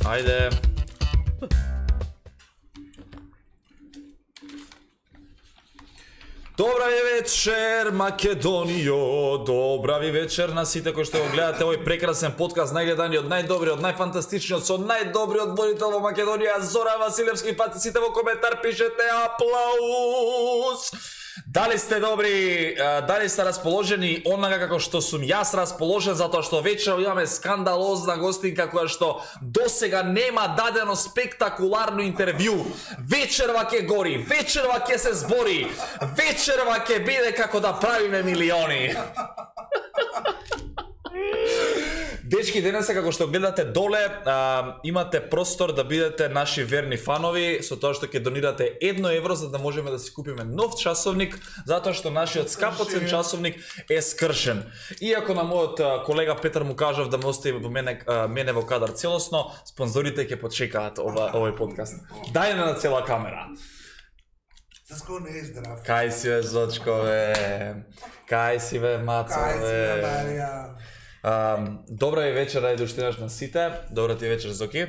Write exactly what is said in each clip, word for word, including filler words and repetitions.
Ајде. Добра ви вечер, Македонијо. Добра ви вечер на сите кои што го гледате овој прекрасен подкаст, најгледаниот, најдобриот, најфантастичниот, со најдобриот водител во Македонија, Зора Василевски. Пати сите во коментар пишете аплауз. Дали сте добри, дали сте расположени онака како што сум јас расположен, затоа што вечер имаме скандалозна гостинка која што досега нема дадено спектакуларно интервју. Вечерва ќе гори, вечерва ќе се збори, вечерва ќе биде како да правиме милиони. Дечки, денеса како што гледате доле, а, имате простор да бидете наши верни фанови со тоа што ќе донирате едно евро за да можеме да си купиме нов часовник, затоа што нашиот скапоцен часовник е скршен. Иако на мојот колега Петар му кажав да ме остави во мене, а, мене во кадар целосно, спонзорите ќе почекаат ова, овој подкаст. Дај на цела камера. Заско не е здрав. Кај си бе, Зочко, бе? Кај си бе, Мацо, бе? Кај си бе, Марија? Uh, добра ви вечер, ради доштинаш на сите. Добра ти вечер, Зоки.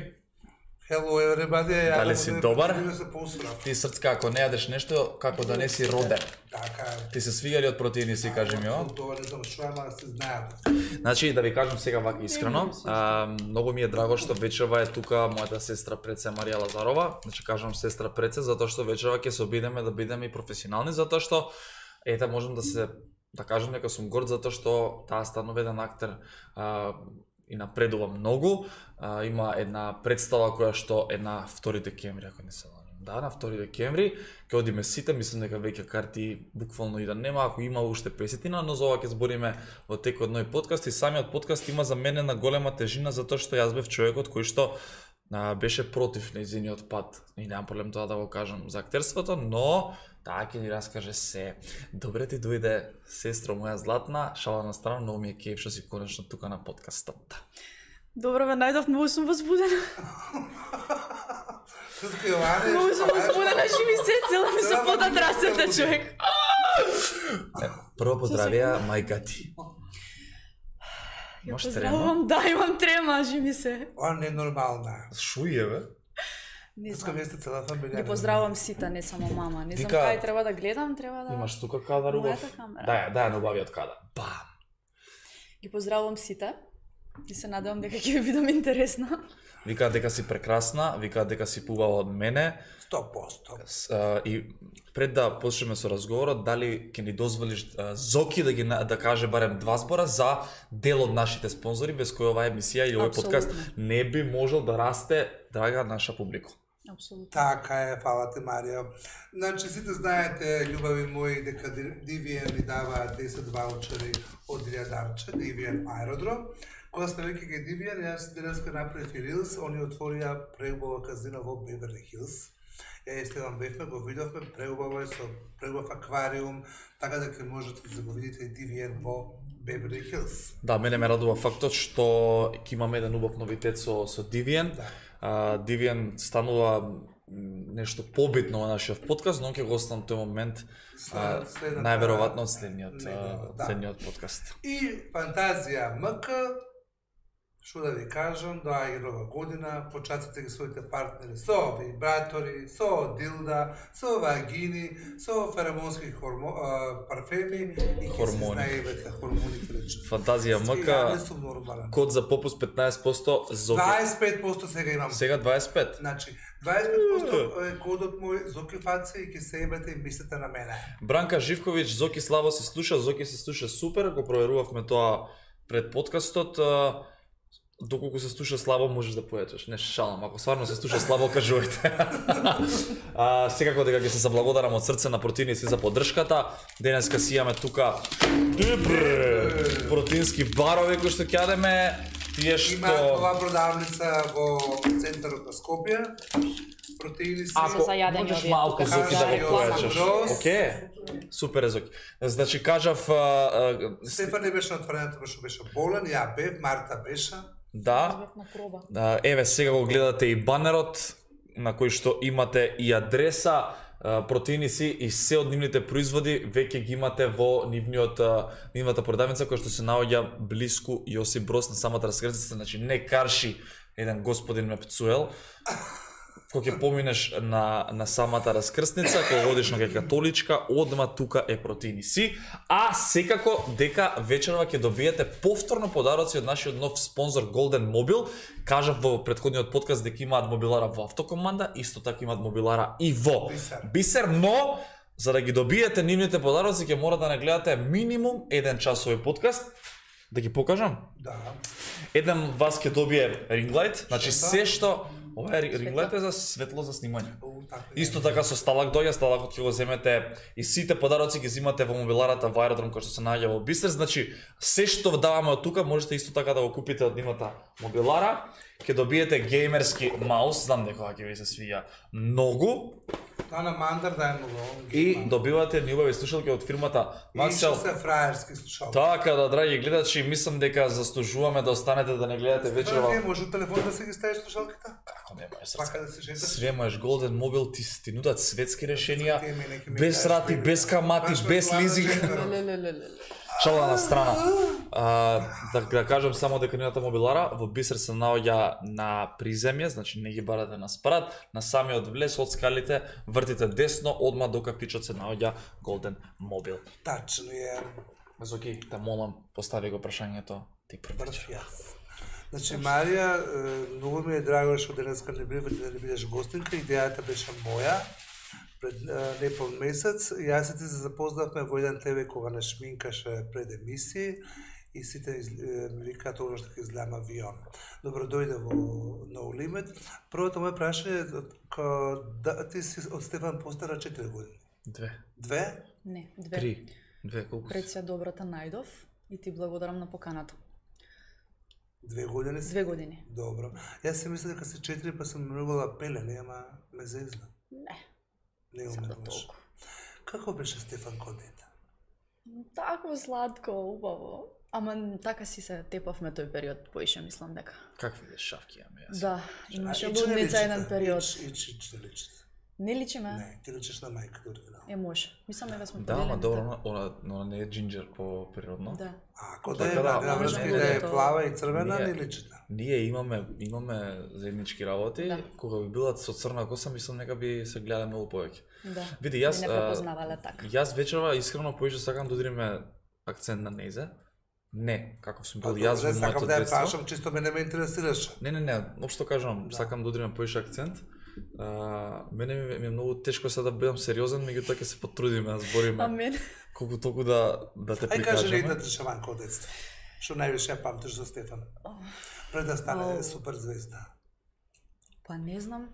Hello everybody. Дали си добар? Се поустрав. Ти срцка, ако не јадеш нешто, како да не си роден. Така е. Ти се свига од протеини, си кажи ми, о? Тоа не знам што е, ама се знаат. Значи, да ви кажам сега вака искрено, а, многу ми е драго што вечерва е тука мојата сестра Преце Марија Лазарова. Значи, кажам сестра Преце, затоа што вечерва ќе се обидеме да бидеме и професионални, затоа што, ете, можам да се да кажам дека сум горд затоа што таа станува еден актер а, и напредува многу. А, има една представа која што е на втори декември, ако не се лажам. Да, на втори декември ќе одиме сите, мислам дека веќе карти буквално и да нема, ако има уште песетина, но за ова ќе збориме во текот од ној подкаст и самиот подкаст има за мене на голема тежина затоа што јас бев човекот кој што а, беше против нејзиниот пат. И немам проблем тоа да го кажам за актерството, но таа ќе ни раскаже се. Добре ти дојде, сестро моја златна, шала на страна, многу ми е кеф што си конечно тука на подкастот. Добро ме најдов, многу сум возбудена. Многу сум возбудена, живи се, цела ми се потат рацете, човек. Прво поздравија мајка ти. Ја Маш поздравувам, да, имам трема, живи се. Ова не е нормална. Шује, бе? Не Искам знам. да сте цела фамилија. Ги поздравувам сите, не само мама. Не знам Вика- кај треба да гледам, треба да... Имаш тука кадар убав. Мојата камера. Да, ја, да, ја убавиот кадар. Бам! Ги поздравувам сите. И се надевам дека ќе ви бидам интересна. Викаат дека си прекрасна, викаат дека си пубава од мене. сто проценти. С, а, и пред да почнеме со разговорот, дали ќе ни дозволиш а, Зоки да ги на- да каже барем два збора за дел од нашите спонзори без кои оваа емисија или овој подкаст Апсолутно. не би можел да расте, драга наша публика. Апсолутно. Така е, фала ти, Марија. Значи, сите знаете, љубави мои, дека ди ви ен ни дава десет ваучери од илјадарче, ди ви ен Аеродром. Кога сме веќе кај ди ви ен, јас денеска направив и рилс, они отворија преубава казино во Беверли Хилс. Ја и Стеван бевме, го видовме, преубаво е со преубав аквариум, така дека можете да го видите и ди ви ен во Беверли Хилс. Да, мене ме радува фактот што ќе имаме еден убав новитет со, со ди ви ен. Да. А, ди ви ен станува м, нешто побитно во нашиот подкаст, но ќе го оставам тој момент а, След- следната- најверојатно од следниот, а, негово, да. следниот подкаст. И Фантазија МК, што да ви кажам, доаѓа нова година, початите ги своите партнери со вибратори, со дилда, со вагини, со феромонски хормо, а, парфеми и ќе се Хормони. знае веќе хормоните рече. Фантазија Ја МК, не сум нормален. код за попуст петнаесет проценто, Зоки. дваесет и пет проценти сега имам. Сега дваесет и пет. Значи, дваесет и пет проценти е кодот мој Зоки Фаци и ќе се ебете и мислите на мене. Бранка Живковиќ, Зоки слабо се слуша, Зоки се слуша супер, го проверувавме тоа пред подкастот. а, Доколку се слуша слабо можеш да појачеш, не шалам, ако стварно се слуша слабо кажувате. а, секако дека ќе се заблагодарам од срце на протеини си за поддршката. Денеска си имаме тука добре протеински барови кои што ќе јадеме, тие Има што ова продавница во центарот на Скопје. Протеини си. ако за јадење можеш овие малку тука, Зоки да кажа, го појачеш. Јован Океј. Супер е, Зоки. Значи кажав а, а, Стефан не беше отворен тоа што беше болен, ја бев, Марта беше. да. Бев на проба. А, Еве сега го гледате и банерот на кој што имате и адреса, а, протеини си и се од нивните производи веќе ги имате во нивниот а, нивната продавница која што се наоѓа блиску Јосип Брос на самата раскрзница, значи не Карши еден господин ме пцуел, кога ќе поминеш на, на самата раскрсница, кога одиш на католичка, одма тука е протеини си, а секако дека вечерва ќе добиете повторно подароци од нашиот нов спонзор Golden Mobile. Кажав во претходниот подкаст дека имаат мобилара во Автокоманда, исто така имаат мобилара и во Бисер. Бисер, но за да ги добиете нивните подароци ќе мора да не гледате минимум еден час овој подкаст. Да ги покажам? Да. Еден вас ќе добие ринглайт, значи Што? се што ова е ринглайт е за светло за снимање. О, така е. Исто така со сталак доја, сталакот ќе го земете и сите подароци ги земате во мобиларата во аеродром кој што се наоѓа во Бисер, значи се што даваме од тука можете исто така да го купите од нивната мобилара. Ќе добиете геймерски маус, знам дека ќе ви се свија многу. Тоа на Мандар да е многу. И добивате неубави слушалки од фирмата Maxell. И се фраерски слушалки. Така да, драги гледачи, мислам дека заслужуваме да останете да не гледате Тоа вечерва. не може телефон да се ги ставиш слушалките? Како не можеш Пака да се шеташ. Све можеш Golden Mobile, ти ти нудат светски решенија, Ти мене ќе ми без кажеш, рати, мене. без камати, Баш ме без плана лизинг. джендерот. Лелелелеле. Шала на страна. А, да, да кажам само дека нивната мобилара во Бисер се наоѓа на приземје, значи не ги барате на спрат, на самиот влез од скалите, вртите десно, одма до кафичот се наоѓа Golden Mobile. Тачно е. Зоки, те молам, постави го прашањето ти прв. Брф јас. Значи, Марија, е, многу ми е драго што денеска не би да не бидеш гостинка, идејата беше моја. Пред е, непол месец, јас и ти се запознавме во еден тебе кога не шминкаше пред емисии и сите из- е, ми викаат оно што ќе изгледам авион. Добро дојде во No Limit. Првото моје прашање е ко, да, ти си од Стефан постара четири години. Две, Две? Не, две. три, две, колку Пред си? се добрата најдов и ти благодарам на поканата. Две години си? Две години. Добро. Јас си мислам дека се четири па сум мрувала пелени, ама ме зезна. Не, Не сада уметуваш. толку. Како беше Стефан кон дете? Тако сладко, убаво. Ама така си се тепавме тој период, поише мислам дека. Какви ли шавки имаме јас? Да, имаше А, ич не лудница личите? еден период. Ич, ич, ич не личите. Не личиме? Не, ти личиш на мајка оригинал. Е, може. Мислам дека сме Да, ама поделени добро, така. она, она, она не е джинџер по природно. Да. А, ако да Така е да, на може врска и да да е е тоа. плава и црвена, Ние- не личите. Ние имаме имаме заеднички работи, Да. кога би била со црна коса, мислам дека би се гледа многу повеќе. Да. Види, јас Не а, препознавале така. јас вечерва искрено поише сакам да удриме акцент на незе. Не, како сум бил Па, јас добре, во сакам моето да ја детство. прашам, чисто мене ме интересираше. Не, не, не, општо кажам, Да. сакам да удриме поише акцент. А, мене ми, ми е многу тешко сега да бидам сериозен, меѓутоа ќе се потрудиме да збориме А мен? колку толку да да те Ај кажи прикажеме. едната шаманка од детство. Што највише ја памтиш за Стефан? Пред да стане Ау. супер звезда. Па не знам.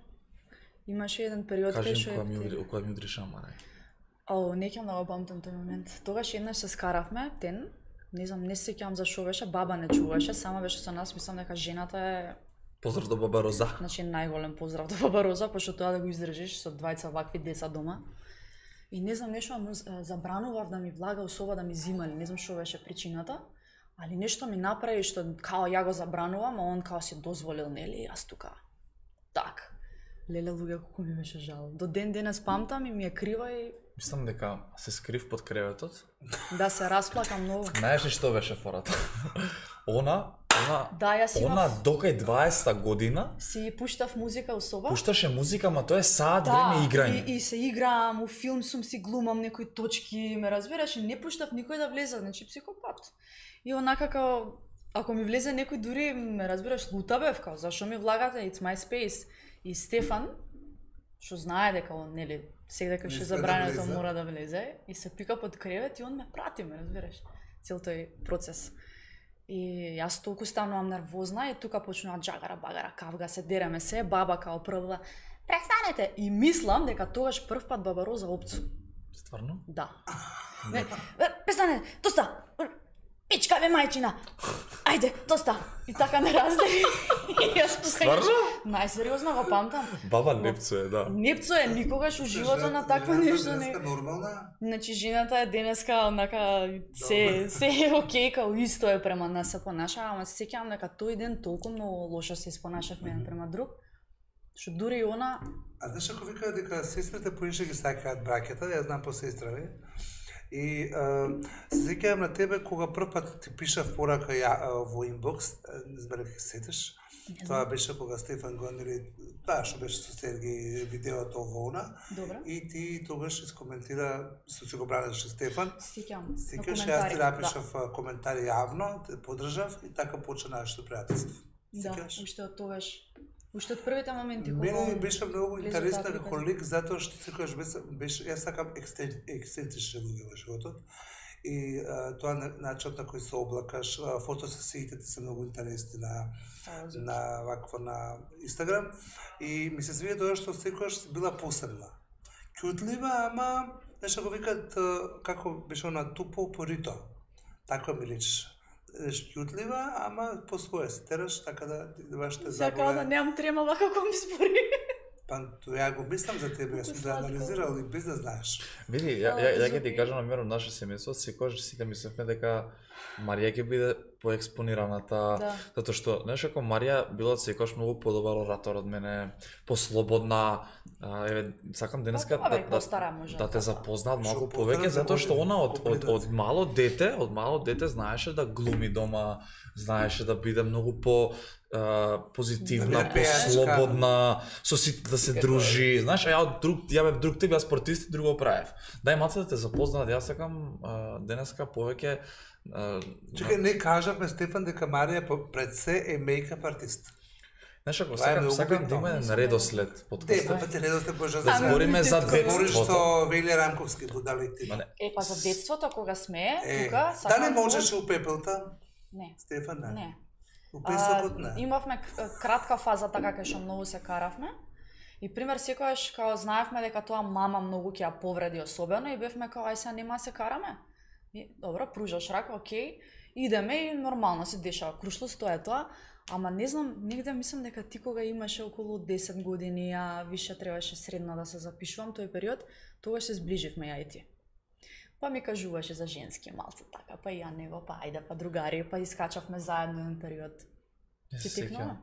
Имаше еден период Кажи кај им што која ми е- удри, која ми удри шамарај. О, не ќе да го памтам тој момент. Тогаш еднаш се скаравме, тен, не знам, не се сеќавам за што беше, баба не чуваше, сама беше со нас, мислам дека жената е, Поздрав до баба Роза. значи најголем поздрав до баба Роза, пошто тоа да го издржиш со двајца вакви деца дома. И не знам, нешто му з- забранував да ми влага особа да ми зимали, не знам што беше причината, али нешто ми направи што као ја го забранувам, а он као си дозволил, нели, јас тука. Так. Леле, луѓе, колку ми беше жал. До ден денес памтам и ми е крива и Мислам дека се скрив под креветот. да се расплакам многу. Знаеш ли што беше фората? Она, она, Да, јас она имав, докај дваесетта година си пуштав музика у соба. пушташе музика, ма тоа е саат Да, време играње. и, и се играм, у филм сум си глумам некои точки, ме разбираш, и не пуштав никој да влезе, значи психопат. И онака као, ако ми влезе некој дури, ме разбираш, лута бев, као, зашо ми влагате, it's my space. И Стефан, што знае дека он, нели, сега дека Не ше сме да забрането влезе. мора да влезе, и се пика под кревет и он ме прати, ме разбираш, цел тој процес. И јас толку станувам нервозна и тука почнува джагара багара, кавга се дереме се, баба као прва, престанете! И мислам дека тогаш прв пат баба Роза опцу. Стварно? Да. Не, е, престанете, доста! Пичка бе мајчина! Ајде, доста! И така не раздели. И јас тука Стварно? најсериозно го памтам. Баба Непцу е, да. Непцо е никогаш у живото на такво Жената нешто денеска не. нормална? Значи жената е денеска онака се се е окей, као исто е према нас се понаша, ама се сеќавам дека тој ден толку многу лошо се испонашавме еден према друг. Што дури и она А знаеш ако викаат дека сестрите поише ги сакаат браќата, јас знам по сестрави. И а, се сеќавам на тебе кога прв пат ти пишав порака ја а, во инбокс, а, не знам дали се сетиш. Тоа беше кога Стефан го нели, таа што беше со Сергеј видеото волна. Добро. И ти тогаш искоментира, со си го бранеше Стефан. Сеќавам. Сикаш, јас ти напишав да. коментари јавно, те поддржав и така почна нашето пријателство. Да, уште од тогаш. Уште од првите моменти кога мене ми беше многу интересна како лик затоа што секогаш беше, беше јас сакам ексцентрични луѓе во животот. И а, тоа начинот на кој се облакаш, фотосесиите се многу интересни на на вакво на Инстаграм и ми се свија тоа што секогаш била посебна. Кјутлива, ама нешто го викаат како беше она тупо порито. Така ми личеше. Кјутлива, ама по своја се тераш, така да вашите заболе. Сакам да немам тремава како ми спори. Па тоа го мислам за тебе, јас сум да анализирал и без да знаеш. Види, ја ја ја ќе ти кажам на мерно наше семејство, секогаш сите мислевме дека Марија ќе биде поекспонираната, да. Затоа што знаеш како Марија била секогаш многу подобар оратор од мене, послободна, еве сакам денеска да да, да, да те запознаат малку повеќе затоа што она од од од мало дете, од мало дете знаеше да глуми дома, знаеше да биде многу по Uh, позитивна, да послободна, со сите да се дружи, знаеш, ја од друг, ја бев друг тип, јас спортист и друго правев. Дај маца да те запознаат, јас сакам uh, денеска повеќе uh, Чекај, не кажавме Стефан дека Марија пред се е мејкап артист. Знаеш, ако сакам, сакам да има редослед подкаст. Де, па те редослед може да збориме за детството. Говориш со Веле Рамковски будалите. Е, па за детството кога сме, тука сакам. Да не можеш у пепелта? Не. Стефан, не. Не. А, имавме кратка фаза така кај што многу се каравме. И пример секогаш као знаевме дека тоа мама многу ќе ја повреди особено и бевме као ај сега нема се караме. И добро, пружаш рака, окей. Идеме и нормално се дешава. Крушлост тоа е тоа. Ама не знам, негде мислам дека ти кога имаше околу десет години, а више требаше средно да се запишувам тој период, тогаш се зближивме ја и ти. Па ми кажуваше за женски малце така, па и ја него, па ајде, па другари, па искачавме заедно еден период. Ти текнува?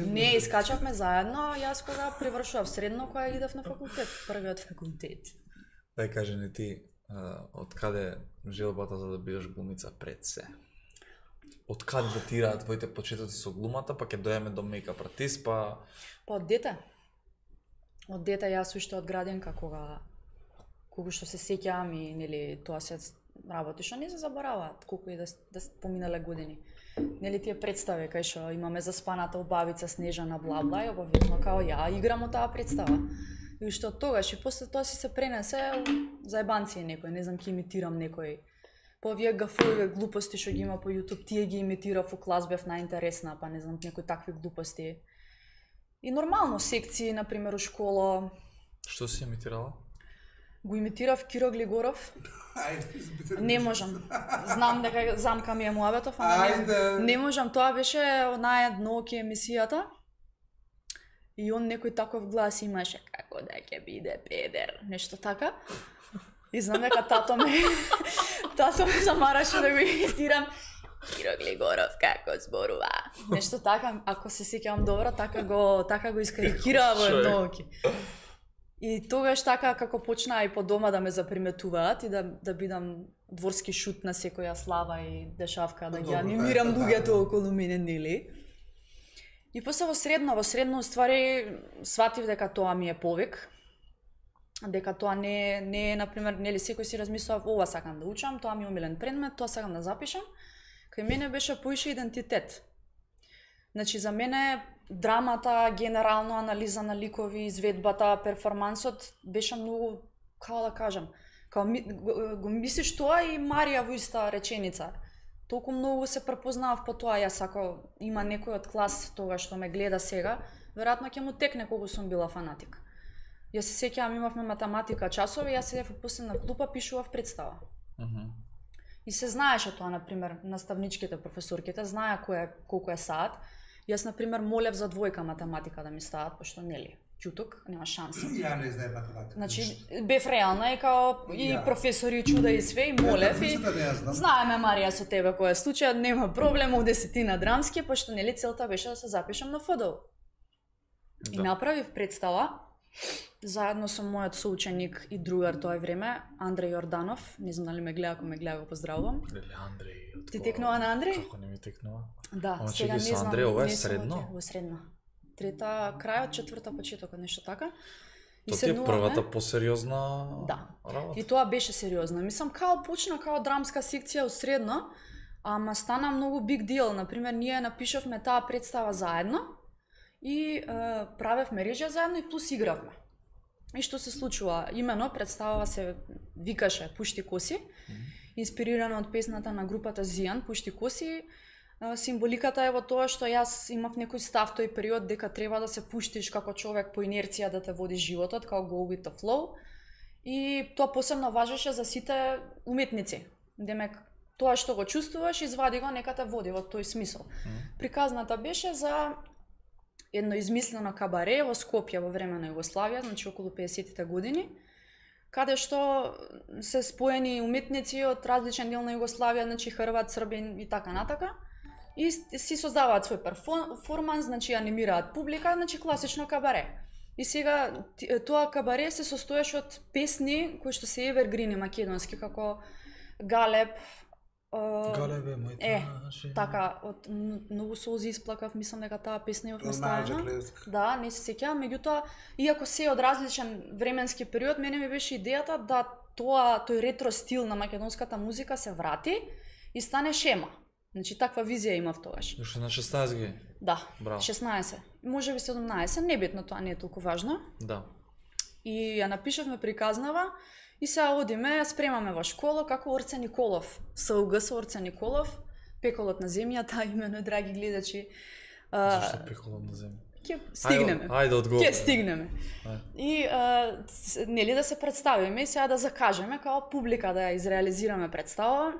Не, искачавме заедно, јас кога привршував средно, кога идев на факултет, првиот факултет. Дај кажи ни ти, од каде желбата за да бидеш глумица пред се? Од каде датираат твоите почетоци со глумата, па ќе дојдеме до мејкап артист, па... Па од дете. Од дете јас уште од градинка кога колку што се сеќавам и нели тоа се работи што не се забораваат, колку и да, да поминале години. Нели тие представи кај што имаме заспаната убавица Снежана бла-бла и обавезно као ја играм од таа представа. И уште од тогаш и после тоа си се пренесе заебанци некој, не знам ќе имитирам некој. По овие гафови глупости што ги има по YouTube, тие ги имитирав у клас, бев најинтересна, па не знам некои такви глупости. И нормално секции, на пример, у школа. Што си имитирала? Го имитирав Киро Глигоров. Не можам. Знам дека замка ми е муабетов, ама не, не можам. Тоа беше онаа едноки емисијата. И он некој таков глас имаше како да ќе биде педер, нешто така. И знам дека тато ме тато ме замараше да го имитирам. Киро Глигоров како зборува. Нешто така, ако се сеќавам добро, така го така го искарикираа во едноки. И тогаш така како почнаа и по дома да ме заприметуваат и да да бидам дворски шут на секоја слава и дешавка, да ги анимирам луѓето околу мене, нели? И после во средно, во средно ствари сватив дека тоа ми е повик. Дека тоа не не е, на пример, нели секој си размислува ова сакам да учам, тоа ми е омилен предмет, тоа сакам да запишам. Кај мене беше поише идентитет. Значи за мене драмата, генерално анализа на ликови, изведбата, перформансот беше многу, како да кажам, као ми, го, го мислиш тоа и Марија во иста реченица. Толку многу се препознавав по тоа, јас ако има некој од клас тога што ме гледа сега, веројатно ќе му текне колку сум била фанатик. Јас се сеќавам, имавме математика часови, јас седев после на клупа, пишував представа. Uh -huh. И се знаеше тоа, на пример, наставничките, професорките, знаа кој е, колку е саат. Јас, на пример, молев за двојка математика да ми стават, пошто нели, ќуток, нема шанси. Ја не знаем математика. Значи, бев реална и као и ja. професори чуда и све, и молев и знаеме, Марија, со тебе кој е случај, нема проблем, у десетина драмски, пошто нели целта беше да се запишам на ФДУ. Да. И направив представа, заедно со мојот соученик и другар тоа време, Андреј Јорданов, не знам дали ме гледа, ако ме гледа го поздравувам. Леле Андреј. Ти текнува на Андреј? Како не ми текнува? Да, Ама сега чекај, не со знам. Андреј, ова е не сум средно? во те- Во средно. Трета, крајот, четврта, почетокот, нешто така. И Тоа ти е седнуваме- првата посериозна Да. работа? И тоа беше сериозно. Мислам, као почна као драмска секција у средно, ама стана многу big deal. Например, ние напишавме таа представа заедно и е, правевме режија заедно и плюс игравме. И што се случува? Имено представава се викаше Пушти коси, инспирирана од песната на групата Зијан, Пушти коси. Е, Символиката е во тоа што јас имав некој став тој период дека треба да се пуштиш како човек по инерција да те води животот, као go with the flow. И тоа посебно важеше за сите уметници. Демек, тоа што го чувствуваш, извади го, нека те води во тој смисол. Приказната беше за едно измислено кабаре во Скопје во време на Југославија, значи околу педесетите години, каде што се споени уметници од различен дел на Југославија, значи Хрват, Србин и така натака, и си создаваат свој перформанс, значи анимираат публика, значи класично кабаре. И сега тоа кабаре се состоеше од песни кои што се евергрини македонски, како Галеб, Галебе, мој е, така, од многу солзи исплакав, мислам дека таа песна ја наставена. Да, не се сеќавам, меѓутоа, иако се од различен временски период, мене ми беше идејата да тоа, тој ретро стил на македонската музика се врати и стане шема. Значи, таква визија имав тогаш. Уште на шеснаесет години? Да, Браво. шеснаесет. Може би седумнаесет, небитно, тоа не е толку важно. Да. И ја напишавме приказнава и сега одиме, ја спремаме во школа како Орце Николов. СУГ со Орце Николов, Пеколот на земјата, имено, драги гледачи. А, Зашто Пеколот на земја? Ќе стигнеме. Ајде, ајде одговори. Ќе стигнеме. Ајде. И а, с- нели да се представиме и сега да закажеме као публика да ја изреализираме представа.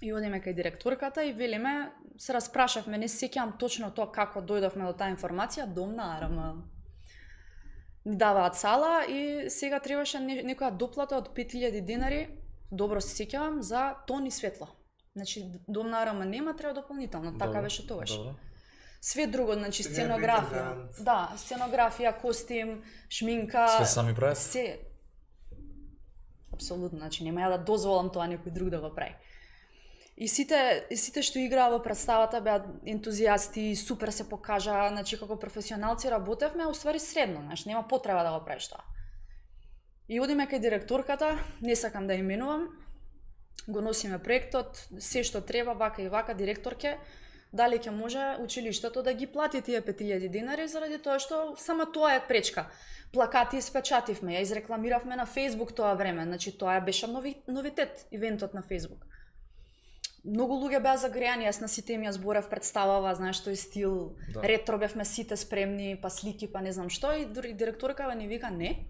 И одиме кај директорката и велиме, се распрашавме, не се сеќавам точно тоа како дојдовме до таа информација, дом на Арама. Ни даваат сала и сега требаше не- некоја доплата од пет илјади денари, добро се сеќавам, за тон и светло. Значи, дом на Арама нема, треба дополнително, така Добро, беше тогаш. Добро. Све друго, значи Сега е сценографија. вегетаријан. Да, сценографија, костим, шминка. Све сами правите? Се. Апсолутно, значи нема ја да дозволам тоа некој друг да го прави. И сите, и сите што играа во представата беа ентузијасти, супер се покажа, значи како професионалци работевме, а уствари средно, значи нема потреба да го правиш тоа. И одиме кај директорката, не сакам да именувам, го носиме проектот, се што треба, вака и вака, директорке, дали ќе може училиштето да ги плати тие пет илјади денари, заради тоа што само тоа е пречка. Плакати испечативме, ја изрекламиравме на Facebook тоа време, значи тоа беше нови, новитет, ивентот на Facebook. Многу луѓе беа загреани, јас на сите им ја зборев представава, знаеш, тој стил, Да. ретро бевме сите спремни, па слики, па не знам што, и дури директоркава ни вика не,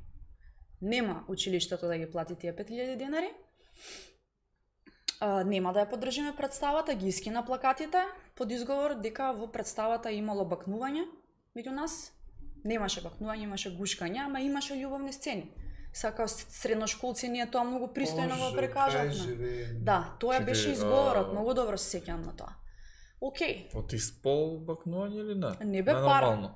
нема училиштето да ги плати тие пет илјади денари, а, нема да ја поддржиме представата, ги искина плакатите, под изговор дека во представата имало бакнување меѓу нас, немаше бакнување, имаше гушкање, ама имаше љубовни сцени. Сега као средношколци ние тоа многу пристојно го прекажавме. Да, тоа Чекај, беше изговорот, а- многу добро се сеќавам на тоа. Океј, Од испол бакнување или не? Не бе Ненормално.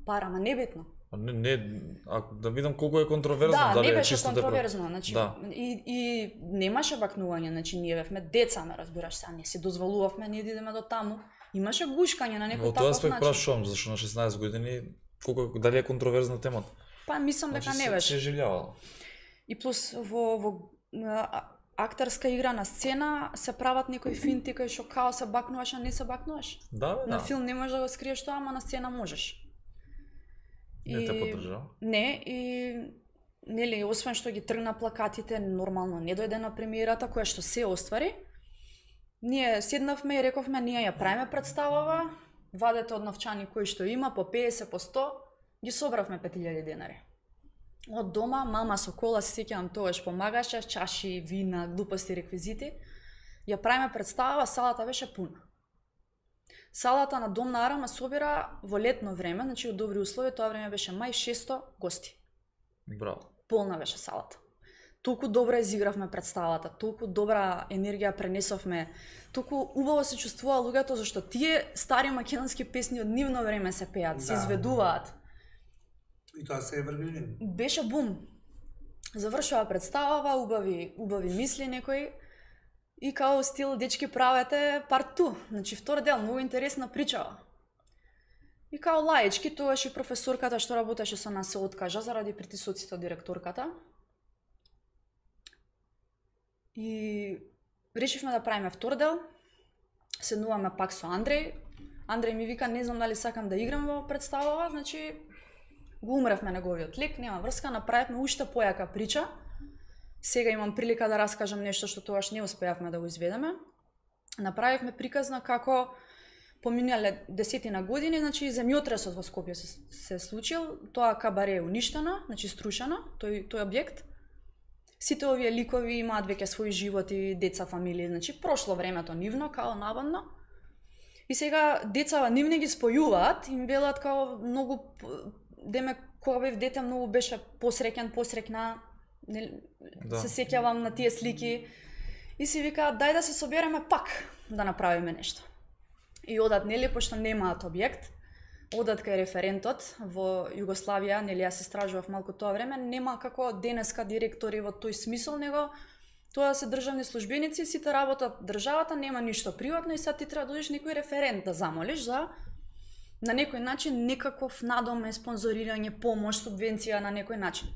пара, ма небитно. А не, не, а, да видам колку е контроверзно, Да, дали не е беше чисто депро- контроверзно, значи Да. и и немаше бакнување, значи ние бевме деца, ме разбираш, сега не си дозволувавме ние да идеме до таму. Имаше гушкање на некој Во тоа таков аспект начин. прашувам, зашто на шеснаесет години колку дали е контроверзна темата? Па мислам дека Значи, не се- беше. Се живljavalo. И плюс во во а, актерска игра на сцена се прават некои финти кои што као се бакнуваш, а не се бакнуваш. Да, бе, На да. филм не можеш да го скриеш тоа, ама на сцена можеш. Не те поддржава. Не, и нели, освен што ги тргна плакатите, нормално не дојде на премиерата, која што се оствари. Ние седнавме и рековме, ние ја правиме представава, вадете од новчани кои што има, по педесет, по сто, ги собравме пет илјади денари. Од дома, мама со кола, се сеќавам тогаш, помагаше, чаши, вина, глупости, реквизити. Ја правиме представава, салата беше пуна. Салата на Дом на Арама собира во летно време, значи од добри услови, тоа време беше мај шесто гости. Браво. Полна беше салата. Толку добро изигравме представата, толку добра енергија пренесовме, толку убаво се чувствува луѓето зашто тие стари македонски песни од нивно време се пеат, се Да. изведуваат. И тоа се е врвини. Беше бум. Завршува представава, убави, убави мисли некои. И као стил дечки правете парт ту. Значи втор дел, многу интересна причава. И као лаички, тогаш и професорката што работеше со нас се откажа заради притисоците од директорката. И решивме да правиме втор дел. Седнуваме пак со Андреј. Андреј ми вика, не знам дали сакам да играм во представава, значи го умревме неговиот лик, нема врска, направивме уште појака прича. Сега имам прилика да раскажам нешто што тогаш не успеавме да го изведеме. Направивме приказна како поминале десетина години, значи земјотресот во Скопје се, се случил, тоа кабаре е уништено, значи струшено, тој тој објект. Сите овие ликови имаат веќе своји животи, деца, фамилии, значи прошло времето нивно као наводно. И сега децава нивни ги спојуваат, им велат као многу деме кога бев дете многу беше посреќен, посрекна, не, да. Се сеќавам на тие слики и си викаат дај да се собереме пак да направиме нешто. И одат нели пошто немаат објект, одат кај референтот во Југославија, нели јас истражував малку тоа време, нема како денеска директори во тој смисол, него тоа се државни службеници, сите работат државата, нема ништо приватно и сега ти треба да одиш некој референт да замолиш за на некој начин некаков надоме, спонзорирање, помош, субвенција на некој начин.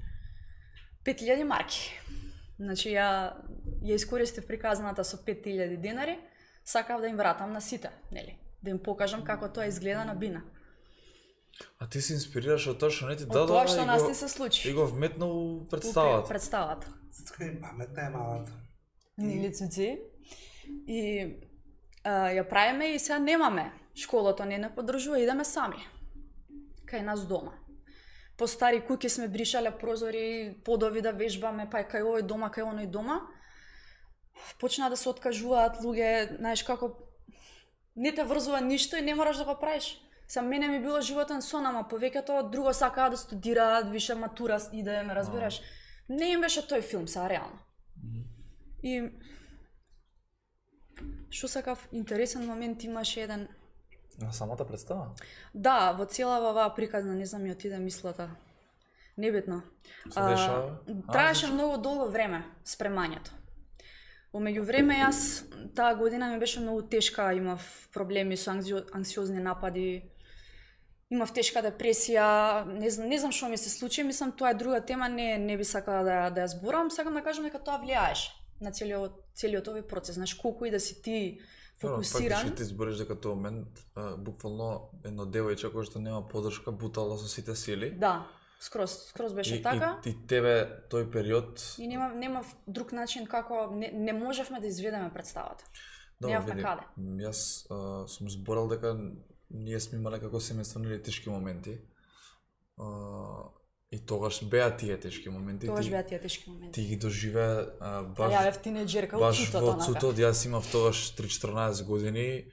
пет илјади марки. Значи ја ја искористив приказната со пет илјади денари, сакав да им вратам на сите, нели? Да им покажам како тоа изгледа на бина. А ти се инспирираш од тоа што не ти дадоа? Од тоа што нас го, не се случи. И го вметнал представата. Представата. Цуцка им паметна е малата. Нели цуци? И а, ја правиме и сега немаме. Школото не не поддржува, идеме сами. Кај нас дома. По стари куќи сме бришале прозори, подови да вежбаме, па кај овој дома, кај оној дома. Почна да се откажуваат луѓе, знаеш како не те врзува ништо и не мораш да го правиш. Са мене ми било животен сон, ама повеќето друго сакаат да студираат, више матура иде, ме разбираш. Не им беше тој филм, са реално. И што сакав интересен момент имаше еден. На самата представа? Да, во целава оваа приказна, не знам ми отиде мислата. Небитно. Се дешава? Траеше многу долго време спремањето. Во меѓувреме јас таа година ми беше многу тешка, имав проблеми со анксиозни напади, имав тешка депресија, не знам, не знам што ми се случи, мислам тоа е друга тема, не не би сакала да да ја зборам, сакам да кажам дека тоа влијаеше на целиот целиот овој процес, знаеш колку и да си ти фокусиран. Фактички ти збориш дека тоа момент буквално едно девојче кое што нема поддршка бутала со сите сили. Да. Скроз, скроз беше и, така. И, и тебе тој период и нема нема друг начин како не, не можевме да изведеме представата. Немавме каде. Јас а, сум зборал дека ние сме имале како семејство тешки моменти. А, и тогаш беа тие тешки моменти. Тогаш беа тие тешки моменти. Ти ги доживеа а, баш ја бев тинеџерка од цутото. Баш во цутот, јас имав тогаш три-четрнаесет години.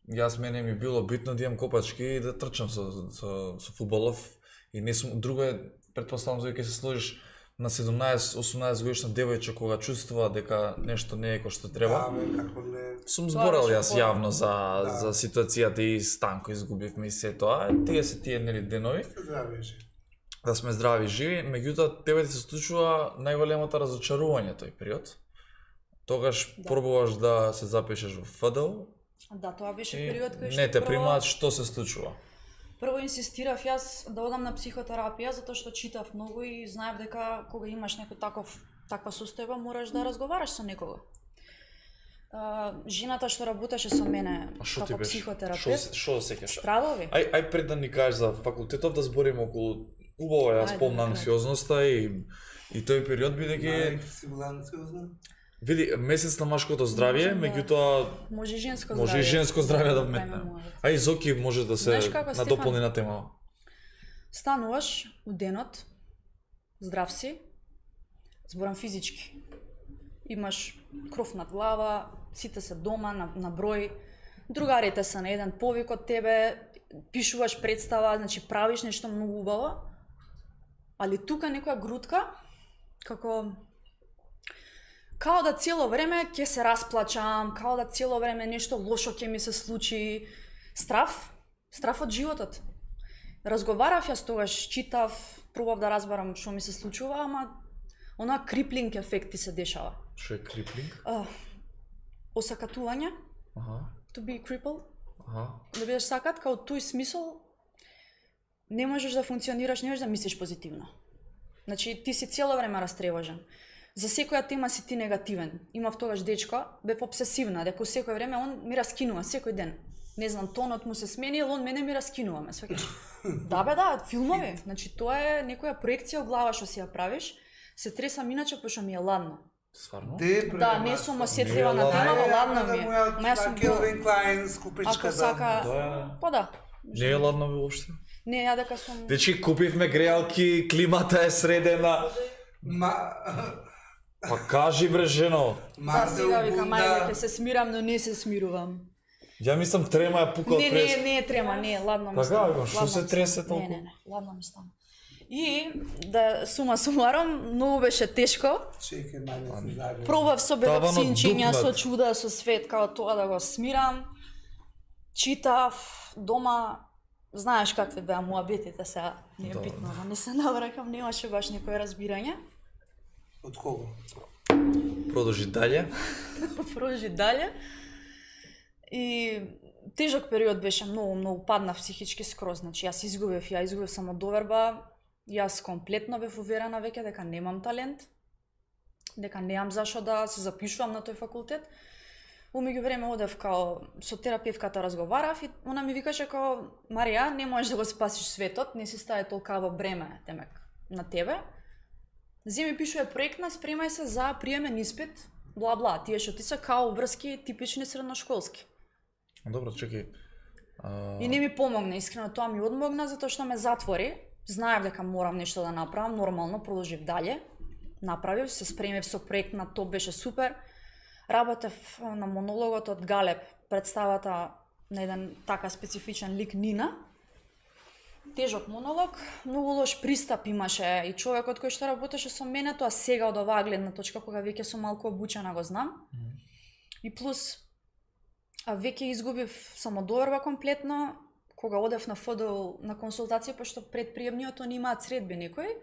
Јас мене ми било битно да имам копачки и да трчам со со, со фудбалов. И не сум друго е, претпоставам за ќе се сложиш на седумнаесет-осумнаесет годишна девојче кога чувствува дека нешто не е кој што треба. Да, бе, како не. Сум зборал јас јавно за да. За ситуацијата и Станко изгубивме и се тоа. Тие се тие нели денови. Здрави и живи. Да сме здрави и живи, меѓутоа тебе ти се случува најголемото разочарување тој период. Тогаш да. Пробуваш да се запишеш во ФДЛ. Да, тоа беше период кој што не те примаат, што се случува. Прво инсистирав јас да одам на психотерапија затоа што читав многу и знаев дека кога имаш некој таков таква состојба мораш да разговараш со некого. Uh, жената што работеше со мене како психотерапевт. Што сеќаш? Страдови. Ај ај пред да ни кажеш за факултетов да збориме околу убаво ја спомна анксиозноста и и тој период бидејќи си била анксиозна? Види, месец на машкото здравје, меѓутоа може и женско здравје. Може и женско здравје да вметне. А и Зоки може да се надополни на тема. Стануваш у денот, здрав си, зборам физички. Имаш кров над глава, сите се дома на, на број, другарите се на еден повик од тебе, пишуваш представа, значи правиш нешто многу убаво, али тука некоја грудка, како као да цело време ќе се расплачам, као да цело време нешто лошо ќе ми се случи. Страф, страф од животот. Разговарав јас тогаш, читав, пробав да разберам што ми се случува, ама она криплинг ефект ти се дешава. Што е криплинг? Uh, осакатување. Аха. To be crippled. Аха. Да бидеш сакат, као тој смисол не можеш да функционираш, не можеш да мислиш позитивно. Значи ти си цело време растревожен. За секоја тема си ти негативен. Имав тогаш дечко, бев обсесивна, дека секој време он ми раскинува секој ден. Не знам, тонот му се сменил, он мене ми раскинува, ме сваќаш. Да бе, да, филмови. Значи тоа е некоја проекција во глава што си ја правиш. Се тресам иначе пошто ми е ладно. Стварно? Да, не сум осетлива на темава, ладно ми е. Ма јас сум Келвин Клайн скупичката. Ако сака, Да. па да. Не е ладно воопшто. Не, ја дека сум... Дечи, купивме греалки, климата е средена. Ма... Па кажи бре жено. Да, сега викам, ајде, ќе се смирам, но не се смирувам. Ја мислам трема ја пука од Не, прес. не, не е трема, не, ладно ми Така, стана. бе, што ладно се ми тресе стана. толку? Не, не, не, ладно ми стана. И, да сума сумарам, многу беше тешко. Чекај, мајде се загреб. Пробав со Таванот бебаксинчиња, со дупнат. чуда, со свет, као тоа да го смирам. Читав, дома, знаеш какви беа муабетите сега, не е Да. битно, ама не се навракам, немаше баш некој разбирање. Од кого? Продолжи дале. Продолжи дале. И тежок период беше, многу, многу паднав психички скроз, значи јас изгубив, ја изгубив самодоверба, јас комплетно бев уверена веќе дека немам талент, дека немам зашо да се запишувам на тој факултет. Умеѓу време одев као со терапевката разговарав и она ми викаше као Марија, не можеш да го спасиш светот, не си стави толкаво бреме темек на тебе. Земи пишуе проектна, спремај се за приемен испит, бла бла, тие што ти се као врски типични средношколски. Добро, чекај. А... И не ми помогна, искрено тоа ми одмогна затоа што ме затвори. Знаев дека морам нешто да направам, нормално продолжив дале. Направив, се спремив со проект на тоа, беше супер. Работев на монологот од Галеб, представата на еден така специфичен лик Нина. Тежок монолог, многу лош пристап имаше и човекот кој што работеше со мене, тоа сега од оваа гледна точка, кога веќе сум малку обучена го знам. Mm. И плюс, а веќе изгубив самодоверба комплетно, кога одев на ФДУ на консултација, пошто пред приемниот они имаат средби некој,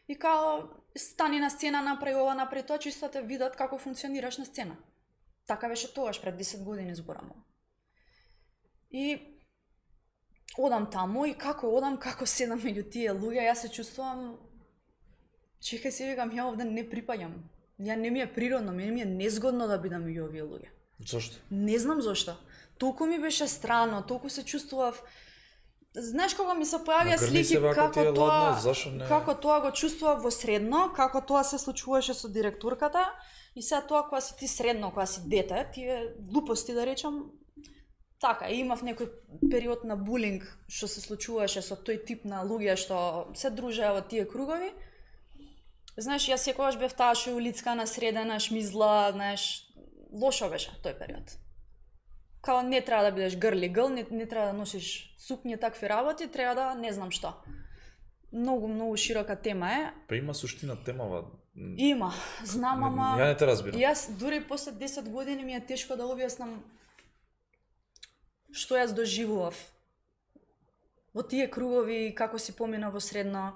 и као стани на сцена, направи ова, направи тоа, чисто те видат како функционираш на сцена. Така беше тогаш, пред десет години зборамо. И одам таму и како одам, како седам меѓу тие луѓе, јас се чувствувам, чекај се викам, ја овде не припаѓам. Ја не ми е природно, мене ми е незгодно да бидам меѓу овие луѓе. Зошто? Не знам зошто. Толку ми беше странно, толку се чувствував. Знаеш кога ми се појавија Нагрни слики се вака како тие тоа, ладно, зашо не? како тоа го чувствував во средно, како тоа се случуваше со директорката и сега тоа кога си ти средно, кога си дете, тие глупости да речам. Така, и имав некој период на булинг што се случуваше со тој тип на луѓе што се дружеа во тие кругови. Знаеш, јас секогаш бев таа што е улицкана, средена, шмизла, знаеш, лошо беше тој период. Као не треба да бидеш грли гъл, не, не треба да носиш сукњи, такви работи, треба да не знам што. Многу, многу широка тема е. Па има суштина темава. Има, знам, ама... Ја не те разбирам. Јас дури после десет години ми е тешко да објаснам што јас доживував во тие кругови, како си помина во средно.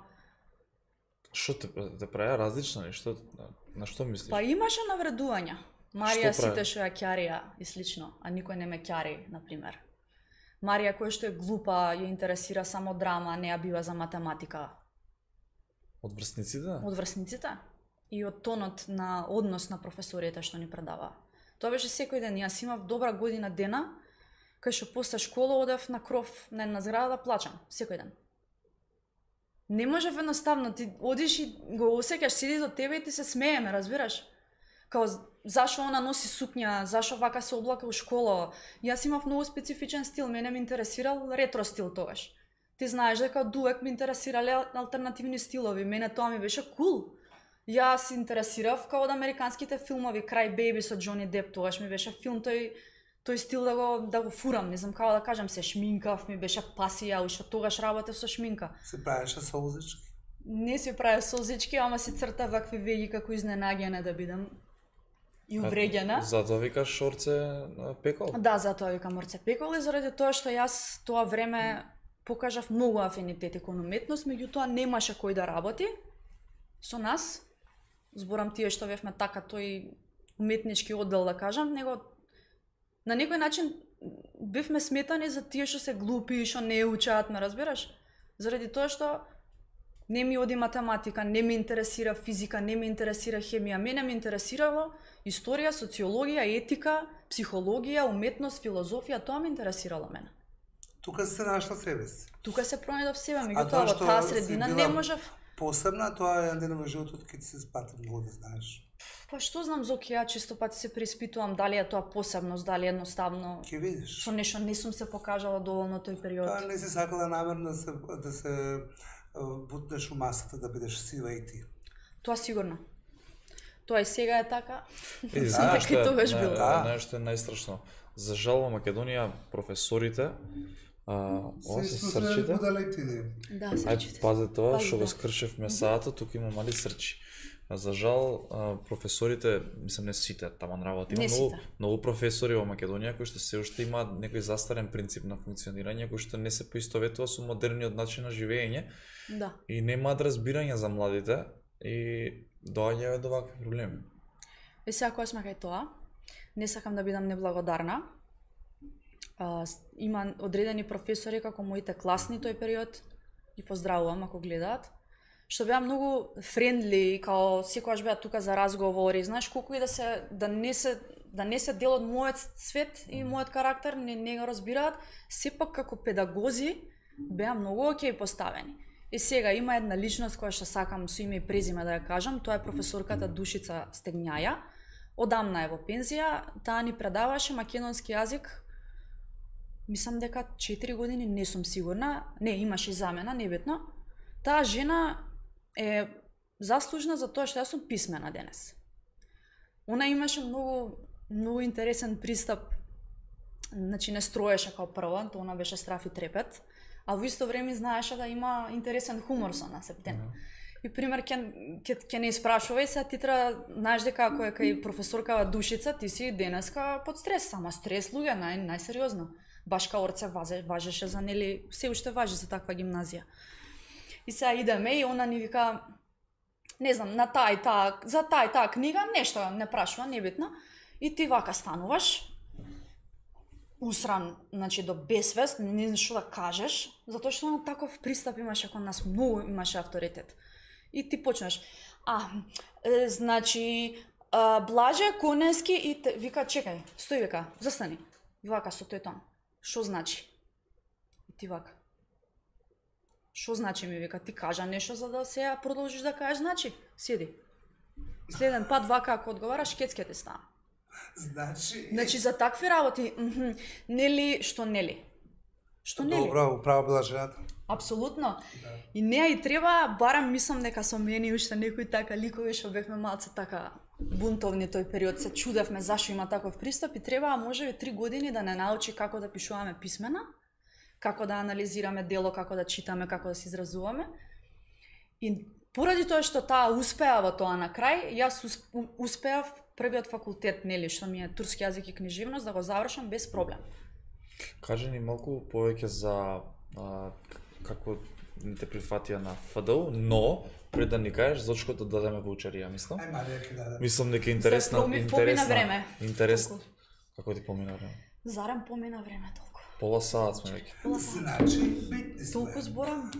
Што те, те праја различна, нешто, на што мислиш? Па имаше навредувања. Марија Што прави? сите што ја ќарија и слично, а никој не ме ќари, например. Марија која што е глупа, ја интересира само драма, не ја бива за математика. Од врсниците? Од врсниците и од тонот на однос на професорите што ни предава. Тоа беше секој ден. Јас имав добра година дена, кај што после школа одев на кров на една зграда да плачам, секој ден. Не можев едноставно, ти одиш и го осеќаш, седи до тебе и ти се смееме, разбираш? Као, зашо она носи сукња, зашо вака се облака у школа. Јас имав многу специфичен стил, мене ме интересирал ретро стил тогаш. Ти знаеш дека од увек ме интересирале алтернативни стилови, мене тоа ми беше кул. Јас се интересирав као од американските филмови, Cry Baby со Џони Деп, тогаш ми беше филм тој тој стил да го да го фурам, не знам како да кажам, се шминкав, ми беше пасија, уште тогаш работев со шминка. Се правеше солзички? Не се правев солзички, ама се црта вакви веги како изненаѓена да бидам и увреѓена. Затоа викаш шорце пекол? Да, затоа викам Орце пекол и заради тоа што јас тоа време покажав многу афинитети кон уметност, меѓутоа немаше кој да работи со нас. Зборам тие што бевме така тој уметнички оддел да кажам, него на некој начин бевме сметани за тие што се глупи, што не учат, ме разбираш? Заради тоа што не ми оди математика, не ми интересира физика, не ми интересира хемија, мене ми интересирало историја, социологија, етика, психологија, уметност, филозофија, тоа ми интересирало мене. Тука се нашла себе си. Тука се пронајдов себе, меѓутоа во таа средина не можев. Посебна, тоа е еден ден во животот кога ти се спати многу да знаеш. Па што знам, Зоки, ја често пати се преиспитувам дали е тоа посебност, дали едноставно. Ќе видиш. Со нешто не сум се покажала доволно тој период. Тоа не си сакала намерно да се да се бутнеш у масата да бидеш сива и ти. Тоа сигурно. Тоа и сега е така. И знаеш што е, не, нешто е најстрашно. За жал во Македонија професорите а, ова се срчите. Да, срчите. Ај пази тоа што го скршев месаата, тука има мали срчи. За жал професорите, мислам не сите таман работи, има многу, многу професори во Македонија кои што се уште имаат некој застарен принцип на функционирање кој што не се поистоветува со модерниот начин на живење. Да. И немаат разбирање за младите и доаѓаат до вакви проблеми. Е сега кога сме кај тоа, не сакам да бидам неблагодарна. А, има одредени професори како моите класни тој период, и поздравувам ако гледаат, што беа многу френдли, као секогаш беа тука за разговори, знаеш, колку и да се да не се да не се дел од мојот свет и мојот карактер, не не го разбираат, сепак како педагози беа многу окей поставени. И сега има една личност која што сакам со име и презиме да ја кажам, тоа е професорката Душица Стегњаја. Одамна е во пензија, таа ни предаваше македонски јазик. Мислам дека четири години, не сум сигурна, не имаше замена, небитно. Таа жена е заслужна за тоа што јас сум писмена денес. Она имаше многу многу интересен пристап. Значи не строеше како прва, тоа она беше страф и трепет, а во исто време знаеше да има интересен хумор со нас ептен. Mm-hmm. И пример ќе ќе ќе не испрашувај се, ти треба знаеш дека ако е кај професоркава Душица, ти си денеска под стрес, сама стрес луѓе, нај најсериозно. Баш као Орце важеше за нели, се уште важи за таква гимназија. И сега идеме и она ни вика, не знам, на таа и таа, за таа и таа книга, нешто не прашува, небитно. И ти вака стануваш, усран, значи до безсвест, не знаеш што да кажеш, затоа што на таков пристап имаше кон нас, многу имаше авторитет. И ти почнеш, а, е, значи, а, Блаже Конески и те, вика, чекај, стои вика, застани. И вака со тој тон. Што значи? И ти вака. Што значи ми вика, ти кажа нешто за да сега продолжиш да кажеш, значи, седи. Следен пат вака ако одговараш, кецке ти стана. Значи, значи за такви работи, мхм, нели, што нели? Што нели? Добро, управо била жената. Апсолутно. Да. И неа и треба, барам мислам дека со мене уште некои така ликови што бевме малце така бунтовни тој период, се чудевме зашто има таков пристап и треба можеби три години да не научи како да пишуваме писмена, како да анализираме дело, како да читаме, како да се изразуваме. И поради тоа што таа успеа во тоа на крај, јас успеав првиот факултет, нели, што ми е турски јазик и книжевност, да го завршам без проблем. Кажи ни малку повеќе за а, како не те прифатија на Ф Д У, но пред да ни кажеш зошто да дадеме ваучерија, мислам. Ај Марија ќе даде. Мислам дека интересна, Поми, интересна, помина време. Интересно. Како ти помина време? Зарем помина време толку. Пола саат сме веќе. Значи, битни сме. Толку зборам.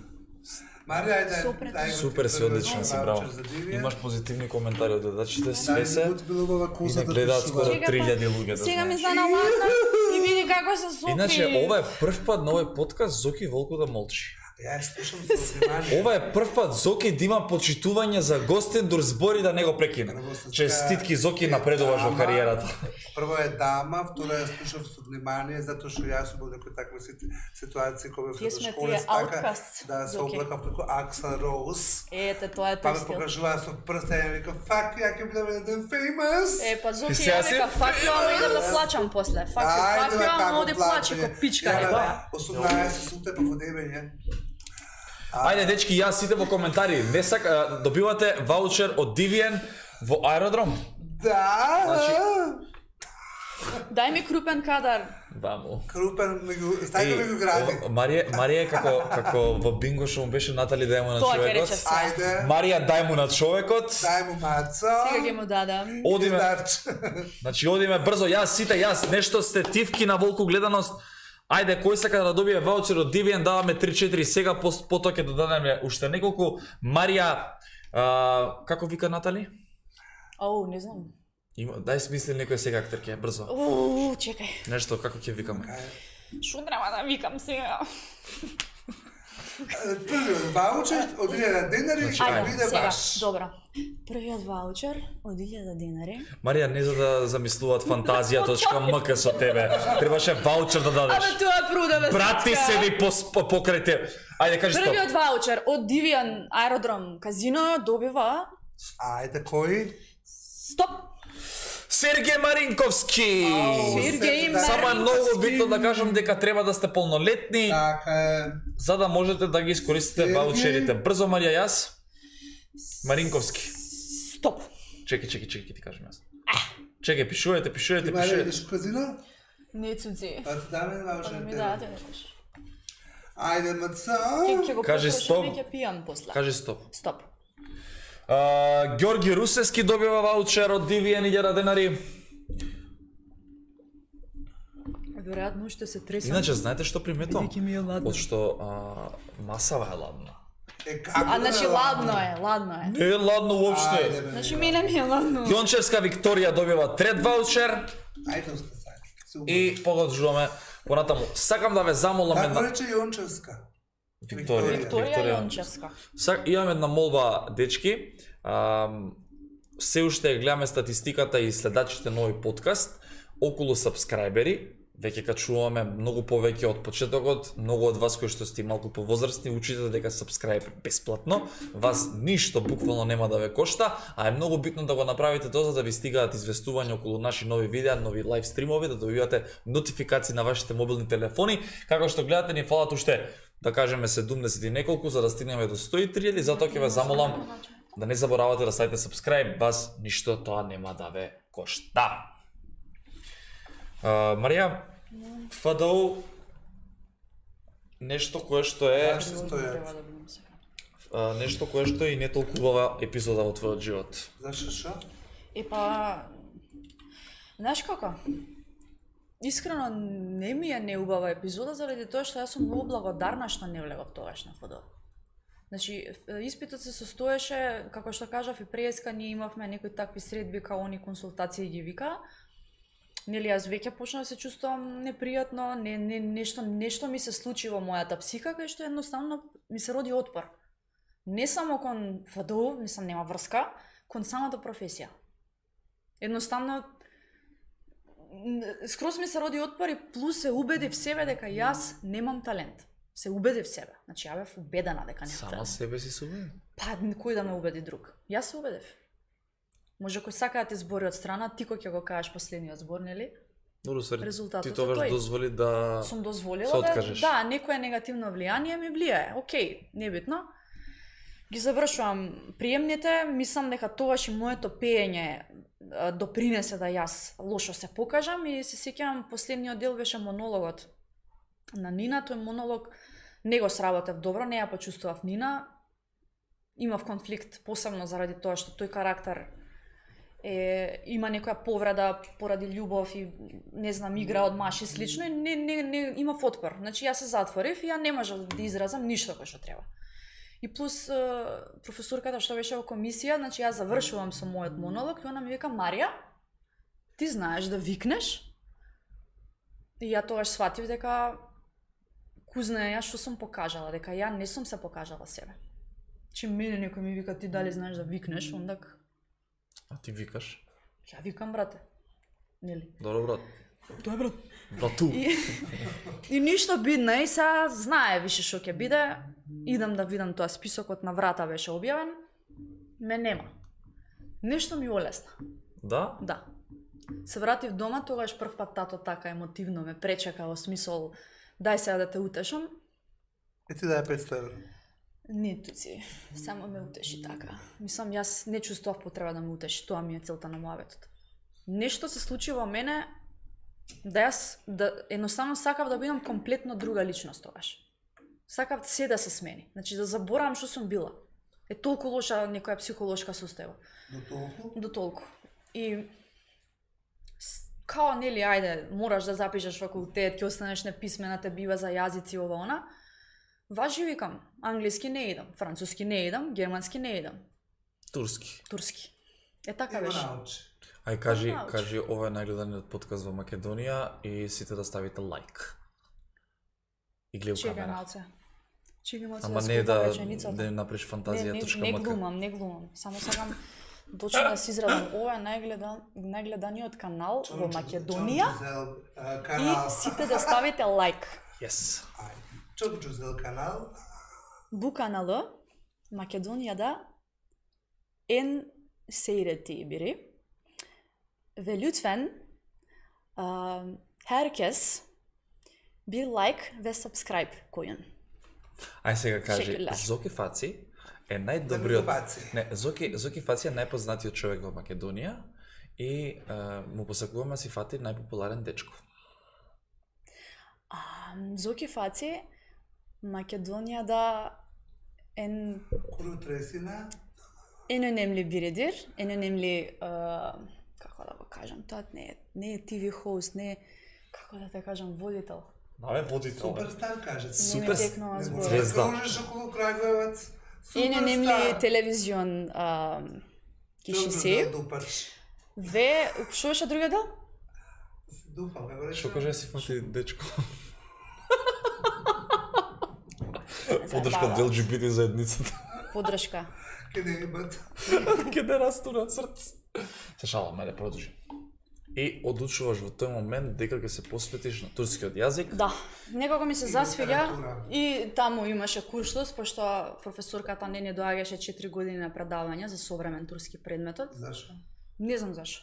Марија, ајде, ајде. Супер си, одлично си, браво. Имаш позитивни коментари од гледачите, све се. И не гледаат скоро три илјади луѓе. Сега ми стана ладно и види како се Зоки. Иначе, ова е прв пат на овој подкаст Зоки Волку да молчи. Ја слушам со внимание. Ова е прв пат Зоки да има почитување за гостен дур збори да не го прекине. Честитки Зоки, напредуваш во кариерата. Прво е дама, второ е слушам со внимание затоа што јас сум во некои такви ситуации кога во школа така да се облакав како Аксел Роуз. Ете, тоа е Па тој ме стил. покажува со прста и вика fuck ја ќе бидам еден famous. Е, па Зоки, сега ја си века, фак ја, ама идам да плачам после. Фак ја, фак ја, ама оди плаче ко пичка, река. осумнаесет сутте по водебење. Ајде, дечки, јас сите во коментари. Не сака, добивате ваучер од Дивиен во аеродром. Да. Значи, Дај ми крупен кадар. Да му. Крупен меѓу стајка меѓу гради. о, Марија, Марија е како како во бинго што му беше Натали дај му на Тоа ќе човекот. рече се. Ајде, Марија дај му на човекот. дај му маца. Сега ќе му дадам. Одиме. Дарче. Значи одиме брзо, јас сите, јас нешто сте тивки на волку гледаност. Ајде, кој сака да добие ваучер од Deviant, даваме три-четири сега, потоа ќе додадеме уште неколку. Марија, а, како вика Натали? Ау, не знам. Има, дај смисли некој сега актерке, брзо. Уу, чекај. Нешто, како ќе викаме? Шо треба да викам сега? Првиот ваучер од илјада денари ќе Ајде, биде сега, ваш. добро. Првиот ваучер од илјада денари. Марија, не за да замислуваат фантазија точка ем ка со тебе. Требаше ваучер да дадеш. Абе тоа е прудава. Брати седи по, по, покрај те. Ајде, кажи стоп. Првиот ваучер од Deviant аеродром казино добива Ајде, кој? стоп. Сергеј Маринковски. Сергеј Да. Само е многу Маринковски. битно да кажам дека треба да сте полнолетни, Така е. за да можете да ги искористите Сергеј. ваучерите. Брзо, Марија, јас. Маринковски. Стоп. Чекај, чекај, чекај, ќе ти кажам јас. Чекај, пишувате, пишувате, Ти Марија пишувате. идеш у казино? Не цуци. Па ти даме Па ваучер. ми дадете некош. Ајде, маца. Ќе ќе го Кажи потрошам стоп. и ќе пијам после. Кажи стоп. Стоп. А, Ѓорги Русевски добива ваучер од Deviant илјада денари. Веројатно уште се тресам. Иначе, знаете што приметувам? Бидејќи ми е ладно. Од што а, масава е ладна. Е, како А, да значи е ладно е, ладно е. Не е ладно Ајде, уопште. бе. Значи мене ми е ладно. Јончевска Викторија добива трет ваучер Ајде, усте саки. Се и продолжуваме понатаму. Сакам да ве замолам Како една рече Јончевска? Викторија. Викторија Јончевска. Сак имам една молба, дечки. Ам, се уште гледаме статистиката и следачите на овој подкаст околу сабскрајбери. Веќе качуваме многу повеќе од почетокот. Многу од вас кои што сте малку повозрастни учите дека сабскрајб е бесплатно. Вас ништо буквално нема да ве кошта, а е многу битно да го направите тоа за да ви стигаат известувања околу наши нови видеа, нови лайв стримови, да добивате нотификации на вашите мобилни телефони. Како што гледате, ни фалат уште, да кажеме, седумдесет и неколку за да стигнеме до сто и три, затоа ќе ве замолам да не заборавате да ставите subscribe, вас ништо тоа нема да ве кошта. Uh, Марија, Ф Д У нешто кое што е Се стојат. Треба да бидам сега. uh, нешто кое што е и не толку убава епизода во твојот живот. Зашо шо? Е па, знаеш како? Искрено не ми е неубава епизода заради тоа што јас сум многу благодарна што не влегов тогаш на Ф Д У. Значи, испитот се состоеше, како што кажав и преска, ние имавме некои такви средби као они консултации ги вика. Нели јас веќе почнав да се чувствувам непријатно, не, не, нешто, нешто ми се случи во мојата псика, кај што едноставно ми се роди отпор. Не само кон Ф Д У, мислам нема врска, кон самата професија. Едноставно, н- скроз ми се роди отпор и плюс се убедив себе дека јас немам талент. Се убедив себе. Значи, ја бев убедена дека немам Сама талент. себе си субе. Па, кој да ме убеди друг? Јас се убедив. Може кој сака да ти збори од страна, ти кој ќе го кажеш последниот збор, нели? Добро, свари, Резултатот ти е тогаш тој. дозволи да Сум се дозволила да, откажеш. да, некое негативно влијание ми влијае. Океј, небитно. Ги завршувам приемните, мислам дека тогаш и моето пеење а, допринесе да јас лошо се покажам и се сеќавам последниот дел беше монологот на Нина, тој монолог не го сработев добро, не ја почувствував Нина. Имав конфликт посебно заради тоа што тој карактер е, има некоја повреда поради љубов и не знам игра од маш и слично и не, не, не имав отпор. Значи јас се затворив и ја не можев да изразам ништо кој што треба. И плюс е, професорката што беше во комисија, значи јас завршувам со мојот монолог и она ми вика: Марија, ти знаеш да викнеш? И ја тогаш сватив дека кузна ја што сум покажала, дека ја не сум се покажала себе. Че мене некој ми вика: ти дали знаеш да викнеш, ондак А ти викаш. ја викам, брате. Нели? Добро, брат. Тоа е, брат. Брату. И, и ништо бидно, и сега знае више што ќе биде. Идам да видам тоа, списокот на врата беше објавен. Ме нема. Нешто ми олесна. Да? Да. Се вратив дома, тогаш прв пат тато така емотивно ме пречека во смисол дај сега да те утешам. Е ти дај петстотини евра. Не, туци, само ме утеши така. Мислам, јас не чувствував потреба да ме утеши, тоа ми е целта на муабетот. Нешто се случи во мене да јас да едноставно сакав да бидам комплетно друга личност тогаш. Сакав се да се смени. Значи да заборавам што сум била. Е толку лоша некоја психолошка состојба. До толку? До толку. И као нели ајде, мораш да запишеш факултет, ќе останеш неписмена, те бива за јазици ова она. Важи викам, англиски не идам, француски не идам, германски не идам. Турски. Турски. Е така Има беше. научи. Ај кажи, Научи. кажи ова е најгледаниот подкаст во Македонија и сите да ставите лайк. И гледа Чекај камера. малце. Чекај малце Ама да не скопам да реченицата. да направиш Не, фантазија не, точка не мк. глумам, не глумам. Само сакам точно да се изразам. Ова е најгледан, најгледаниот канал во Македонија Чончузел, а, и канал. сите да ставите лайк. Yes. Ајде. Чончузел канал. Bu kanalı Makedonya'da en seyrettiği biri. Ve lütfen uh, herkes bir like ve subscribe koyun. Ај сега кажи, Шекелар. Зоки Фаци е Да најдобриот... го баци. Не, Зоки, Зоки Фаци е најпознатиот човек во Македонија и е, му посакуваме да си фати најпопуларен дечко. Um, Zoki Fatih Makedonya'da en Kuru Тресина. en önemli biridir. En önemli uh, kako da го кажам, тоа не е не е ти ви host, не е како да те кажам водител. Наве водител. Суперстар кажат. Не ми Супер текнува Не збор. може Звезда. да кружиш околу Краговец. En önemli Суперстар. televizyon um, kişisi Чончузел Дупач. ve što беше другиот дел? Дупам, како рече? Што кажа си фати дечко? Заебава. Подршка од ел џи би ти заедницата. Подршка. Ке не ебат. Ке не растура срце. Се шалам, ајде продолжи. И одлучуваш во тој момент дека ќе се посветиш на турскиот јазик. Да, некако ми се И засвига литература. и таму имаше курсус, пошто професорката не ни доаѓаше четири години на предавање за современ турски предметот. Зашо? Не знам зашо.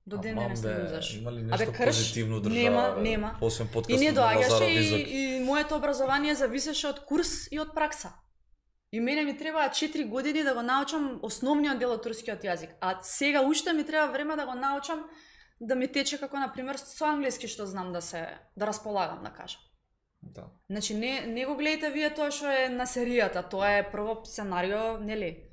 До ден Амам, денес бе, не знам зашо. Има ли Абе, нешто крш, позитивно држава? нема, бе? нема. Освен И подкастот не на доаѓаше Лазаров и, Визок. и моето образование зависеше од курс и од пракса. И мене ми требаа четири години да го научам основниот дел од турскиот јазик. А сега уште ми треба време да го научам да ми тече како на пример со англиски што знам да се да располагам, да кажам. Да. Значи не не го гледате вие тоа што е на серијата, тоа е прво сценарио, нели?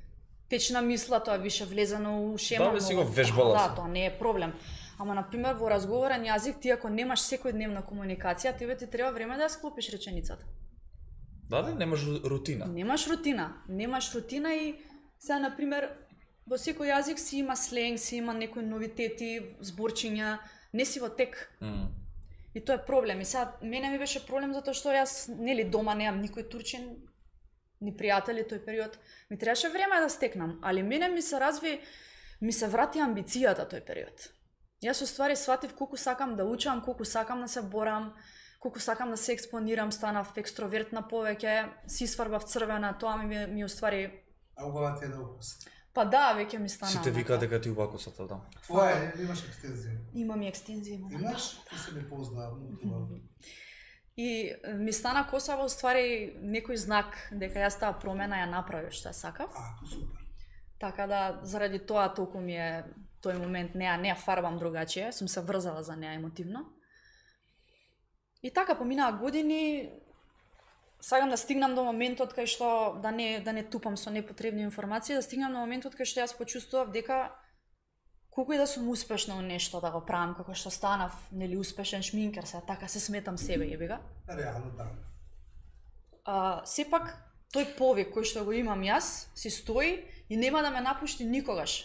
Течна мисла, тоа е више влезено у шема. Да, бе, си го многу- вежбала Да, си. тоа не е проблем. Ама на пример во разговорен јазик ти ако немаш секојдневна комуникација, тебе ти треба време да ја склопиш реченицата. Да, ли немаш рутина? Немаш рутина, немаш рутина и сега на пример во секој јазик си има сленг, си има некои новитети, зборчиња, не си во тек. М. И тоа е проблем. И сега мене ми беше проблем затоа што јас нели дома немам никој турчин, ни пријатели тој период. Ми требаше време да стекнам, али мене ми се разви, ми се врати амбицијата тој период. Јас уствари сватив колку сакам да учам, колку сакам да се борам, колку сакам да се експонирам, станав екстровертна повеќе, си сварбав црвена, тоа ми ми уствари А убава ти е да укус. па да, веќе ми стана. Сите онака. викаат дека ти убакосата, да. Твоја е, имаш екстензија. Имам и екстензија, имам. Имаш? Ти се не познавам. И е, ми стана косава уствари некој знак дека јас таа промена ја направив што ја сакав. А, супер. Така да заради тоа толку ми е тој момент не ја не ја фарбам другачие, сум се врзала за неа емотивно. И така поминаа години, сакам да стигнам до моментот кај што да не да не тупам со непотребни информации, да стигнам до моментот кај што јас почувствував дека колку и да сум успешна во нешто да го правам, како што станав, нели успешен шминкер, се така се сметам себе, јебига. Реално да. А, сепак тој повик кој што го имам јас си стои и нема да ме напушти никогаш.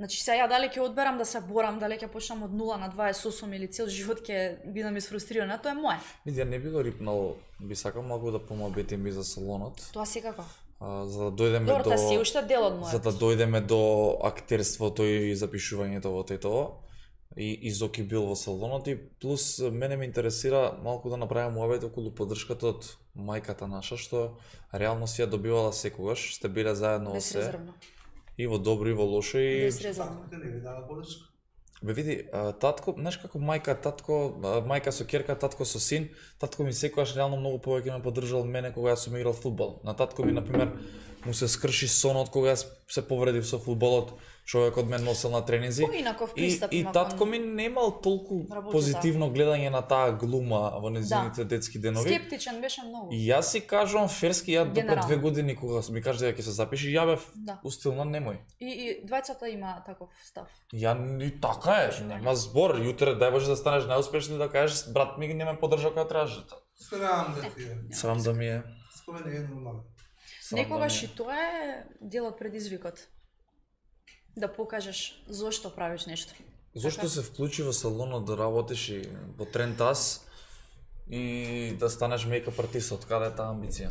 Значи сега ја дали ќе одберам да се борам, дали ќе почнам од нула на дваесет и осум или цел живот ќе бидам изфрустрирана, тоа е мое. Види, ја не би го рипнал, би сакал малку да помабетим и за салонот, Тоа секако. а, за да дојдеме Добро, до... тоа си уште дел од За моето. да дојдеме до актерството и запишувањето во тетово. И, и Зоки бил во салонот и плюс мене ме интересира малку да направиме муабет околу поддршката од мајката наша, што реално си ја добивала секогаш, сте биле заедно во се, Безрезервно. и во добро и во лошо и... Безрезервно. Татко те не ви дава подршка. Бе види, а, татко, знаеш како мајка, татко, а, мајка со ќерка, татко со син, татко ми секогаш реално многу повеќе ме поддржал од мене кога јас сум играл фудбал. На татко ми, например, му се скрши сонот кога јас се повредив со фудбалот, човекот ме носел на тренинзи. Поинаков И, пристап и има татко кон ми немал толку работата. позитивно гледање на таа глума во незините Да. детски денови. Скептичен беше многу. И јас си кажувам ферски, ја допред Генерално. две години кога ми кажа дека ќе се запиши, ја бев Да. устилна немој. И, и двајцата има таков став. Ја и така е, нема збор. Јутре дај Боже да станеш најуспешни да кажеш брат ми не ме поддржа кога требаше. Срам да ти е. Срам да ми е. Спомене е нормално. Срам да Некогаш ми е. и тоа е дел од предизвикот. Да покажеш зошто правиш нешто. Зошто Така. се вклучи во салонот да работиш и во Трентас и да станеш мејкап артист, од каде е таа амбиција?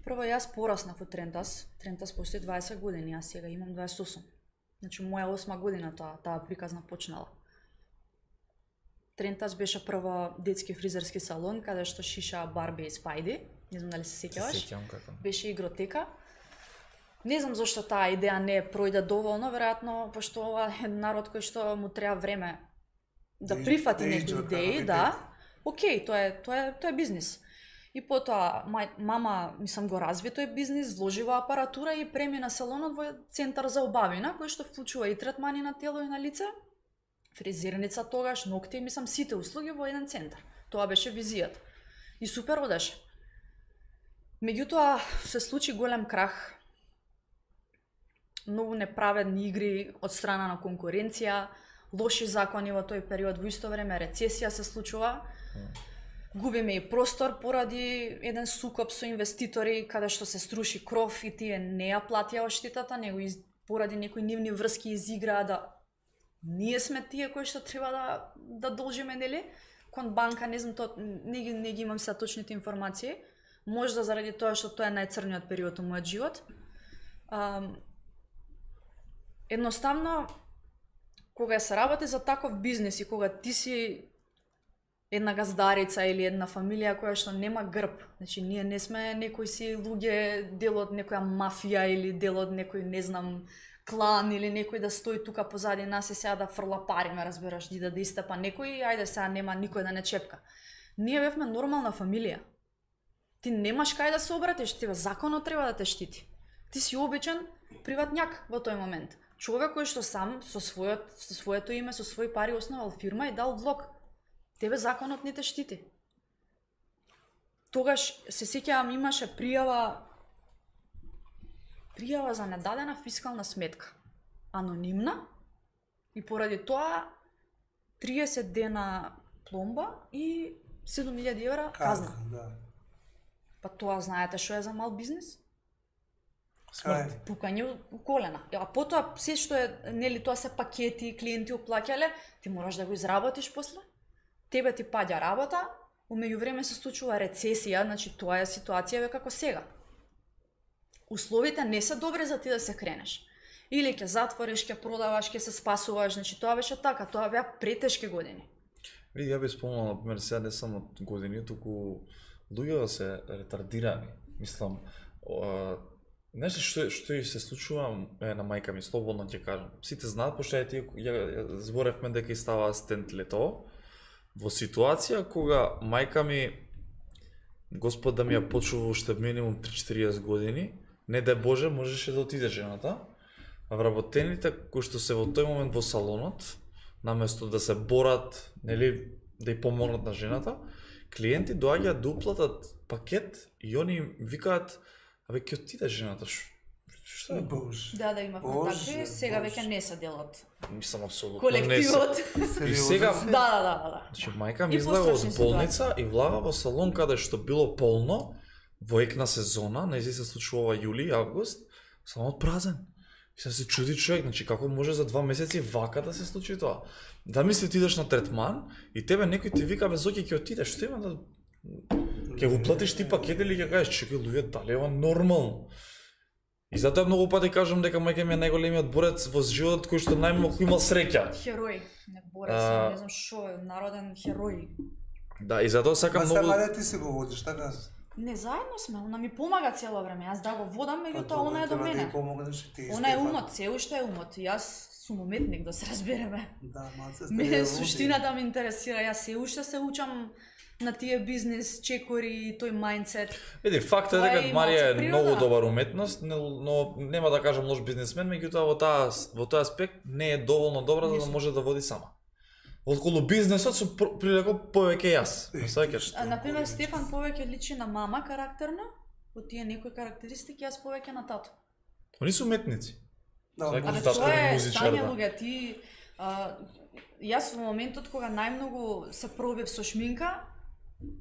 Прво јас пораснав во Трентас. Трентас постои дваесет години, јас сега имам дваесет и осум. Значи моја осма година таа таа приказна почнала. Трентас беше прво детски фризерски салон каде што шиша Барби и Спајди. Не знам дали се сеќаваш. Сеќавам како. Беше игротека. Не знам зошто таа идеја не пројде доволно, веројатно пошто ова е народ кој што му треба време да Да прифати да некои иđe идеи, од да. Океј, тоа е тоа е тоа е бизнис. И потоа мај, мама, мислам, го разви тој бизнис, вложила апаратура и премина салонот во центар за убавина, кој што вклучува и третмани на тело и на лице, фризерница тогаш, ногти, мислам, сите услуги во еден центар. Тоа беше визијата. И супер одеше. Меѓутоа се случи голем крах. Многу неправедни игри од страна на конкуренција, лоши закони во тој период, во исто време рецесија се случува. Губиме и простор поради еден сукоп со инвеститори каде што се струши кров и тие не ја платија оштетата, него из, поради некои нивни врски изиграа да ние сме тие кои што треба да да должиме, нели? Кон банка, не знам, то не ги не ги имам се точните информации. Можда заради тоа што тоа е најцрниот период од мојот живот. Ам, едноставно, кога се работи за таков бизнес и кога ти си една газдарица или една фамилија која што нема грб, значи ние не сме некои си луѓе дел од некоја мафија или дел од некој, не знам, клан или некој да стои тука позади нас и сега да фрла пари, ме разбираш, да да истепа некој, ајде сега нема никој да не чепка. Ние бевме нормална фамилија. Ти немаш кај да се обратиш, тебе законот треба да те штити. Ти си обичен приватњак во тој момент. Човек кој што сам со својот со своето име, со своји пари основал фирма и дал влог. Тебе законот не те штити. Тогаш се сеќавам имаше пријава пријава за недадена фискална сметка. Анонимна и поради тоа триесет дена пломба и седум илјади евра казна. Да. Па тоа знаете што е за мал бизнес? Смрт. Пукање у колена. А потоа се што е, нели, тоа се пакети, клиенти уплаќале, ти мораш да го изработиш после. Тебе ти паѓа работа, у меѓувреме се случува рецесија, значи тоа е ситуација како сега. Условите не се добри за ти да се кренеш. Или ќе затвориш, ќе продаваш, ќе се спасуваш, значи тоа беше така, тоа беа претешки години. Види, ја би спомнал, например, сега не само од години, туку луѓето се ретардирани. Мислам, а, нешто што што и се случува е, на мајка ми, слободно ќе кажам. Сите знаат, пошто ја, ја, ја зборевме дека и става стент лето, во ситуација кога мајка ми, Господ да ми ја почува уште минимум три-четириесет години, не да Боже, можеше да отиде жената, а вработените кои што се во тој момент во салонот, наместо да се борат, нели, да ја помогнат на жената, клиенти доаѓаат да уплатат пакет и они им викаат: "Абе, ќе отиде жената." Што е? Боже. Да, да имавме Боже, такви, сега Боже. веќе не се дел од Мислам апсолутно колективот. не се. И сега, Да, да, да, да. значи мајка ми И излага пострашни од болница и влага во салон каде што било полно во екна сезона, нејзи се случува јули, август, салонот празен. И се се чуди човек, значи како може за два месеци вака да се случи тоа? Да мисли ти идеш на третман и тебе некој ти вика: "Бе, Зоки, ќе отидеш, што има да ќе го платиш ти пакет или ќе кажеш: "Чекај, луѓе, дали е ова нормално?" И затоа многу пати кажам дека мајка ми е најголемиот борец во животот кој што најмногу имал среќа. Херој, не борец, А, не знам што е, народен херој. Да, и затоа сакам Ма многу. сама не ти се го водиш, така? Не, заедно сме, она ми помага цело време. Јас да го водам, меѓутоа она е до Треба да мене. ја помогнеш и ти. Она е Стефан. умот, се уште е умот. Јас сум уметник, да се разбереме. Да, малце сте Мене ја суштината ме интересира, јас се уште се учам на тие бизнес чекори и тој мајндсет. Види, факт е Тоа е дека и Марија е малце многу природа. добар уметност, но, но нема да кажам лош бизнесмен, меѓутоа во таа во тој аспект не е доволно добра за да Мислам. може да води сама. Отколу бизнесот сум пр- прилего повеќе јас. Е, Не сеќаш? А, например, Стефан повеќе личи на мама карактерно, од тие некои карактеристики, јас повеќе на тато. Они се уметници. Да, Секој Абе, тато тоа е е музичар, стање, да. луѓе, ти... А, јас во моментот кога најмногу се пробив со шминка,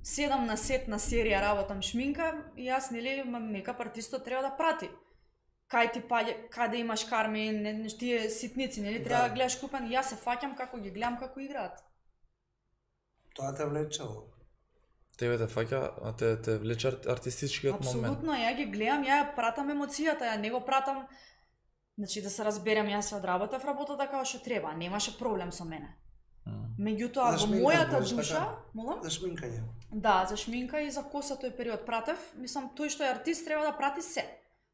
седам на сет на серија работам шминка, и јас, нели, мекап артистот треба да прати. Кај ти паѓа, каде имаш карми, не, не, тие ситници, нели, треба да, Да. гледаш купен, и јас се фаќам како ги гледам како играат. Тоа те влечело. Тебе те фаќа, а те те влече ар- артистичкиот момент. Апсолутно, ја ги гледам, ја ја пратам емоцијата, ја не го пратам. Значи да се разберем, јас се одработав работата како што треба, немаше проблем со мене. М. Меѓутоа За во шминка мојата знаеш, душа, така? молам? За шминкање. Да, за шминка и за коса тој период пратев. Мислам, тој што е артист треба да прати се.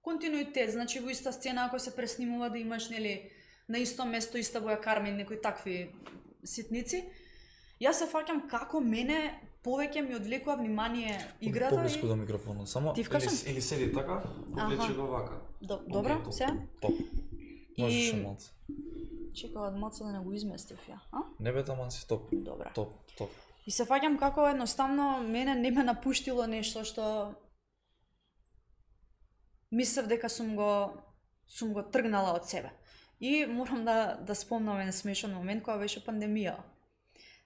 Континуитет, значи во иста сцена ако се преснимува да имаш, нели, на исто место иста боја карми, некои такви ситници. Јас се фаќам како мене повеќе ми одвлекува внимание играта Поблиску и... до микрофонот, само Ти или, вкажам? или седи така, повлечи Аха. го вака. До, добро, Окей, топ. сега? Топ. Можеш И- малце. Чекав од маца да не го изместив ја, а? Не бе таман си топ. Добра. Топ, топ. И се фаќам како едноставно мене не ме напуштило нешто што мислев дека сум го сум го тргнала од себе. И морам да да спомнам еден смешен момент кога беше пандемија.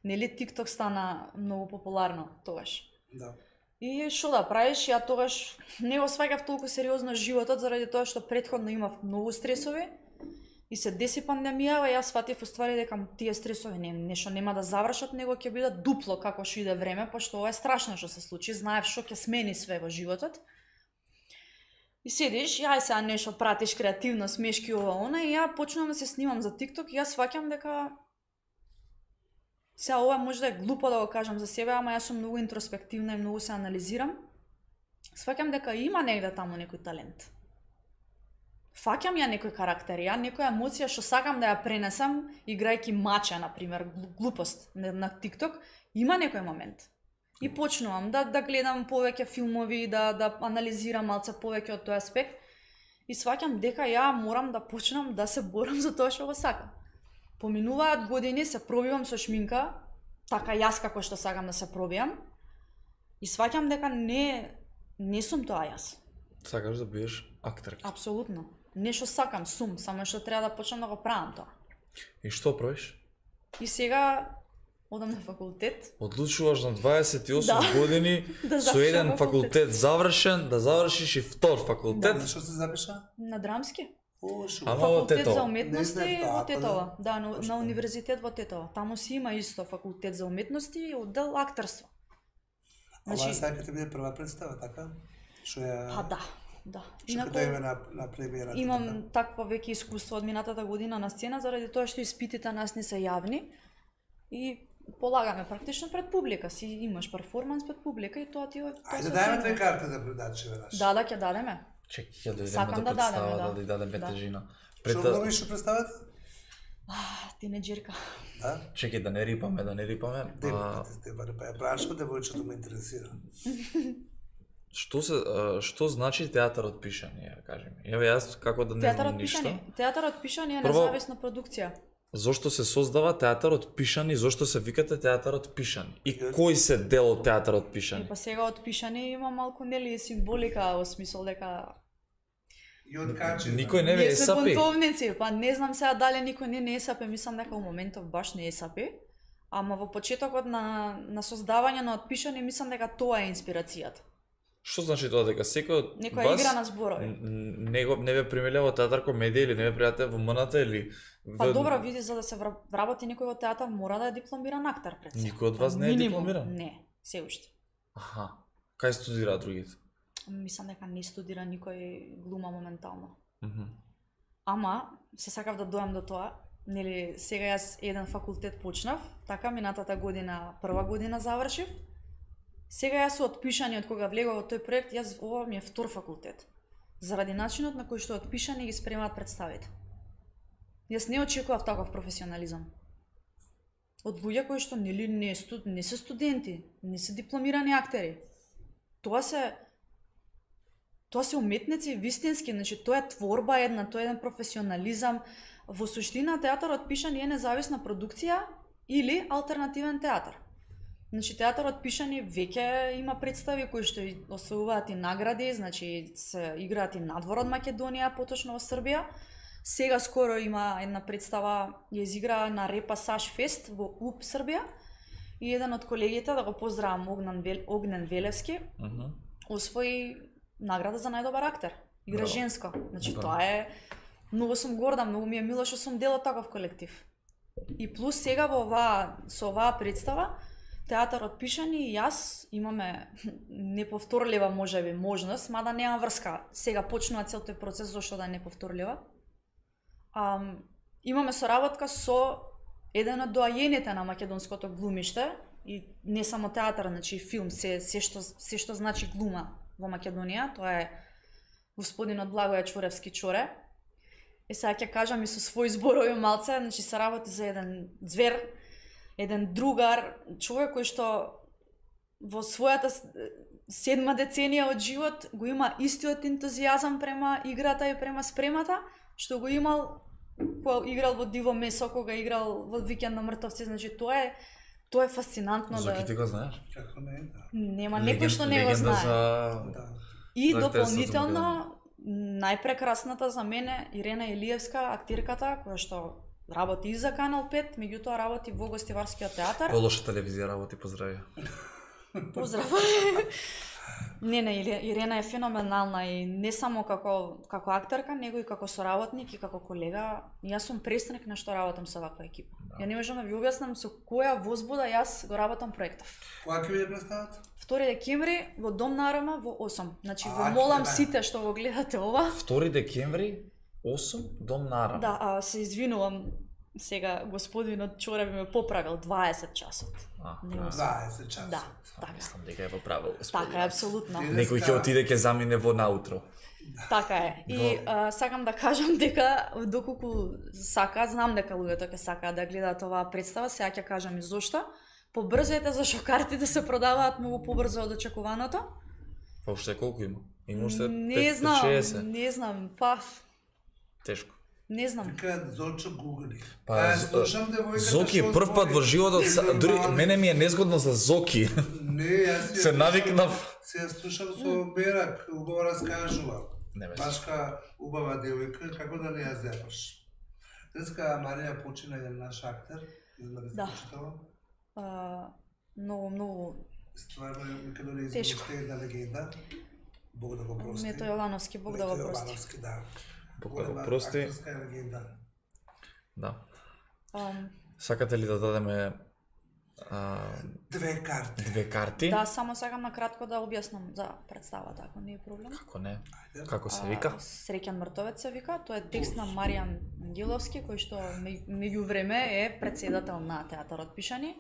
Нели TikTok стана многу популарно тогаш. Да. И што да правиш, ја тогаш не го сваќав толку сериозно животот заради тоа што претходно имав многу стресови. И се деси пандемијава, јас сватив уствари дека тие стресови не, нешто нема да завршат, него ќе бидат дупло како што иде време, пошто ова е страшно што се случи, знаев што ќе смени све во животот. И седиш, ја сега нешто пратиш креативно, смешки ова она, и ја почнувам да се снимам за TikTok и јас сваќам дека сега ова може да е глупо да го кажам за себе, ама јас сум многу интроспективна и многу се анализирам. Сваќам дека има негде таму некој талент. Фаќам ја некој карактер, ја некоја емоција што сакам да ја пренесам, играјќи мача, например, глупост на, на TikTok, има некој момент. И почнувам да, да гледам повеќе филмови, да, да анализирам малце повеќе од тој аспект. И сваќам дека ја морам да почнам да се борам за тоа што го сакам. Поминуваат години, се пробивам со шминка, така јас како што сакам да се пробијам. И сваќам дека не, не сум тоа јас. Сакаш да бидеш актерка. Апсолутно. Нешто сакам, сум, само што треба да почнам да го правам тоа. И што правиш? И сега одам на факултет. Одлучуваш на дваесет и осум Да. години Да со завршам еден факултет завршен, да завршиш и втор факултет. Да, што се запиша? На драмски. О, шо. Ама во Факултет Тетово. за Не уметности знаев тоа, во па Тетово. Да, на, Точно. на универзитет во Тетово. Таму си има исто факултет за уметности и оддел актерство. Ова Значи, сега ќе ти биде прва представа, така? Што ја... па да, да. Што Инаку, ќе дојме на, на премиерата. имам така? такво веќе искуство од минатата година на сцена, заради тоа што испитите нас не се јавни и полагаме практично пред публика. Си имаш перформанс пред публика и тоа ти е... тоа Ајде се дајме оценува. две карти да предачи веднаш. Да, да, ќе дадеме. Чекај, ќе дојдеме Сакам да да дадеме, представа, да. да, да дадеме Да. тежина. Што Пред го да, добиш што представата? А, тинеџерка. Да? чекај да не рипаме, да не рипаме. А, Девојките, те баре, па ја прашам, девојчето ме интересира. што се а, што значи театарот пишање, кажи ми. Еве јас како да не знам Театарот ништо. пишани. Театарот пишани е Прво- независна продукција. Зошто се создава театарот пишани, зошто се викате театарот пишани? И кој се дел од театарот И пишани? па сега од пишани има малку нели символика во смисол дека И од Качина. Никој не ве ние сме есапи. бунтовници, па не знам сега дали никој не не есапи, мислам дека во моментов баш не есапи. Ама во почетокот на на создавање на отпишани мислам дека тоа е инспирацијата. Што значи тоа дека секој од Некоја вас игра на зборови. н- н- не го не ве примиле во театар комедија или не ве пријате во МНТ или Па ве- добро, види, за да се вра- вработи некој во театар мора да е дипломиран актер пред се. Никој од вас не е Минимум. дипломиран? Не, се уште. Аха. Кај студираат другите? Мислам дека не студира никој глума моментално. Мгм. Ама, се сакав да дојам до тоа, нели, сега јас еден факултет почнав, така, минатата година, прва година завршив, Сега јас сум отпишани од кога влегов во тој проект, јас ова ми е втор факултет. Заради начинот на кој што отпишани ги спремаат представите. Јас не очекував таков професионализам. Од луѓе кои што нели не, студ, не се студенти, не се дипломирани актери. Тоа се тоа се уметници вистински, значи тоа е творба една, тоа е еден професионализам. Во суштина театарот пишани е независна продукција или алтернативен театар. Значи театарот пишани веќе има представи кои што освојуваат и награди, значи се играат и надвор од Македонија, поточно во Србија. Сега скоро има една представа, ја изигра на Репасаж Фест во У П Србија. И еден од колегите, да го поздравам, Огнен, Вел, Огнен Велевски, uh -huh. освои награда за најдобар актер. Игра Браво. Женска. Значи Браво. Тоа е многу сум горда, многу ми е мило што сум дел од таков колектив. И плюс сега во оваа со оваа представа театарот пишани и јас имаме неповторлива можеби можност, мада нема врска. Сега почнува цел тој процес зашто да е неповторлива. А, имаме соработка со еден од доајените на македонското глумиште и не само театар, значи филм, се се што се што значи глума во Македонија, тоа е господинот Благоје Чоревски Чоре. Е сега ќе кажам и со своји зборови малце, значи се работи за еден звер, еден другар, човек кој што во својата седма деценија од живот го има истиот ентузијазам према играта и према спремата, што го имал кога играл во Диво месо, кога играл во Викенд на мртовци, значи тоа е тоа е фасцинантно. Зоки да... ти го знаеш? Како не, да. Нема некој што не го знае. За... Да. И дополнително најпрекрасната за мене Ирена Илиевска, актирката која што работи и за Канал пет, меѓутоа работи во Гостиварскиот театар. Во лоша телевизија работи, поздрави. Поздрав. Не, не, Ирена е феноменална и не само како како актерка, него и како соработник и како колега. Јас сум престрекна што работам со ваква екипа. Да. Ја не можам да ви објаснам со која возбуда јас го работам проектов. Кога ќе биде представата? втори декември во Дом на АРМ во осум. Значи во молам сите што го гледате ова. втори декември осум Дом на АРМ. Да, а, се извинувам. Сега господинот Чоре би ме поправил дваесет часот. А, дваесет часот. Да, така. Мислам дека е поправил господин. Така е, апсолутно. Некој ќе отиде ќе замине во наутро. Така е. И а, сакам да кажам дека доколку сака, знам дека луѓето ќе сакаат да гледаат оваа представа, сега ќе кажам и зошто. Побрзете зашто картите се продаваат многу побрзо од очекуваното. Па уште колку има? Има уште Не знам, не знам, па тешко. Не знам. Така Зочо гугли. Па, слушам девојката Зоки прв пат во животот, дури мене ми е незгодно за Зоки. Не, јас се навикнав. Се слушам со Берак, убаво раскажува. Не ме. Башка убава девојка, како да не ја земаш. Деска Марија почина еден наш актер, да Да. А, многу, многу стварно Македонија изгубила една легенда. Бог да го прости. Мето Јовановски, Бог да го прости. Јовановски, да. Бог да го прости. Да. Um, Сакате ли да дадеме а, две карти? Две карти? Да, само сакам на кратко да објаснам за представата, ако не е проблем. Како не? Како се вика? А, Среќен мртовец се вика. Тоа е текст на Маријан Ангеловски, кој што меѓу време е претседател на театарот Пишани.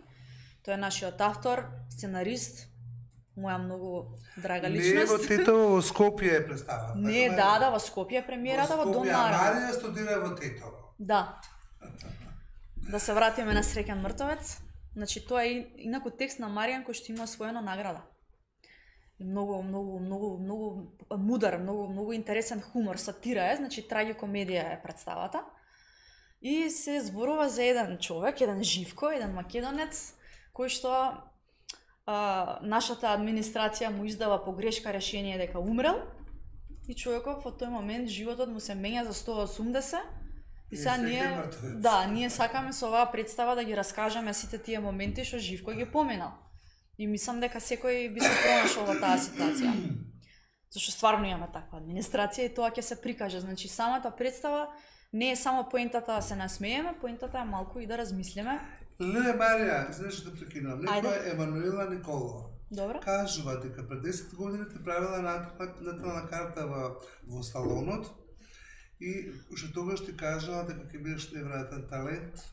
Тој е нашиот автор, сценарист, моја многу драга личност. Не, во Тетово, во Скопје е представата. Не, да, да, во Скопје премиерата во Дом на АРМ. Марија студира во Тетово. Да. Да се вратиме на Среќен мртовец. Значи тоа е инаку текст на Маријан кој што има освоена награда. И многу, многу, многу, многу мудар, многу, многу интересен хумор, сатира е, значи трагикомедија е представата. И се зборува за еден човек, еден Живко, еден македонец, кој што а, нашата администрација му издава погрешка решение дека умрел. И човеков во тој момент животот му се менја за сто осумдесет. И сега ние, да, ние сакаме со оваа представа да ги раскажеме сите тие моменти што Живко ги поминал. И мислам дека секој би се пронашол во таа ситуација. Зашто стварно имаме таква администрација и тоа ќе се прикаже. Значи самата представа не е само поентата да се насмееме, поентата е малку и да размислиме. Леле Марија, извинеш што те прекинувам. Некоја Емануела Николова. Добро. Кажува дека пред десет години те правила натална карта во, во салонот и уште тогаш ти кажала дека ќе бидеш неверојатен талент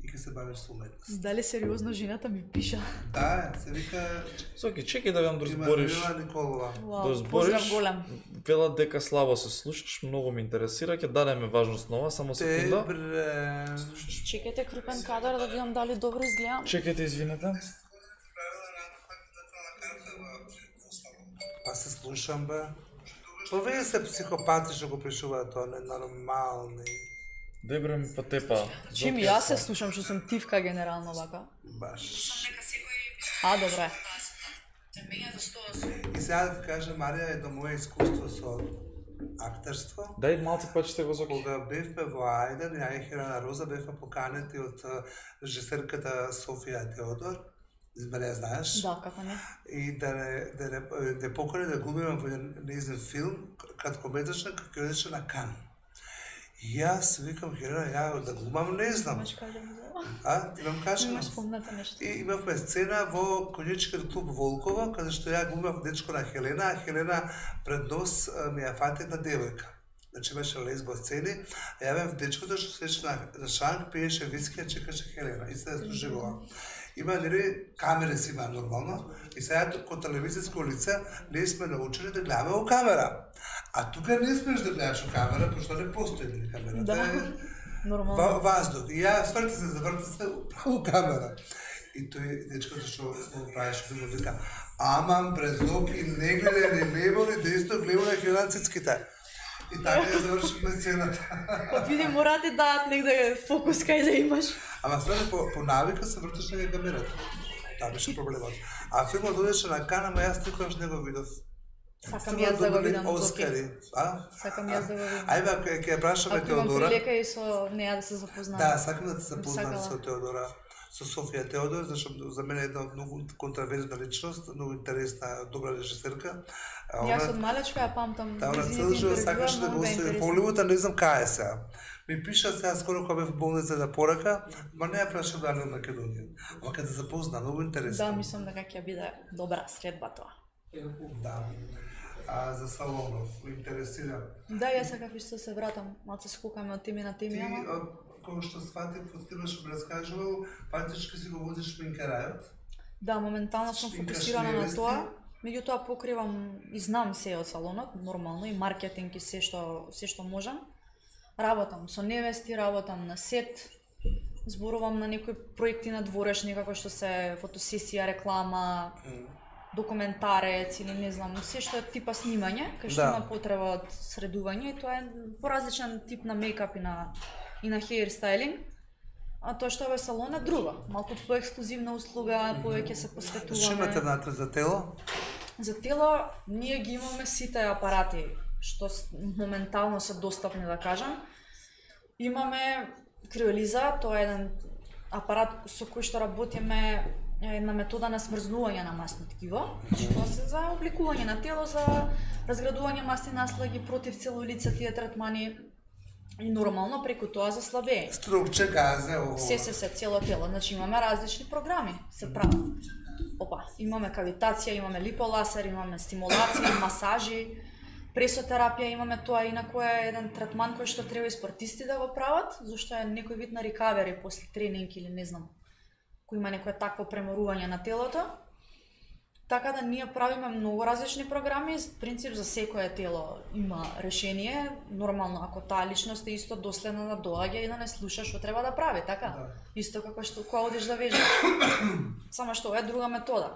и ќе се бавиш со уметност. Дали сериозно жената ми пиша? Да, се вика Соки, чекај да вам да има збориш. Мила Николова. Вау, Да збориш. поздрав голем. Велат дека слабо се слушаш, многу ме интересира, ќе дадеме важност нова, само секунда. Добре. Чекайте крупен кадар да видам дали добро изгледам. Чекайте, извинете. Па се слушам, бе. Повеќе се психопати што го пишуваат тоа, ненормални. Дебре ми потепа. Чим и јас се слушам што сум тивка генерално вака. Баш. А, добре. И сега да ти кажа, Марија, едно моје искуство со актерство. Дај малце почите го Зоки. Кога бевме во Ајден, ја и Хелена Роза бевме поканети од режисерката Софија Теодор. Избере ја знаеш. Да, како не. И да не, да не, да покани да глумиме во еден нејзин филм, краткометражен, кој одеше на Кан. И јас викам, Хелена, ја да глумам, не знам. Имаш кажам за. А, ти вам кажам? Имаш спомната нешто. И имавме сцена во конјачкиот клуб Волково, каде што ја глумав дечко на Хелена, а Хелена пред нос ми ја фати една девојка. Значи имаше лесбо сцени, а ја бев дечкото што седеше на, на шанк, пиеше виски, а чекаше Хелена и се служивала. Има нели камери си има нормално и сега ко телевизиско лице ние сме научени да гледаме во камера. А тука не смеш да гледаш во камера, пошто не постои нели камера. Да. Нормално. Ва, воздух. И ја сврти се, заврти се право камера. И тој дечкото што го правеше филм вика: "Амам брезоки, не гледа ни лево ни десно, гледа на хиланцицките." И така ја завршивме сцената. Па види мора ти дадат негде фокус кај да имаш. Ама све по, по навика се вртеше на камерата. Таа беше проблемот. А филмот одеше на Кан, ама јас никогаш не го видов. Сакам јас да го видам Зоки. Оскари, а? Сакам јас да го видам. Ајде, ќе ќе ја прашаме Ако имам Теодора. прилика и со неа да се запознам. Да, сакам да се запознам Сакала. со Теодора, со Софија Теодор, зашто за мене е една многу контраверзна личност, многу интересна, добра режисерка. А Јас од малечка ја памтам. Да, она незините цел живот интервјуа, сакаше да многу го беа остави интересни. Холивуд, а не знам кај е сега. Ми пиша сега скоро кога бев в болница да порака, ма не ја прашам дали од Македонија. Ама кога се запозна, многу интересно. Да, мислам дека ќе биде добра средба тоа. Да. А за Салонов, ме интересира. Да, јас сакав исто се вратам, малце скокаме од теми на теми, Ти, ама од кога што сватив, од тебе што ме раскажувал, фактички си го водиш шминкарајот. да, моментално сум Шпинкаш фокусирана на невести? тоа. Меѓутоа покривам и знам се од салонот, нормално и маркетинг и се што се што можам. Работам со невести, работам на сет, зборувам на некои проекти на дворешни како што се фотосесија, реклама, документарец или не знам, се што е типа снимање, кај што Да. има потреба од средување и тоа е поразличен тип на мејкап и на и на хеир стайлинг. А тоа што е салон е друго, малку поексклузивна услуга, повеќе се Што посветуваме. имате внатре за тело? За тело ние ги имаме сите апарати што с- моментално се достапни да кажам. Имаме криолиза, тоа е еден апарат со кој што работиме е една метода на смрзнување на масни ткиво, што се за обликување на тело, за разградување масни наслаги против целулица, тие третмани и нормално преку тоа за слабење. Струкче, газе, ово. Се се се цело тело, значи имаме различни програми се прават. Опа, имаме кавитација, имаме липоласер, имаме стимулации, масажи, пресотерапија, имаме тоа инаку е еден третман кој што треба и спортисти да го прават, зашто е некој вид на рекавери после тренинг или не знам, кој има некое такво преморување на телото. Така да ние правиме многу различни програми, принцип за секое тело има решение, нормално ако таа личност е исто доследна да доаѓа и да не слуша што треба да прави, така? Да. Исто како што кога одиш да вежбаш. Само што ова е друга метода.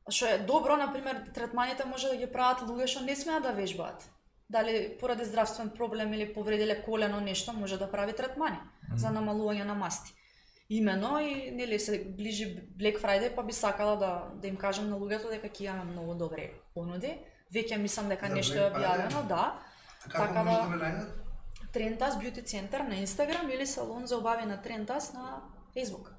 Што е добро, например, третманите може да ги прават луѓе што не смеат да вежбаат. Дали поради здравствен проблем или повредиле колено нешто, може да прави третмани mm. за намалување на масти. Имено и нели се ближи Black Friday, па би сакала да да им кажам на луѓето дека ќе имаме многу добри понуди. Веќе мислам дека За нешто е Black објавено, да. Како Така може да- да ме најдат? Трентас Beauty Center на Инстаграм или салон за обави на Трентас на Facebook.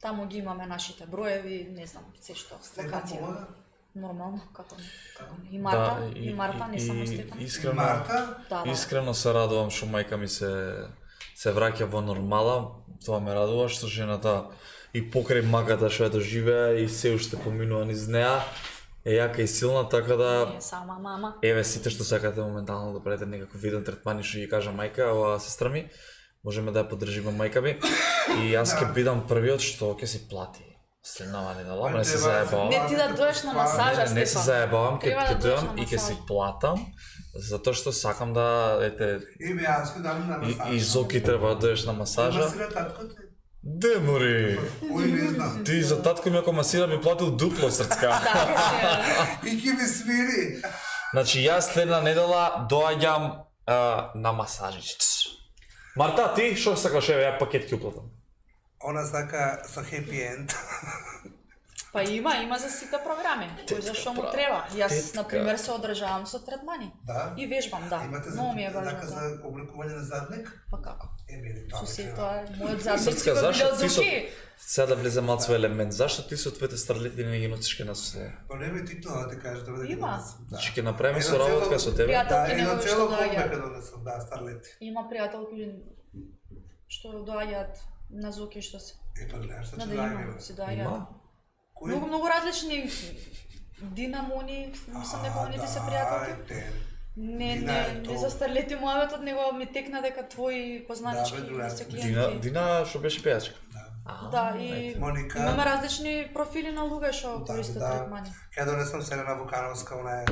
Таму ги имаме нашите броеви, не знам, се што, Стефан локација. помага? Нормално, како не. Како не. И Марта, и, Марта, не само Стефан. Искрено, Марта? Да, да. искрено се радувам што мајка ми се се враќа во нормала. Тоа ме радува што жената и покрај маката што ја доживеа и се уште поминува низ неа е јака и силна, така да Не, сама мама. еве сите што сакате моментално да правите некаков виден третман и што ги кажа мајка, ова сестра ми, можеме да ја поддржиме мајка ми и јас ќе бидам првиот што ќе си плати. Следнава недела, не се заебавам. Не ти да доеш на масажа, Не, не се Стефан. заебавам, ќе Треба ќе да доеш дојдам на и ќе си масаж. платам, затоа што сакам да, ете, Име јас ќе дам на и, масажа. и Зоки треба да доеш на масажа. Масира татко ти? Де, мори? Ој не знам. Ти за татко ми ако масира би платил дупло срцка. И ќе ми свири. Значи јас следна недела доаѓам а, на масажист. Марта, ти што сакаш, еве ја пакет ќе уплатам. Она сака со хепи енд. Па има, има за сите програми. Кој за што му треба. Јас, Тетка. на пример, се одржавам со третмани. Да? И вежбам, да. Имате за Многу ми е така важно. за Да. обликување на задник? Па како? Еми, тоа Со ме се треба. тоа, мојот задник Срцка, го зашто било ти со... Зоки. Сега да влезе малку во елемент, зашто ти со твоите старлети не ги носиш кај нас услуга? Па не ме ти тоа да ти кажеш, треба да ги Има. донесам. Да. Значи ќе направиме Едно соработка цело- со тебе. Пријател- Да, Талки едно негови цело што комбе доаѓаат. кај донесам, да, старлети. Има пријателки што доаѓаат на Зоки што се. Е, па гледаш, што Да, ќе да дајме, има, бе. си доаѓаат. Има? Кој? Многу, многу различни динамони, мислам дека они ти се пријателки. Да, те. Не, Дина е не, то. не за старлети мојавето, него ми текна дека твои познанички Да, бе, друга. се Дина, клиенти. Дина што беше пејачка. Да, и Моника. имаме различни профили на луѓе што Да, користат да. третмани. Ќе донесам Селена Вукановска, она е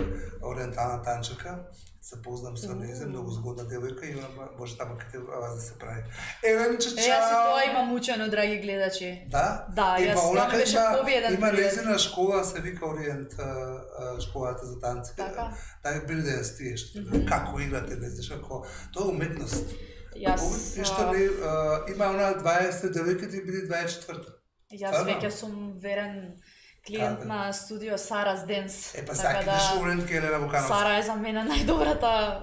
ориентална танчерка. Се познам со нејзе, многу згодна девојка и она може таму кај вас да се прави. Еленче, Е, чао! јас и тоа имам учено, драги гледачи. Да? Да, Е, јас па она тоа кај беше има- победен Има период. лезена школа, се вика Ориент, а, а, школата за танци. Така. Така били да ја стиеш. Како играте, не знаеш, како... Тоа е уметност. Јас И што а, не, а, има она дваесет девојка, ти биде дваесет и четврта. јас Стварно? веќе сум верен клиент Каде? на студио Сарас Денс. Е, па Така саки да Ориент ке Елена Вукановска. Сара е за мене најдобрата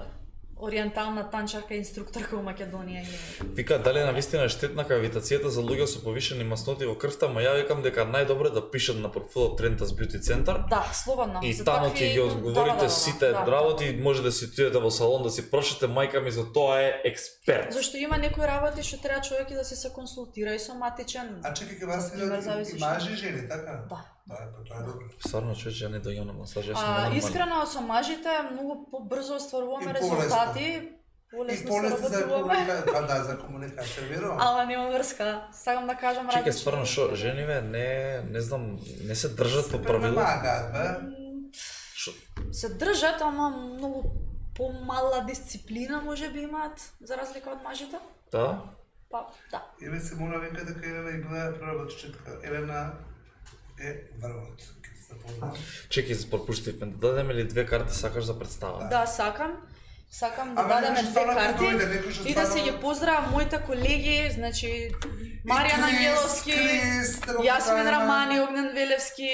ориентална танчарка и инструкторка у Македонија. и- Вика, дали е навистина штетна кавитацијата за луѓе со повишени масноти во крвта, ма ја викам дека најдобро е да пишат на профилот Трентас Бјути Центар. Да, слободно. И За таму такви- ќе ги да, одговорите да, да, сите да. работи, може да си отидете во салон да си прошете, мајка ми за тоа е експерт. Зашто има некои работи што треба човек и да се се консултира и соматичен. А чекай, кај вас Например, и зависи и што. мажи и жени, така? Да. Да, па тоа е добро. Стварно човече, ја не дојам на масажа, јас сум А, ненормален. искрено со мажите многу побрзо остваруваме И полесно. резултати, И полесно се полесно за работуваме. комуникација, па да, за комуникација, верувам. Ала нема врска. Сакам да кажам Чекај, различно. стварно шо, жениве не, не знам, не се држат по правила. Премагаат, бе. Шо, Се држат, ама многу помала дисциплина може би имаат, за разлика од мажите. да? Па, да. Еве се мора вика дека Елена и била проработчетка. Елена е врвот. Ке се запознам. Чекај, пропуштивме, да дадеме ли две карти сакаш за представа? Да, сакам. Сакам да Ама дадеме некој две стварно ќе карти дојде, некој што и да се стварно- ги поздравам моите колеги, значи Маријан Крис, Ангеловски, Крис, да го Јасмин поздравиме. Рамани, Огнен Велевски,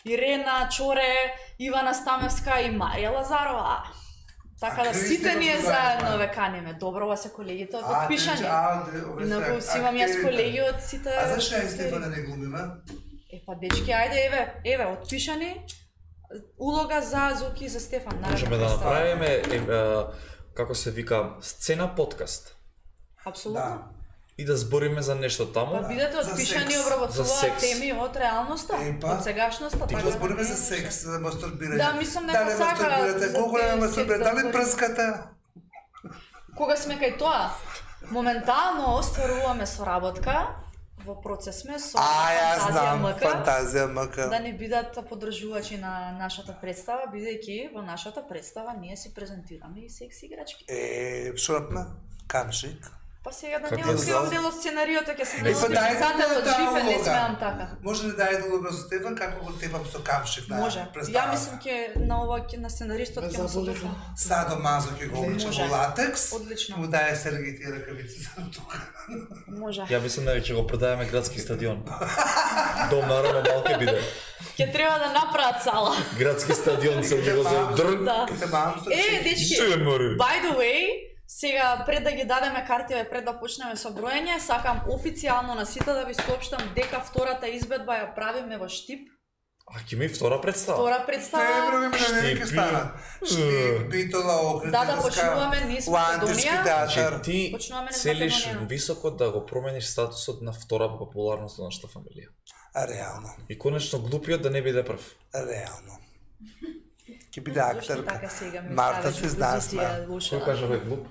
Ирена Чоре, Ивана Стамевска и Марија Лазарова. Така А да Крис сите не го ние поздравиме. заедно ве каниме. Добро вас е колегите од А, отпишани. ти- а, де- овие Инаку се си имам јас активите. колеги од сите. А зашто ја сфери. Стефана не глумиме? Е па дечки, ајде еве, еве отпишани улога за Зоки и за Стефан. наредна Можеме да представа. направиме, е, е, како се вика, сцена подкаст. Апсолутно. Да. И да збориме за нешто таму. Па бидете За отпишани секс. За обработуваат секс. теми од реалноста, Е, па. од сегашноста. Ти така го да збориме не за е секс, нешто. за мастурбирање. Да, мислам дека Дали сака мастурбирате? за Колку те не мастурбирате? секс да Дали збориме. прската? Кога сме кај тоа, моментално остваруваме соработка, во процес сме со А, јас Фантазија знам, МК, фантазија МК. да не бидат подржувачи на нашата представа, бидејќи во нашата представа ние си презентираме и секс играчки. Е, шорпна, камшик. Па сега да Како не е откривам зал? дел од сценариото, ќе се Е, дел па од дај писателот, да жив е, не улога. смеам така. Може ли да е улога со Стефан, како го тепам со камшик на Може. Ја представата? мислам ќе на ова ќе на сценаристот ќе му се допа. Садо Мазо ќе го облича Може. во латекс. Одлично. Му дае Сергеј тие ракавици за тука. Може. Ја мислам дека ќе го продаваме градски стадион. Дом наравно малке биде. Ќе треба да направат сала. Градски стадион се го за дрн. Да. Ќе те мам со Е, дечки, Се мори. by the way, сега пред да ги дадеме картиве, пред да почнеме со броење, сакам официјално на сите да ви соопштам дека втората избедба ја правиме во Штип. А ќе ми втора представа. Втора Те представа. брови ме на Штип, ќе стана. Штип, Битола, Охрид, Да, да почнуваме низ Лантишки Македонија. театар. Значи ти Почнуваме низ целиш Македонија. високо да го промениш статусот на втора по популарност на нашата фамилија. А реално, И конечно глупиот да не биде прв. реално. Ќе биде Зошто актерка. така сега ми Марта ставиш се во знае позиција сме. лоша? Кој кажа бе глуп?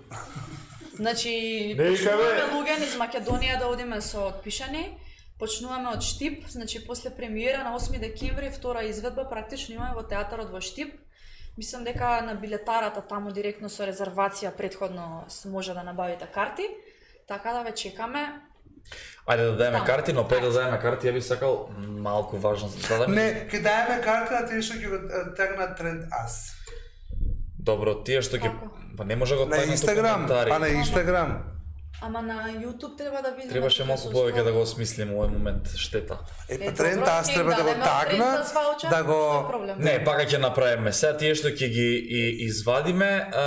Значи, Не, почнуваме кабе. луѓе низ Македонија да одиме со отпишани. Почнуваме од Штип, значи после премиера на осми декември, втора изведба практично имаме во театарот во Штип. Мислам дека на билетарата таму директно со резервација претходно може да набавите карти. Така да ве чекаме. Ајде да даеме Таму. карти, но пред да даеме карти, ја би сакал малку важно за да Не, ќе даеме карта на тие што ќе го е, тегнат тренд ас. Добро, тие што ќе Како? па не може да го На тагнат у Инстаграм, коментари. па на Инстаграм. Ама на YouTube треба да видиме. Требаше дека малку се повеќе успеа. да го осмислим овој момент, штета. Е, Е, па тренд добро, ас ќе треба да го дадеме тренд тагнат, ас ваучер, да што е го... проблем? Не, пака ќе направиме. Сега тие што ќе ги и, извадиме, а,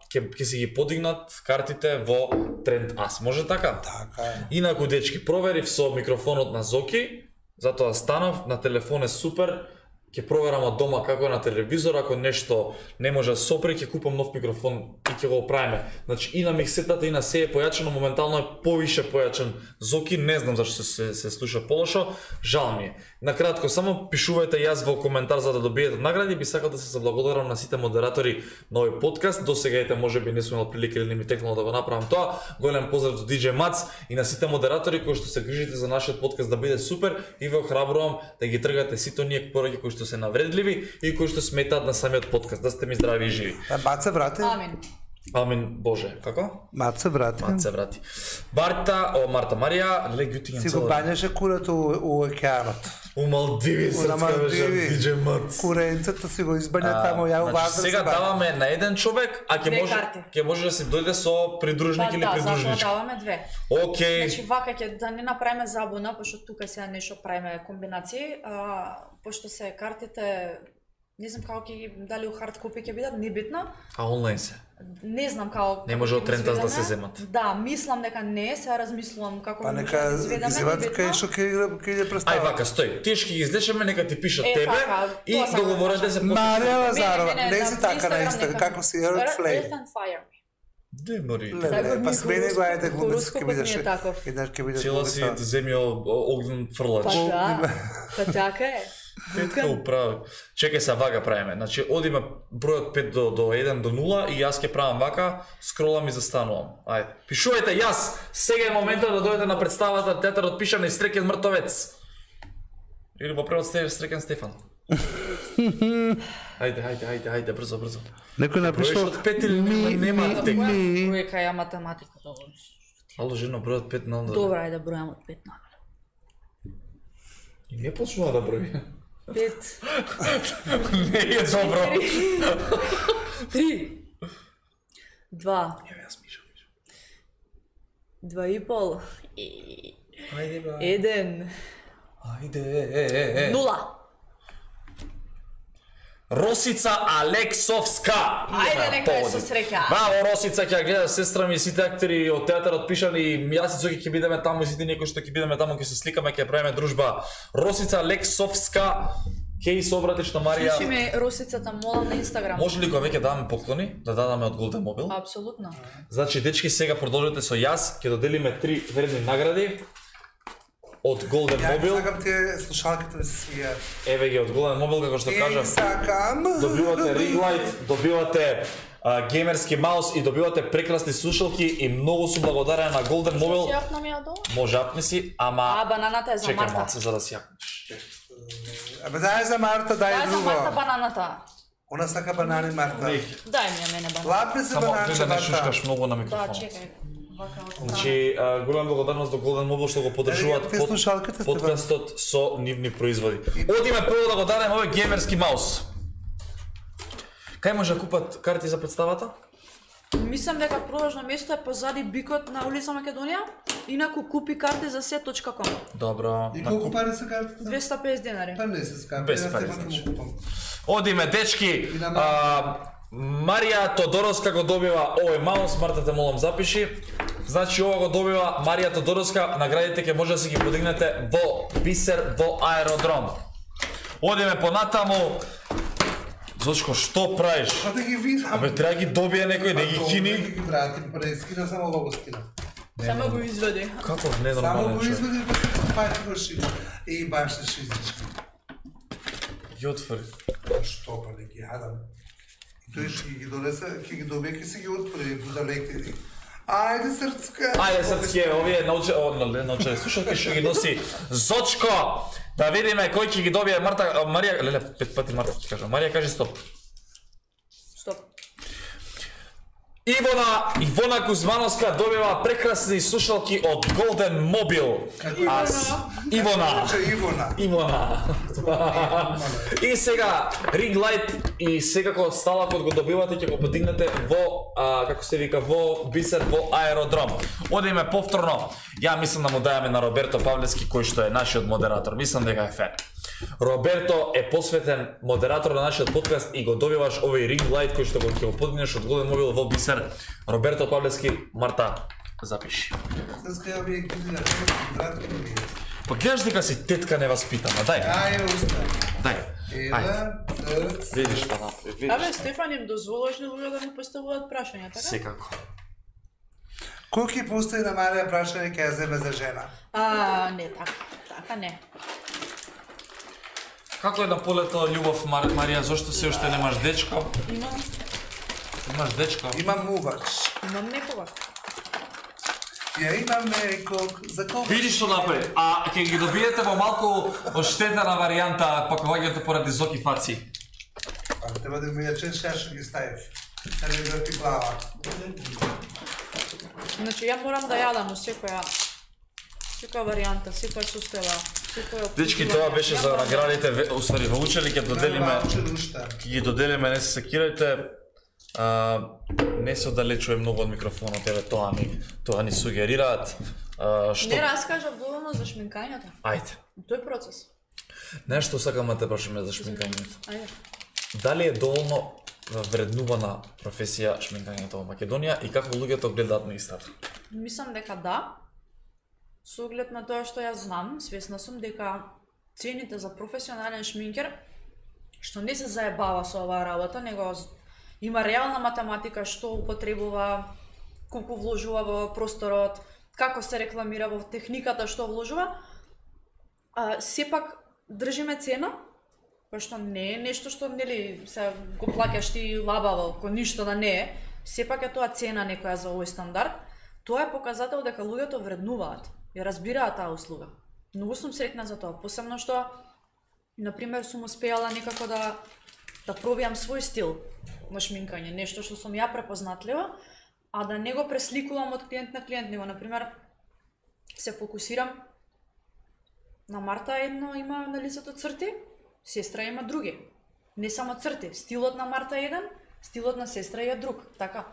ќе ќе си ги подигнат картите во Тренд Ас. Може така? Така е. Инаку дечки, проверив со микрофонот на Зоки, затоа станав, на телефон е супер. Ќе проверам од дома како е на телевизор, ако нешто не може да сопре, ќе купам нов микрофон и ќе го оправиме. Значи и на миксетата и на се е појачено, моментално е повише појачен Зоки, не знам зашто се, се слуша полошо, жал ми е. Накратко, само пишувајте јас во коментар за да добиете награди, би сакал да се заблагодарам на сите модератори на овој подкаст. До сега ете можеби не сум имал прилика или не ми текнало да го направам тоа. Голем поздрав до диџеј Мац и на сите модератори кои што се грижите за нашиот подкаст да биде супер и ве охрабрувам да ги тргате сите оние пораки кои што се навредливи и кои што сметаат на самиот подкаст, да сте ми здрави и живи. А Мат се врати? Амин. Амин, Боже, како? Мат се врати. Мат се врати. Марта, о Марта Марија, ле гютиња Си го бањаше курето у, у океанот. У Малдиви На срцка беше Малдиви. диџеј Мац. Куренцето си го избања тамо, ја Значи, важно сега даваме на еден човек, а ќе Две може карти. ќе може да си дојде со придружник Па или да, затоа придружничка. даваме две. Океј. Значи вака ќе да не направиме забуна, пошто тука сега нешто правиме комбинации, а пошто се картите не знам како ќе ги дали у хард копи ќе бидат, небитно. А онлайн се. Не знам како Не може како од ќе Тренд Ас да изведеме. се земат. Да, мислам дека не, сега размислувам како Па може нека да изведеме, извадат небитно. кај што ќе игра- ќе иде Ај представа. вака, стој. Тие што ги излечеме, нека ти пишат Е, тебе така, и тоа сакам да договорете кажам. се после. Марија Лазарова, Не, не, не на си така на Инстаграм Инстаграм, нека. како си Earth Earth Flame. and Fire. Де мори. Леле, Така па ми смени го ајде хороскопот- глумец ќе хороскопот бидеш. ми е таков. Еднаш ќе бидеш Цела си глумица. земја огнен фрлач. Па да, па така е. Петка управи. Чекај се вака правиме. Значи одиме бројот пет до до еден до нула и јас ќе правам вака, скролам и застанувам. Ајде. Пишувајте јас. Сега е моментот да дојдете на представата Театарот пишан и Стрекен мртовец. Или во превод сте Стрекен Стефан. Ајде, ајде, ајде, ајде, брзо, брзо. Некој Бројиш напишал од пет или нема, нема аптека. ми. Бројка ја математика. Ало, жено, бројот пет на onda. Добра, ајде бројам од пет на И не почнува да брои. пет, Не е добро. три, два, Еве јас мишам. два и пол, Ајде бе. еден, Ајде. нула. Росица Алексовска. Ајде, Има нека е поводи. со среќа. Браво, Росица, ќе ја гледа сестра ми и сите актери од театарот пишани и јас и Цоки ќе бидеме таму и сите некои што ќе бидеме таму ќе се сликаме, ќе правиме дружба. Росица Алексовска, ќе и се обратиш на Марија. Пиши ми Росицата, молам на Инстаграм. Може ли кога веќе даваме поклони, да дадаме од Golden Mobile? Апсолутно. Значи, дечки, сега продолжете со јас, ќе доделиме три вредни награди од Golden Ја Mobile. сакам тие слушалките ми се свијат. Еве ги од Golden Mobile, како што И кажам. сакам. Добивате ring light, добивате а, геймерски маус и добивате прекрасни слушалки и многу сум благодарен на Golden Си Mobile. јапна ми ја долу? Може апни си, ама А, бананата е за чекам Марта. малце за да си јакнеш. Абе дај за Марта, Дај дај за Марта друго. бананата. Она сака банани Марта. Дај ми ја мене банана. Лапни се Само гледа бананче не Марта. шушкаш многу на Да, микрофонот. чекај. Вака од страна. Значи, а, голема благодарност до Golden Mobile што го поддржуваат Еве, тие слушалките сте подкастот со нивни производи. Одиме прво да го дадеме овој геймерски маус. Кај може да купат карти за представата? Мислам дека продажно место е позади бикот на улица Македонија. Инаку купи карти за се точка ком. Добро. И колку пари се картите? двесте и песет денари. Па не се скапи, Без јас пари, тепак ќе значи. му купам. Одиме, дечки. И на А, Марија Тодоровска го добива овој маус, Марта те молам запиши. Значи ова го добива Марија Тодоровска, наградите ќе може да си ги подигнете во Бисер во аеродром. Одиме понатаму. Зошко, што правиш? Па да ги видам. Абе, треба ги добие некој, не ги Добре, кини. Ги вратим, па да скина само ова го скина. Само го изведи. Каков Само ненормален го човек. извади па се пати го шима. И баш се шизички. Ги отвори. Што па не ги јадам. И тој ќе ги донесе, ќе ги добие, ќе се ги отвори далеки. Ајде срцка. Ајде срцке, овие научи, о, не научи, слушалки што ги носи Зочко. Да видиме кој ќе ги добие Марта, Марија, леле, пет пати Марта ќе кажа. Марија кажи стоп. Стоп. Ивона, Ивона Кузмановска добива прекрасни слушалки од Golden Mobile. Ивона. Ивона. Ивона. Ивона. И сега Ring Light и секако сталакот го добивате, ќе го подигнете во а, како се вика во Бисер во аеродром. Одиме повторно. Ја мислам да му дајаме на Роберто Павлевски кој што е нашиот модератор. Мислам дека е фер. Роберто е посветен модератор на нашиот подкаст и го добиваш овој Ring Light кој што го ќе го подигнеш од Golden Mobile во Бисер. Роберто Павлевски, Марта, запиши. Срцка ја би ги на братко ми. Па гледаш дека си тетка неваспитана, дај. Ајде уста. Дај. Ева, срц. Видиш па напред, видиш. Абе, Стефан, им дозволуваш ли луѓе да му поставуваат прашања, така? Секако. Кој ќе постави на Марија прашање ќе ја земе за жена? А, не, така, така не. Како е на полето љубов, Мар... Марија, зошто се уште немаш дечко? Имам, Имаш дечко? Имам мувач. имам некога. Ја имам неког за кого? Видиш што направи, а ќе ги добиете во малку оштетена варијанта пакувањето поради зоки фаци. А треба да ми ја чеш шашо ги ставив. Да ми врти глава. Значи, ја морам да јадам у секоја, секоја варијанта, секоја состојба, секоја... Дечки, тоа беше за наградите, усвари во учени, ќе доделиме, Доделиме. ќе ги доделиме, не се секирајте. А, не се оддалечува многу од микрофонот, еве тоа ни, тоа ни сугерираат. А, што... Не раскажав доволно за шминкањето. Ајде. Тој процес. Нешто сакам да те прашаме за шминкањето. Ајде. Дали е доволно вреднувана професија шминкањето во Македонија и како луѓето гледаат на истата? Мислам дека да. Со оглед на тоа што ја знам, свесна сум дека цените за професионален шминкер, што не се заебава со оваа работа, него има реална математика што употребува, колку вложува во просторот, како се рекламира во техниката што вложува, а, сепак држиме цена, кој што не е нешто што нели се го плаќаш ти лабаво, кој ништо да не е, сепак е тоа цена некоја за овој стандард. Тоа е показател дека луѓето вреднуваат, ја разбираат таа услуга. Многу сум среќна за тоа, посебно што например сум успеала некако да да пробиам свој стил на шминкање, нешто што сум ја препознатлива, а да не го пресликувам од клиент на клиент, него например се фокусирам на Марта едно има на лицето црти, сестра има други. Не само црти, стилот на Марта е еден, стилот на сестра е друг, така.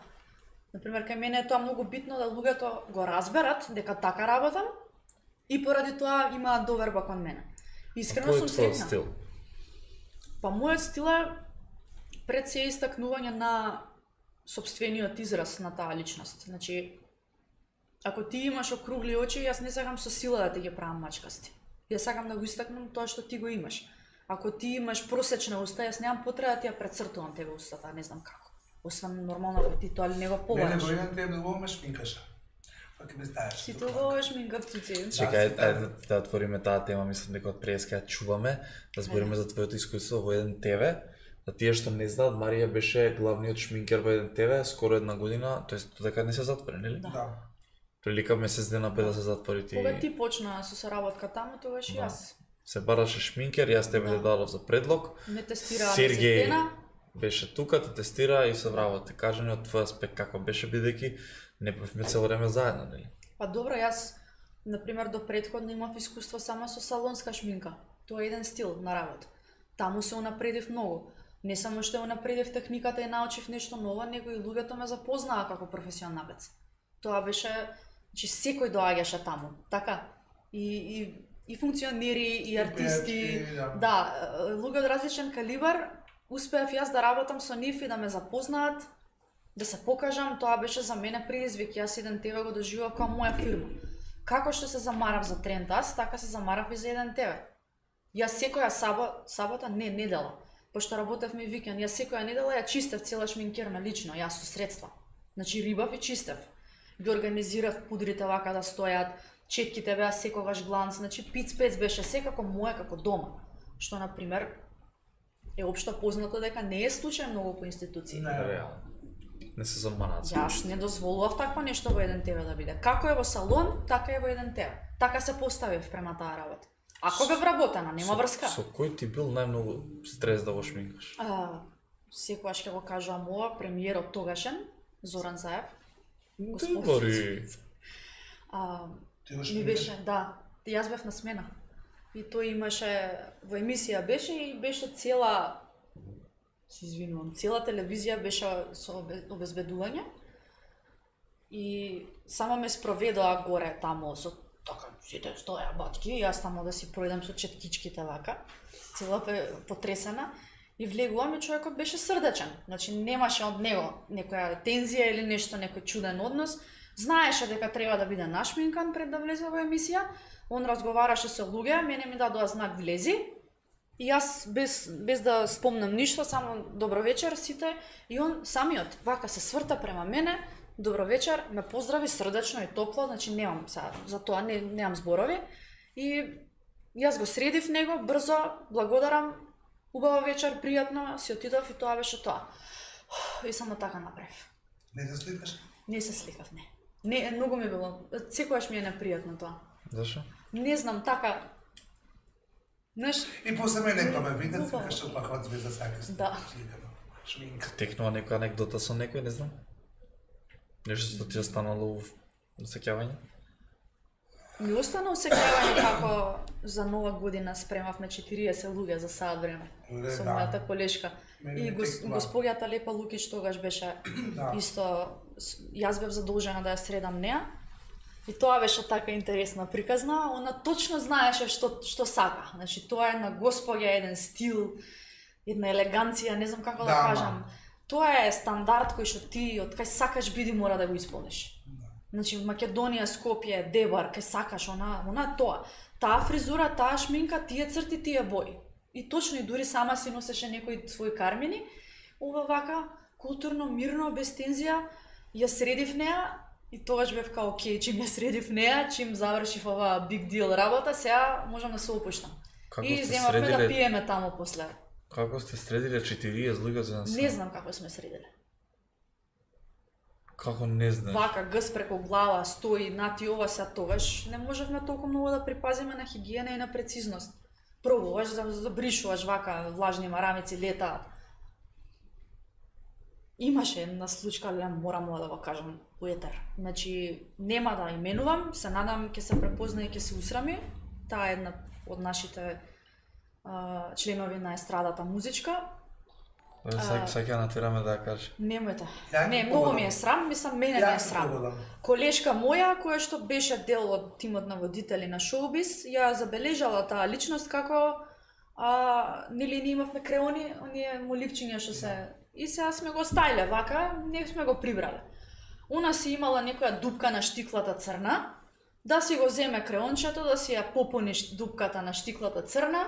Например, кај мене е тоа многу битно да луѓето го разберат дека така работам и поради тоа имаат доверба кон мене. Искрено сум среќна. Стил? Па мојот стил е пред се истакнување на сопствениот израз на таа личност. Значи, ако ти имаш округли очи, јас не сакам со сила да ти ги правам мачкасти. Јас сакам да го истакнам тоа што ти го имаш. Ако ти имаш просечна уста, јас немам потреба да ти ја прецртувам тебе устата, не знам како. Освен нормално ако ти тоа не го Мене побараш. Бојан те многу ме шминкаше. Па ќе ме ставиш. Си тоа шминкав цуци. Чекај, ајде да отвориме таа тема, мислам дека од преска ја чуваме, да збориме за твоето искуство во еден ТВ. За тие што не знаат, Марија беше главниот шминкер во еден ТВ скоро една година, тоест додека не се затвори, нели? Да. Прилика месец дена пред да се затвори ти. Кога ти почна со соработка таму, тогаш и јас. Се бараше шминкер, јас тебе Да. да. дадов за предлог. Ме тестираа Сергеј месец дена. беше тука, те тестира и се враво те кажани од твој аспект како беше бидејќи не бевме цело време заедно, нели? Па добро, јас например до претходно имав искуство само со салонска шминка. Тоа е еден стил на работа. Таму се унапредив многу. Не само што унапредив техниката и научив нешто ново, него и луѓето ме запознаа како професионалец. Тоа беше, значи секој доаѓаше таму, така? И и и функционери, и артисти, пејачи, да. да, луѓе од различен калибар, успеав јас да работам со нив и да ме запознаат, да се покажам, тоа беше за мене предизвик, јас еден ТВ го доживав како моја фирма. Како што се замарав за Трендас, така се замарав и за еден ТВ. Јас секоја сабота, сабота, не, недела, пошто работевме викенд, јас секоја недела ја чистев цела шминкерна лично, јас со средства. Значи рибав и чистев. Ги организирав пудрите вака да стојат, четките беа секогаш гланц, значи пиц-пец беше секако моја како дома. Што, например, е општо познато дека не е случај многу по институции. Не. Реално. Не се заманаци. Јас не дозволував такво нешто во еден тебе да биде. Како е во салон, така е во еден тебе. Така се поставив према таа работа. Ако бе вработена, нема врска. Со кој ти бил најмногу стрес да го шминкаш? А, секогаш ќе го кажувам ова, премиерот тогашен, Зоран Заев. Добри. А, ми беше, да, јас бев на смена. И тој имаше, во емисија беше и беше цела, се извинувам, цела телевизија беше со обезбедување. И само ме спроведоа горе тамо со така, сите стоја батки, јас тамо да си пројдам со четкичките вака, цела потресена. И влегувам и човекот беше срдечен. Значи немаше од него некоја тензија или нешто, некој чуден однос. Знаеше дека треба да биде нашминкан пред да влезе во емисија. Он разговараше со луѓе, мене ми дадоа знак влези. И јас без без да спомнам ништо, само добро вечер сите, и он самиот вака се сврта према мене. Добро вечер, ме поздрави срдечно и топло, значи немам сега за тоа не немам зборови. И јас го средив него брзо, благодарам. Убава вечер, пријатно, си отидов и тоа беше тоа. И само така направив. Не се сликаш? Не се сликав, не. Не, многу ми било, секогаш ми е непријатно тоа. Зашо? Не знам, така... Знаеш... И после мене некој ме виде, се каже, каква звезда сака се. Да. Шминка. Текнува некоја анекдота со некој, не знам. Нешто што ти е станало в сеќавање? Ми остана усеќавање како за нова година спремавме четириесет луѓе за саат време. Ле, Со да. мојата колешка. Мене И не гос, текнува. господјата Лепа Лукич тогаш беше Да. исто, с- јас бев задолжена да ја средам неа. И тоа беше така интересна приказна, она точно знаеше што што сака. Значи тоа е една господја, еден стил, една елеганција, не знам како да, Да, кажам. Тоа е стандард кој што ти од кај сакаш биди мора да го исполниш. Значи Македонија, Скопје, Дебар, кај сакаш она, она тоа. Таа фризура, таа шминка, тие црти, тие бои. И точно и дури сама си носеше некои своји кармини, ова вака културно, мирно, без тензија, ја средив неа и тогаш бев као окей, чим ја средив неа, чим завршив ова big deal работа, сега можам да се опуштам. Како И сте земавме да средиле- пиеме тамо после. Како сте средиле четириесет луѓе за нас? Не знам како сме средиле. Како не знаеш? Вака гъс преку глава стои нати ова се тогаш не можевме толку многу да припазиме на хигиена и на прецизност. Пробуваш да, да бришуваш вака влажни марамици летаат. Имаше една случка, але морам да го кажам у етер. Значи нема да именувам, се надам ќе се препозна и ќе се усрами. Таа е една од нашите а, членови на естрадата музичка. Сак, сака натираме да ја кажеш. Немојте. Ја Не, ги многу погодам. ми е срам, мислам мене ми Ја е ги срам. погодам. Колешка моја, која што беше дел од тимот на водители на шоубиз, ја забележала таа личност како а, нели ние имавме креони, оние моливчиња што се и сега сме го стајле вака, не сме го прибрале. Она си имала некоја дупка на штиклата црна, да си го земе креончето, да си ја попуни ш- дупката на штиклата црна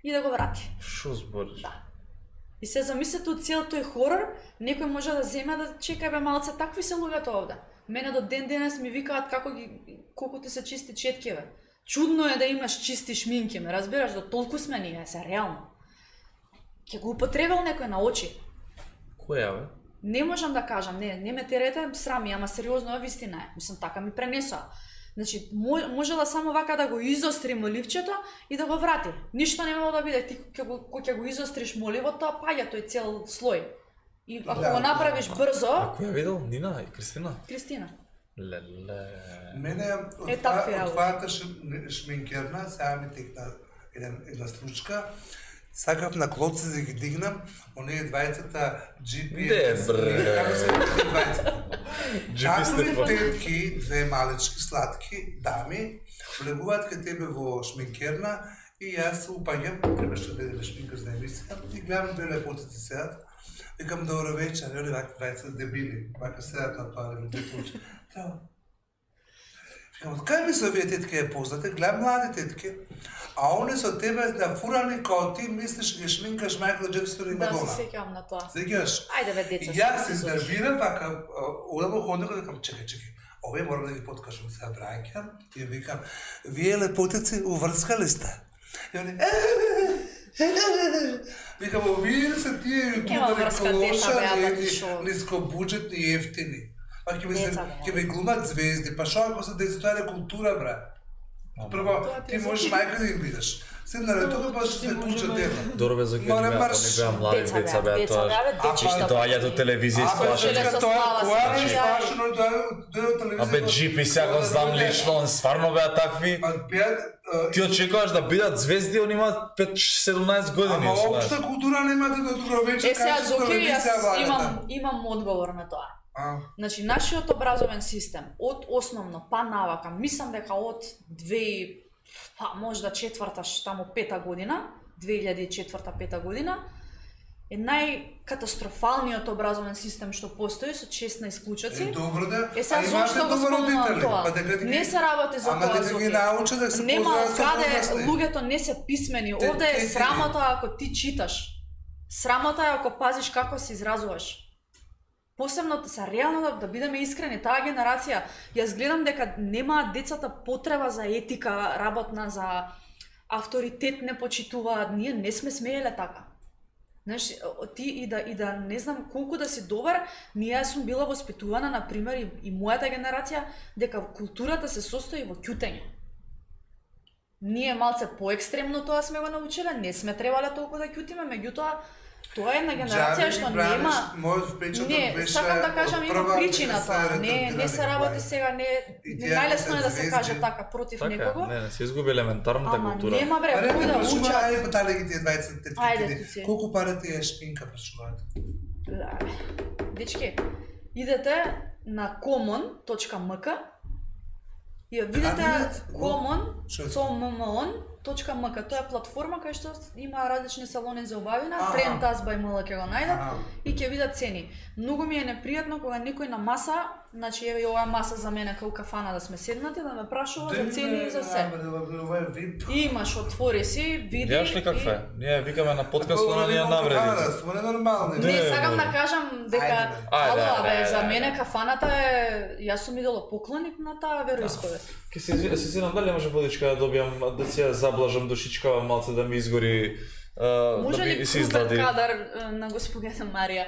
и да го врати. Шо збориш? Да. И се замислете од цел тој хорор, некој може да земе да чекај бе малце, такви се луѓето овде. Мене до ден денес ми викаат како ги колку ти се чисти четки бе. Чудно е да имаш чисти шминки, ме разбираш, до толку сме ние, се реално. Ќе го употребил некој на очи. Која бе? Не можам да кажам, не, не ме терете, срами, ама сериозно е вистина е. Мислам, така ми пренесоа. Значи, можела само вака да го изостри моливчето и да го врати. Ништо немало да биде, ти ќе го, кога ќе го изостриш моливото, паѓа тој цел слој. И ако Да, го направиш да, брзо, А која видел? Нина и Кристина? Кристина. Леле. Мене од Е, това- такви од работи. твојата шм- шминкерна, сега ми текна еден, една случка. Сакав на клопци да ги дигнам, оние двајцата джи пи ес. Не, бре. Како се викаат двајцата? джи пи сте Какви па. тетки, две малечки, сладки дами, влегуваат кај тебе во шминкерна и јас се упаѓам, требаше да биде шминкар за емисија, и гледам две лепотици седат. Викам добро вечер, и они вака двајца дебили, вака седат на тоа, да ги случи. Викам, од кај ми се овие тетки ја познате? Гледам млади тетки, а они со тебе да фурани као ти мислиш ги шминкаш Майкл Джексон и Да, Мадона. се сеќавам на тоа. Сеќаш? Ајде бе деца. И јас се изнервирам, вака, одам во ходникот и викам, чекај, чекај, овие морам да ги подкажам, сега браќам и викам, вие лепотици уврскали сте? И они, Викам, овие се тие јутубери клошари, нискобуџетни и ефтини. Па ќе ми се ќе ми глумат звезди, па што ако се тоа е култура, бра? Прво, ти можеш мајка да им бидеш. Седна на тоа па што се пушта тема. Добро бе, за кога не беа млади деца беа тоа. И доаѓаат од телевизија и слушаат. Абе, джипи сега го знам лично, он стварно беа такви. Ти очекуваш да бидат звезди, они имаат пет седумнаесет години. Ама општа култура немате до добро вечер. Е, сега, Зоки, јас имам, имам одговор на тоа. Значи, нашиот образовен систем, од основно па навака, мислам дека од две, па можда четврта, таму пета година, две илјади и четврта пета година, е најкатастрофалниот образовен систем што постои со шеснаесет клучаци. Е, добро да. Е, сега зошто го спомнувам тоа? Не се работи за тоа, Зоки. Нема каде луѓето не се писмени. Овде е срамота ако ти читаш. Срамота е ако пазиш како се изразуваш. Посебно са реално да, да бидеме искрени, таа генерација, јас гледам дека немаат децата потреба за етика работна, за авторитет не почитуваат, ние не сме смееле така. Знаеш, ти и да и да не знам колку да си добар, ние сум била воспитувана на пример и, и мојата генерација дека културата се состои во ќутење. Ние малце поекстремно тоа сме го научиле, не сме требале толку да ќутиме, меѓутоа тоа е една генерација што нема. Не, сакам да кажам има причина тоа. Не, не се работи сега, не, не најлесно е да се каже така против така, некого. Не, не се изгуби елементарната ама култура. Ама нема бре, кој да учат. Ајде потале ги тие дваесет Ајде ти. Колку пара ти е шпинка прашуваат? Дечки, идете на common точка ем ка и ја видите common со ем точка ем ка. Тоа е платформа кај што има различни салони за убавина, Trend Us by ем ел ќе го најдат и ќе видат цени. Многу ми е непријатно кога некој на маса, значи еве ова е маса за мене кај кафана да сме седнати, да ме прашува за цени и за се. Имаш, отвори си, види. Јаш ли каква? Ние викаме на подкаст, но не ја навредите. Смо не нормални. Не, сакам да кажам дека ало, бе, за мене кафаната е, јас сум идолопоклоник на таа вероисповест. Ке се се знам дали може водичка да добијам да се заблажам душичкава малце да ми изгори може да ли ми се издаде. кадар на господината Марија?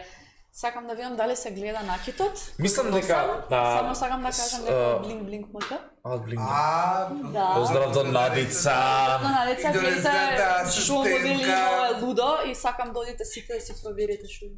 Сакам да видам дали се гледа накитот. Мислам дека само сакам да кажам дека блинк блинк мака. А, блинк. А, поздрав до Надица. На Надица гледате шо модели има лудо и сакам да одите сите да си проверите шо има.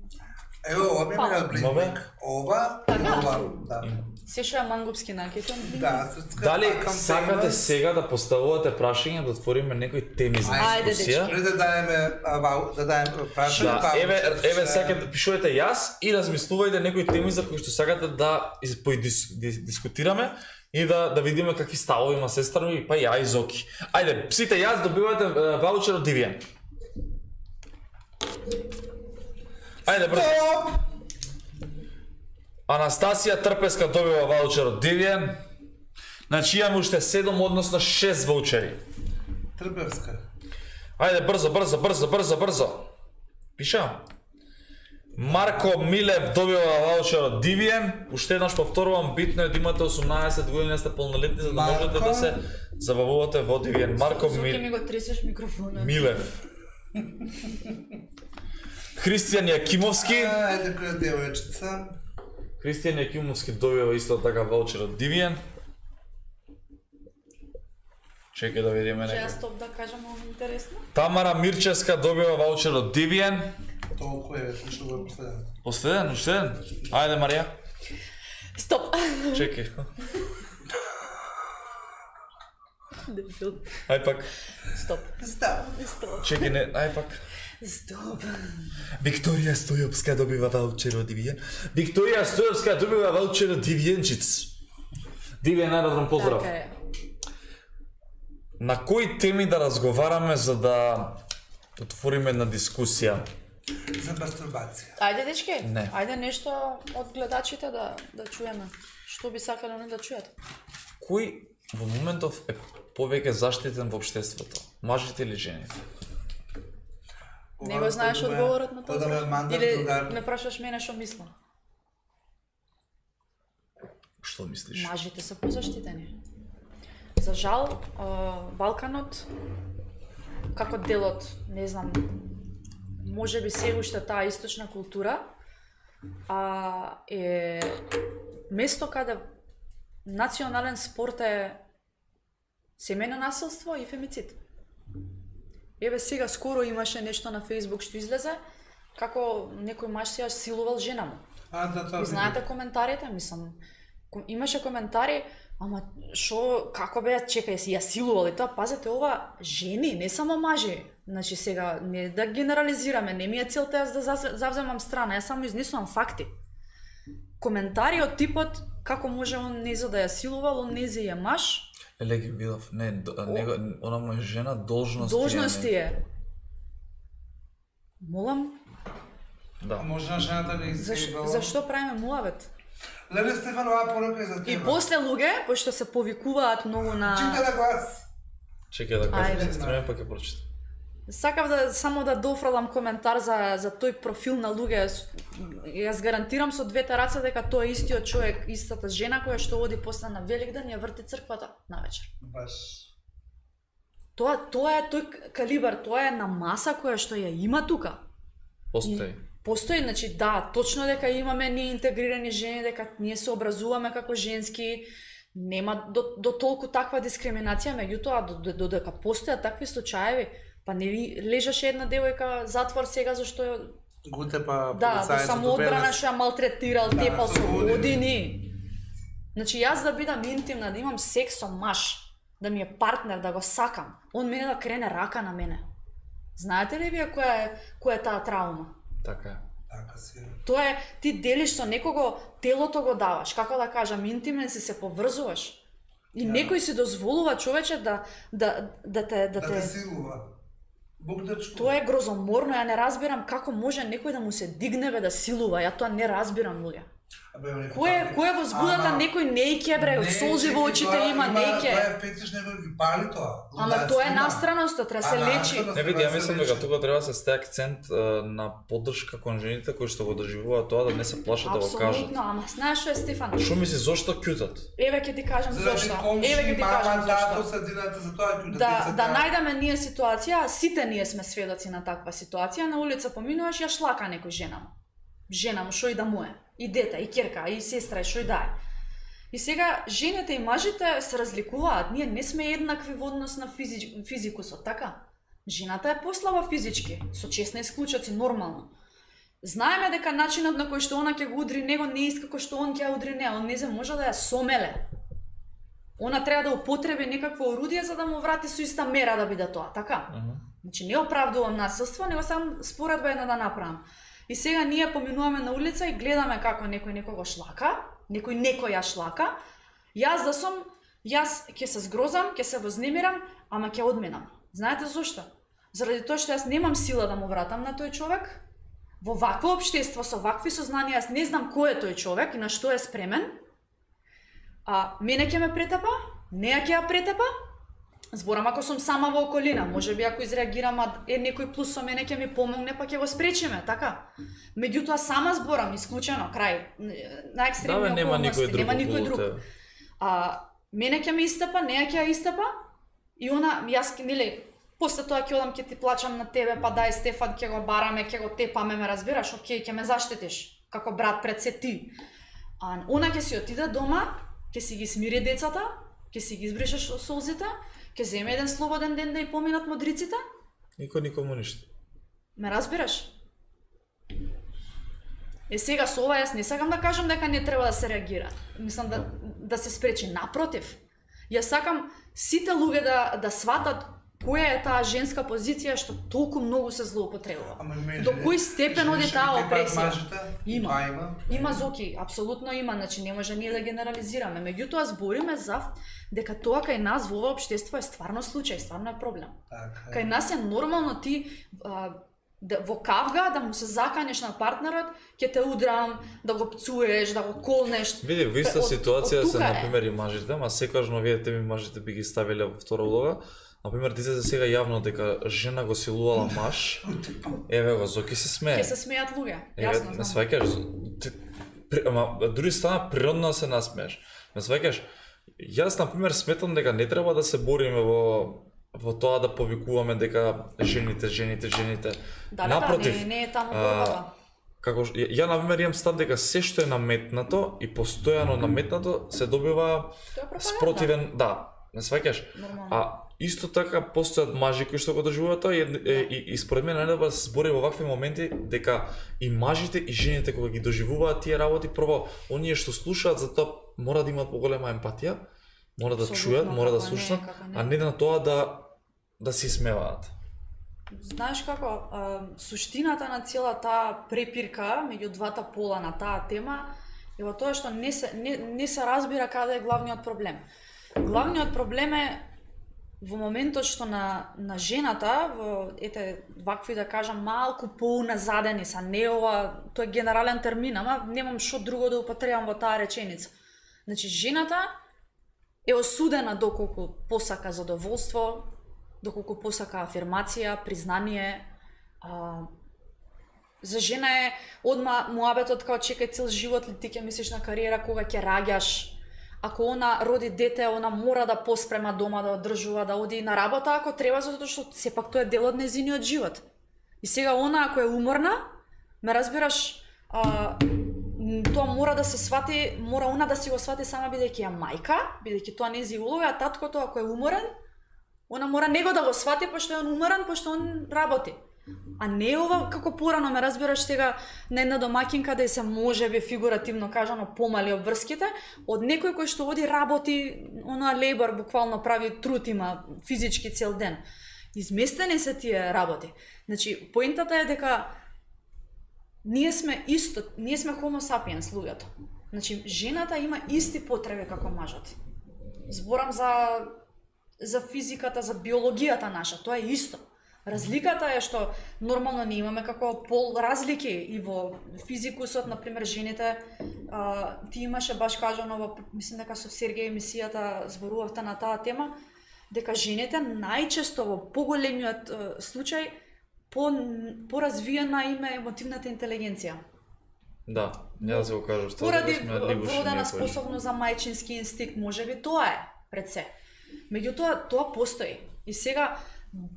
Ево, ова ми е блинк. Ова, ова, да. Се што е мангупски накитон. Да, дали сакате сега да поставувате прашања, да отвориме некои теми за дискусија? Ајде, да дадеме да дадеме прашања. Да, еве, еве сакате пишувате јас и размислувајте некои теми за кои што сакате да дискутираме и да да видиме какви ставови има сестра ми, па ја и Зоки. Ајде, сите јас добивате ваучер од Дивијан. Ајде, брзо. Анастасија Трпеска добива ваучер од Дивијан. Значи имаме уште седум, односно шест ваучери. Трпевска. Ајде, брзо, брзо, брзо, брзо, брзо. Пишам. Марко Милев добива ваучер од Дивијан. Уште еднаш повторувам, битно е да имате осумнаесет години, сте полнолетни, за да можете да се забавувате во Дивијан. Марко Милев. Зоки ми го тресеш микрофонот. Милев. Христијан Јакимовски. Ајде, која девојчица. Христијан Јакимовски добива исто така ваучер од Дивијан. Чекај да видиме некој. Ќе некој. стоп да кажам, ова интересно. Тамара Мирчевска добива ваучер од Дивијан. Толку е, што го е последен. Последен, уште еден. Ајде, Марија. Стоп. Чекај. Дебил. Ај пак. Стоп. Стоп. Стоп. Чекај, не, ај пак. Стоп. Викторија Стојовска добива ваучер од Дивијан. Викторија Стојовска добива ваучер од Дивијанчиц. Дивијан аеродром, поздрав. Така е. На кои теми да разговараме за да отвориме една дискусија? За мастурбација. Ајде, дечки, Не. ајде нешто од гледачите да да чуеме. Што би сакале они да чујат? Кој во моментов е повеќе заштитен во општеството? Мажите или жените? Не го знаеш одговорот на тоа? Да ме мандат Или другар. ме прашаш мене што мислам? Што мислиш? Мажите се позаштитени. За жал, Балканот како дел од, не знам, можеби се уште таа источна култура, а е место каде национален спорт е семејно насилство и фемицид. Еве сега скоро имаше нешто на Facebook што излезе, како некој маж се ја силувал жена му. А, да, тоа. И знаете коментарите, мислам, имаше коментари, ама шо, како бе, чекај, си ја силувал и тоа, пазете, ова жени, не само мажи. Значи сега, не да генерализираме, не ми е целта јас да завземам страна, јас само изнесувам факти. Коментари од типот, како може он неза да ја силувал, он нези е маж. Еле ги видов, не, него, она му е жена, должности. Должности е. Молам? Да. Можна жената да Зашто, зашто правиме муавет? Леле Стефанова порака е за тебе. И после луѓе, пошто се повикуваат многу на... Чита да глас. Чекај да кажам, Ајде. стреме па ќе прочитам. Сакав да само да дофрлам коментар за за тој профил на луѓе. Јас гарантирам со двете раце дека тој е истиот човек, истата жена која што оди после на Великден и ја врти црквата навечер. Баш. Тоа тоа е тој калибар, тоа е на маса која што ја има тука. Постои. Постои, значи да, точно дека имаме ние интегрирани жени, дека ние се образуваме како женски, нема до, до толку таква дискриминација, меѓутоа до, до, до дека постојат такви случаеви, па не ви лежаше една девојка затвор сега зашто Гуте па да, во самоодбрана што ја малтретирал, Да, тепал со со години. години. Значи јас да бидам интимна, да имам секс со маж, да ми е партнер, да го сакам, он мене да крене рака на мене. Знаете ли вие која е која е таа траума? Така е. Така си. Тоа е, ти делиш со некого, телото го даваш, како да кажам, интимен си, се поврзуваш. И Да. некој си дозволува човече да да да те да Да те те силува. Бог да чува. Тоа е грозоморно, ја не разбирам како може некој да му се дигне бе да силува, ја тоа не разбирам луѓе. Абе, некој Кој е такви- кој е возбудата, Ама, некој нејке бре, не, солзи во чекай, очите тоа има, нејке. Тоа е фетиш, некој ги пали тоа. Ама Лудаци тоа е има. настраност, треба се А, лечи. настраност. Не види, ја Треба да мислам се дека лечи. тука треба да се стаи акцент е, на поддршка кон жените кои што го доживуваат тоа, да не се плашат да го кажат. Апсолутно, ама знаеш што е, Стефан? Шо мисли, зошто кјутат? Еве ќе ти кажам Заради зошто. комши, Еве ќе ти мама, кажам тато, зошто. средината, за тоа ќе Да, да најдеме ние ситуација, сите ние сме сведоци на таква ситуација, на улица поминуваш, ја шлака некој жена му. Жена му, шо и да му е. И дете, и ќерка, и сестра, и шо и да е. И сега, жените и мажите се разликуваат, ние не сме еднакви во однос на физич, физикусот, така? Жената е послаба физички, со честни исклучоци, нормално. Знаеме дека начинот на кој што она ќе го удри него не е иска кој што он ќе ја удри неа, он не може да ја сомеле. Она треба да употреби некакво орудие за да му врати со иста мера да биде тоа, така? Uh -huh. Значи не оправдувам насилство, него сам споредба една да направам. И сега ние поминуваме на улица и гледаме како некој некого шлака, некој некој ја шлака. Јас да сум, јас ќе се згрозам, ќе се вознемирам, ама ќе одминам. Знаете зошто? Заради тоа што јас немам сила да му вратам на тој човек. Во вакво општество со вакви сознанија јас не знам кој е тој човек и на што е спремен. А мене ќе ме претепа, неа ќе ја претепа. Зборам ако сум сама во околина, можеби ако изреагирам, а е некој плюс со мене ќе ми помогне, па ќе го спречиме, така? Меѓутоа сама зборам, исклучено, крај, на екстремни Да, бе, нема околности, никој друг. нема никој околу друг. тебе. А мене ќе ме истапа, неа ќе ја истапа, и она, јас ќе, нели, после тоа ќе одам, ќе ти плачам на тебе, па дај Стефан, ќе го бараме, ќе го тепаме, ме разбираш, окей, ќе ме заштитиш, како брат пред се ти. А она ќе си отиде дома, ќе си ги смири децата, ќе си ги избрише солзите, ќе земе еден слободен ден да и поминат модриците. Никој никому ништо. Ме разбираш? Е сега со ова јас не сакам да кажам дека не треба да се реагира. Мислам да да се спречи, напротив. Јас сакам сите луѓе да да сватат која е таа женска позиција што толку многу се злоупотребува. Ама мене, До кој степен оди жените таа тепаат опресија? мажите, Има. тоа има. Има зоки, апсолутно има, значи не може ние да генерализираме. Меѓутоа збориме за дека тоа кај нас во ова општество е стварно случај, стварно е проблем. Така. Кај нас е нормално ти а, да, во кавга да му се заканеш на партнерот, ќе те удрам, да го пцуеш, да го колнеш. Види, во иста Од- ситуација од се тука е. на пример и мажите, ма секогаш вие теми мажите би ги ставиле во втора улога. На пример, ти се сега јавно дека жена го силувала маж. Еве го, Зоки се смее. Ќе се смеат луѓе, Еве, јасно не знам. сваќаш. ти- при- Ама дури стана природно да се насмееш. Не сваќаш. Јас на пример сметам дека не треба да се бориме во во тоа да повикуваме дека жените, жените, жените. Да, Напротив, да, не, не е таму борбата. Како ја, ја на пример имам став дека се што е наметнато и постојано наметнато се добива спротивен, да, не сваќаш. А исто така постојат мажи кои што го доживуваат тоа и, и, и според мене најдобро да се збори во вакви моменти дека и мажите и жените кога ги доживуваат тие работи, прво оние што слушаат за тоа мора да имаат поголема емпатија, мора да чујат, мора да слушаат, а не на тоа да да се смеваат. Знаеш како, а, суштината на цела таа препирка меѓу двата пола на таа тема е во тоа што не се не, не се разбира каде е главниот проблем. Главниот проблем е во моментот што на на жената во ете вакви да кажам малку поуназадени са, не ова, тоа е генерален термин, ама немам што друго да употребам во таа реченица. Значи жената е осудена доколку посака задоволство, доколку посака афирмација, признание. А, за жена е одма муабетот као чекај цел живот ли ти ќе мислиш на кариера кога ќе раѓаш. Ако она роди дете, она мора да поспрема дома, да одржува, да оди на работа ако треба, затоа што сепак тоа е дел од нејзиниот живот. И сега она ако е уморна, ме разбираш, а, тоа мора да се свати, мора она да си го свати сама бидејќи е мајка, бидејќи тоа нејзи улога, а таткото ако е уморен, она мора него да го свати пошто е он уморен, пошто он работи. А не ова како порано ме разбираш сега на една домаќинка да се може би фигуративно кажано помали обврските од некој кој што оди работи, она лейбор буквално прави труд има физички цел ден. Изместени се тие работи. Значи поентата е дека ние сме исто, ние сме homo sapiens луѓето. Значи жената има исти потреби како мажот. Зборам за за физиката, за биологијата наша, тоа е исто. Разликата е што нормално не имаме како пол разлики и во физикусот, на пример жените, а, ти имаше баш кажано во, мислам дека со Сергеј емисијата зборувавте на таа тема, дека жените најчесто во поголемиот а, случај по поразвиена им е емотивната интелигенција. Да, ја да се го кажам што поради вродена способност за мајчински инстинкт, можеби тоа е пред се. Меѓутоа тоа постои. И сега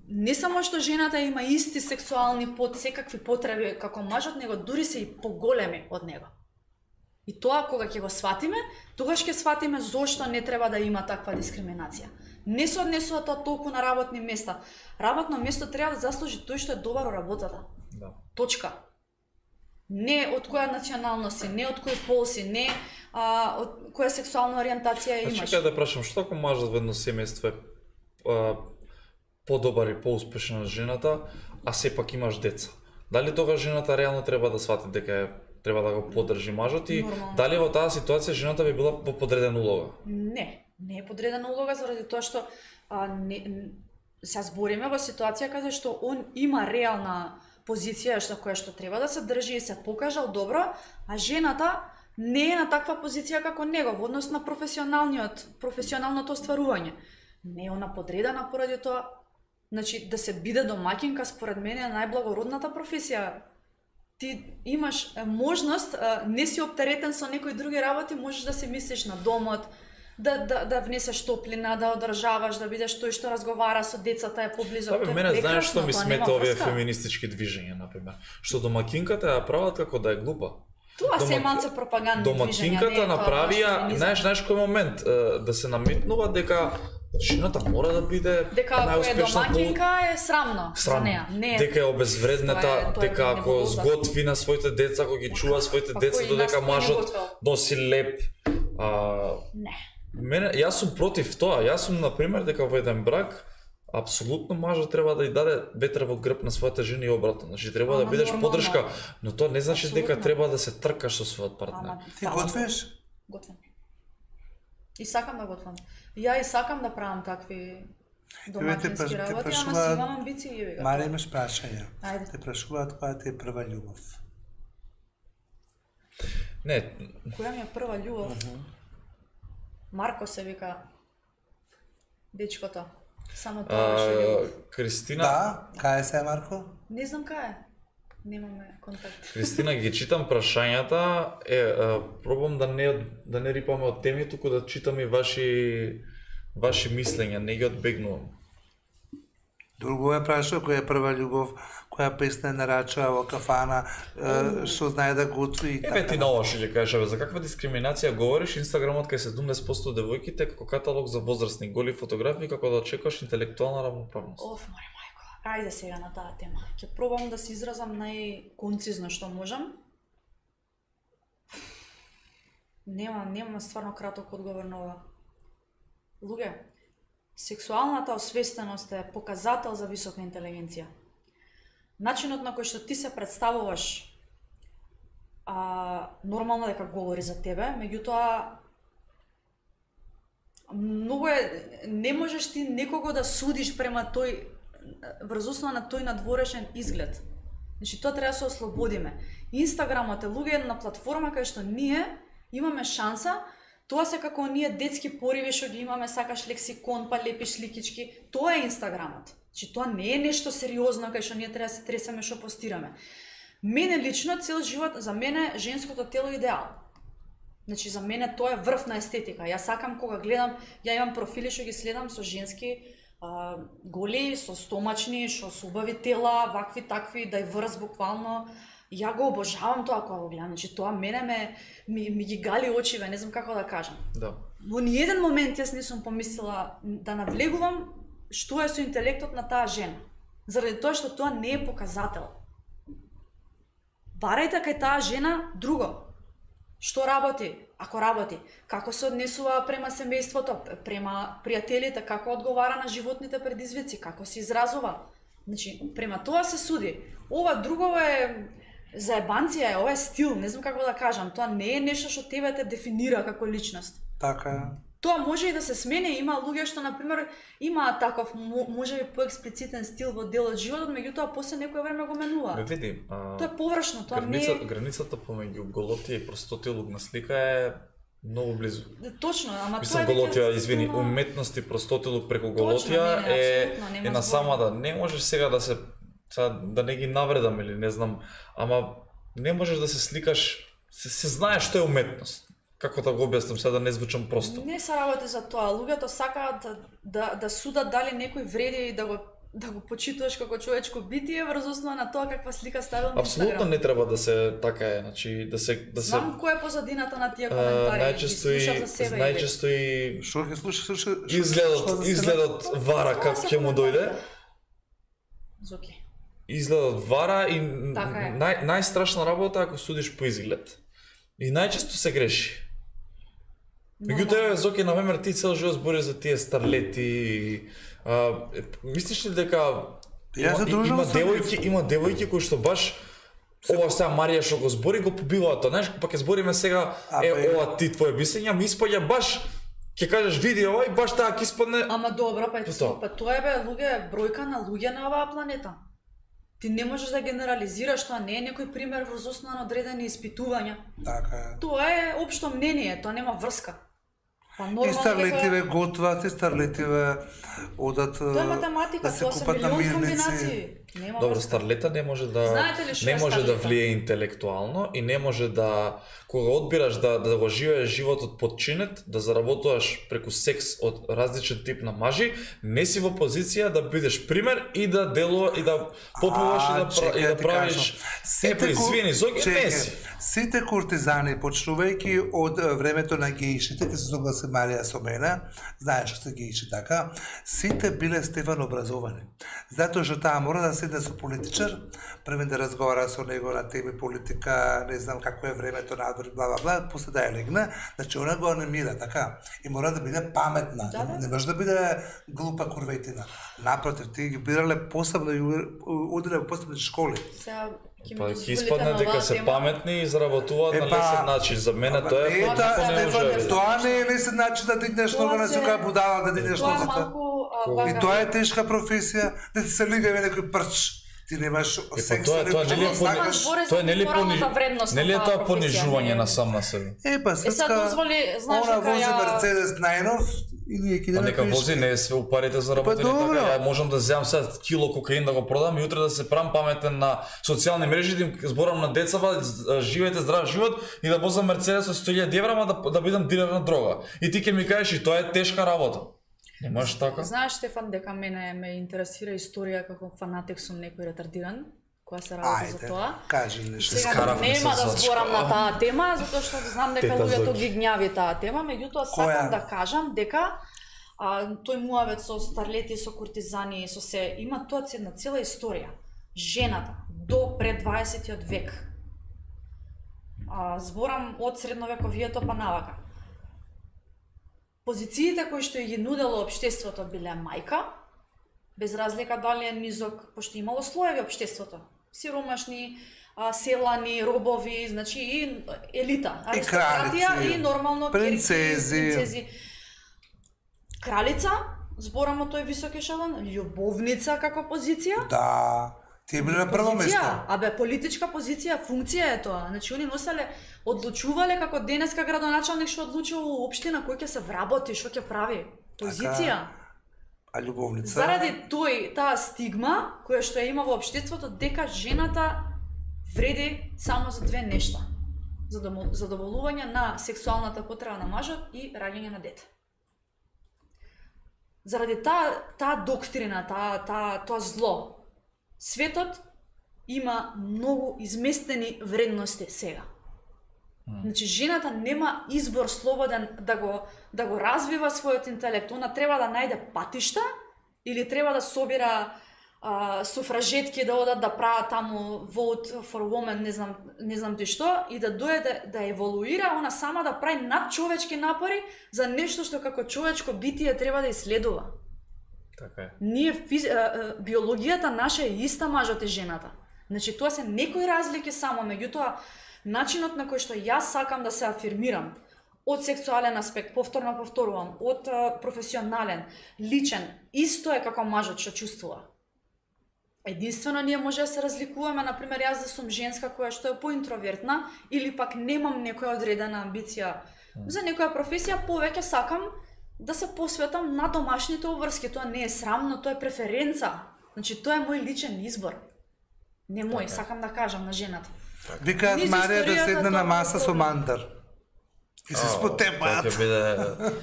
не само што жената има исти сексуални под секакви потреби како мажот, него дури се и поголеми од него. И тоа кога ќе го сватиме, тогаш ќе сватиме зошто не треба да има таква дискриминација. Не се однесува тоа толку на работни места. Работно место треба да заслужи тој што е добар во работата. Да. Точка. Не од која националност си, не од кој пол си, не а, од која сексуална ориентација имаш. Значи, кај да прашам, што ако мажот во едно семејство е а, подобар и поуспешен од жената, а сепак имаш деца? Дали тога жената реално треба да свати дека е, треба да го поддржи мажот и нормално. Дали во таа ситуација жената би била во подредена улога? Не, не е подредена улога заради тоа што а, не, се збориме во ситуација каде што он има реална позиција што која што треба да се држи и се покажал добро, а жената не е на таква позиција како него во однос на професионалниот, професионалното остварување. Не е она подредена поради тоа. Значи, да се биде домаќинка според мене е најблагородната професија. Ти имаш можност, не си оптеретен со некои други работи, можеш да се мислиш на домот, да да да внесеш топлина, да одржаваш, да бидеш тој што разговара со децата, е поблизо. Тоа мене знаеш што ми смета овие феминистички движења, например. Што домаќинката ја прават како да е глупа. Тоа се малце пропагандни движења. Домаќинката направија, знаеш, знаеш кој момент да се наметнува дека жената мора да биде дека ако е домаќинка е срамно, срамно. За неа. Не. Дека е обезвредната, тоа е, тоа е дека ако сготви на своите деца, ако ги чува своите па, деца, додека мажот носи леп. А, не. Мене, јас сум против тоа. Јас сум на пример дека во еден брак апсолутно мажот треба да ја даде ветер во грб на својата жена и обратно. Значи треба а, да бидеш нормално. Поддршка, но тоа не значи абсолютно. Дека треба да се тркаш со својот партнер. Ти готвиш? Готвам. И сакам да готвам. Ја и сакам да правам такви домаќински работи, ама си имам амбиции. Мари, имаш прашања. Ајде. Те прашуваат која ти е прва љубов. Не. Која ми е прва љубов? Uh -huh. Марко се вика дечкото. Само тоа беше љубов. Кристина. Да, кај се Марко? Не знам кај е. Немаме контакт. Кристина, ги читам прашањата, е, е пробам да не да не рипаме од теми, туку да читам и ваши ваши мислења, не ги одбегнувам. Друго е прашао која е прва љубов, која песна е нарачаа во кафана, што знае да готви и така. Еве ти на ова што ќе кажеш, за каква дискриминација говориш? Инстаграмот кај седумдесет проценти девојките како каталог за возрастни голи фотографии како да очекуваш интелектуална равноправност. Оф, моја мајко. Ајде сега на таа тема. Ќе пробам да се изразам најконцизно што можам. Нема, нема стварно краток одговор на ова. Луѓе, сексуалната освестеност е показател за висока интелигенција. Начинот на кој што ти се представуваш а, нормално дека говори за тебе, меѓутоа многу е, не можеш ти некого да судиш према тој, врз основа на тој надворешен изглед. Значи тоа треба да се ослободиме. Инстаграмот е луѓе една платформа кај што ние имаме шанса. Тоа се како оние детски пориви што ги имаме, сакаш лексикон, па лепиш сликички. Тоа е Инстаграмот. Значи тоа не е нешто сериозно кај што ние треба да се тресаме што постираме. Мене лично цел живот, за мене женското тело е идеал. Значи за мене тоа е врв на естетика. Јас сакам кога гледам, ја имам профили што ги следам со женски а, голи, со стомачни, што со убави тела, вакви такви, да и врз буквално. Ја го обожавам тоа кога го гледам, значи тоа мене ме ми, ми ги гали очиве, не знам како да кажам. Да. Во ниеден момент јас не сум помислила да навлегувам што е со интелектот на таа жена. Заради тоа што тоа не е показател. Барајте кај таа жена друго. Што работи? Ако работи, како се однесува према семејството, према пријателите, како одговара на животните предизвици, како се изразува. Значи, према тоа се суди. Ова друго е заебанција, е, ова е стил, не знам како да кажам. Тоа не е нешто што тебе те дефинира како личност. Така е. Тоа може и да се смени, има луѓе што на пример имаат таков можеби поексплицитен стил во дел од животот, меѓутоа после некое време го менува. Ме види, а... Тоа е површно, тоа граница, не е... Границата помеѓу голотија и простотилук на слика е многу близу. Точно, ама Мислам, тоа е голотија, веќе извини, стилно... уметност и простотилук преку Точно, голотија не, не, е, нема е на збор. самата. Не можеш сега да се сега, да не ги навредам или не знам, ама не можеш да се сликаш, се, се знае што е уметност. Како да го објаснам сега да не звучам просто. Не се работи за тоа. Луѓето сакаат да, да, да судат дали некој вреди и да го да го почитуваш како човечко битие врз основа на тоа каква слика ставил на Инстаграм. Апсолутно не треба да се така е, значи да се да се Знам кој е позадината на тие коментари. најчесто и за себе. најчесто и Што ќе слуша, слуша, изгледот изгледот вара како ќе му дојде. Зоки. Изгледот вара и Така е. нај најстрашна работа ако судиш по изглед. И најчесто се греши. Меѓутоа, Зоки, на пример, ти цел живот збори за тие старлети. А, мислиш ли дека Јас се има, дружам има со девојки, има девојки кои што баш ова сега Марија што го збори го побиваат тоа, знаеш, па ќе збориме сега А, е бе. ова ти твое мислење, ми испаѓа баш ќе кажеш види ова и баш таа ќе испадне. Ама добро, па, Тоа. па тоа е бе луѓе, бројка на луѓе на оваа планета. Ти не можеш да генерализираш, тоа не е некој пример врз основа на одредени испитувања. Така е. Тоа е општо мнение, тоа нема врска. Па И нормално старлетиве дека готват, и старлетиве одат тоа е математика, да се тоа се купат на милион мирници. комбинации. Нема Добро, врска. старлета не може да Знаете ли што не е може да старлета? влие интелектуално и не може да кога одбираш да да го живееш животот подчинет, да заработуваш преку секс од различен тип на мажи, не си во позиција да бидеш пример и да делува и да попуваш и да пра- и да правиш. Е, па извини, Зоки, не си. Сите куртизани, почнувајќи од е, времето на геишите, ќе се согласи Марија со мене, знаеш што се геиши така, сите биле степен образовани. Затоа што таа мора да седне со политичар, првен да разговара со него на теми политика, не знам како е времето надвор, бла бла бла, после да ја легне, значи она го анимира така и мора да биде паметна, Да, да. не може да биде глупа курветина. Напротив, ти ги бирале посебно и удриле во посебни школи. Сега ќе Па ми ќе дозволите испадне на дека оваа се тема. паметни и заработуваат Е, на па, лесен начин. За мене Ама тоа е не е потпуно таа, неможливо. Стефан, тоа не е лесен начин да дигнеш Тоа нога на се- сюка будала, да дигнеш Тоа е ногата. малку а, Ко- И вака. тоа е тешка професија, да ти се лигаве некој прч. Ти немаш Е, па секс, тоа е тоа нели е Ама пони- сакаш збори за тоа нели е моралната пониж- вредност на нели е таа тоа професија, понижување не? на сам на себе. Е, па Е, сега светска, дозволи, знаеш она дека вози ја... Мерцедес најнов и ние ќе Па идеме нека вози, пешки. не е све упарите заработени Па добро. така. Ја можам да земам сега кило кокаин да го продам и утре да се правам паметен на социјални мрежи, да им зборам на децава, живеете здрав живот и да возам Мерцедес со сто илјади евра, ама да да бидам дилер на дрога. И ти ќе ми кажеш и тоа е тешка работа. Не можеш така? Знаеш, Стефан, дека мене ме интересира историја како фанатик сум некој ретардиран, која се работи за тоа. Ајде, кажи нешто. Сега Скаравме нема се да за зборам школа. на таа тема, затоа што знам дека Тета луѓето Зоки. ги гњави таа тема, меѓутоа сакам Која? да кажам дека а, тој муавет со старлети, со куртизани, со се, има тоа една цела историја. Жената до пред дваесетиот век. А, зборам од средновековието па навака. Позициите кои што ги нудело општеството биле мајка, без разлика дали е низок, пошто имало слоеви општеството. Сиромашни, а, селани, робови, значи и елита, аристократија кралици, и нормално принцези. керки, принцези. Кралица, зборам од тој висок ешелон, љубовница како позиција. Да, ти били на прво место. Позиција, абе политичка позиција, функција е тоа. Значи они носеле, одлучувале како денеска градоначалник што одлучува општина кој ќе се вработи, што ќе прави. Позиција. А љубовница? Заради тој таа стигма која што ја има во општеството дека жената вреди само за две нешта. Задоволување на сексуалната потреба на мажот и раѓање на дете. Заради таа таа доктрина, таа таа тоа зло, светот има многу изместени вредности сега. Значи жената нема избор слободен да го да го развива својот интелект. Она треба да најде патишта или треба да собира а, суфражетки да одат да прават таму vote for women, не знам не знам ти што, и да дојде да, да еволуира, она сама да прави надчовечки напори за нешто што како човечко битие треба да исследува. Така е. Ние физ... биологијата наша е иста мажот и жената. Значи тоа се некои разлики само, меѓутоа начинот на кој што јас сакам да се афирмирам од сексуален аспект, повторно повторувам, од а, професионален, личен, исто е како мажот што чувствува. Единствено ние може да се разликуваме, например јас да сум женска која што е поинтровертна или пак немам некоја одредена амбиција за некоја професија, повеќе сакам да се посветам на домашните обврски. Тоа не е срамно, тоа е преференца. Значи тоа е мој личен избор. Не мој, сакам да кажам на жената. Викаат Низ Марија да историјата седне на тоа маса е со проблем. мандар. И се спотепаат. Тоа ќе биде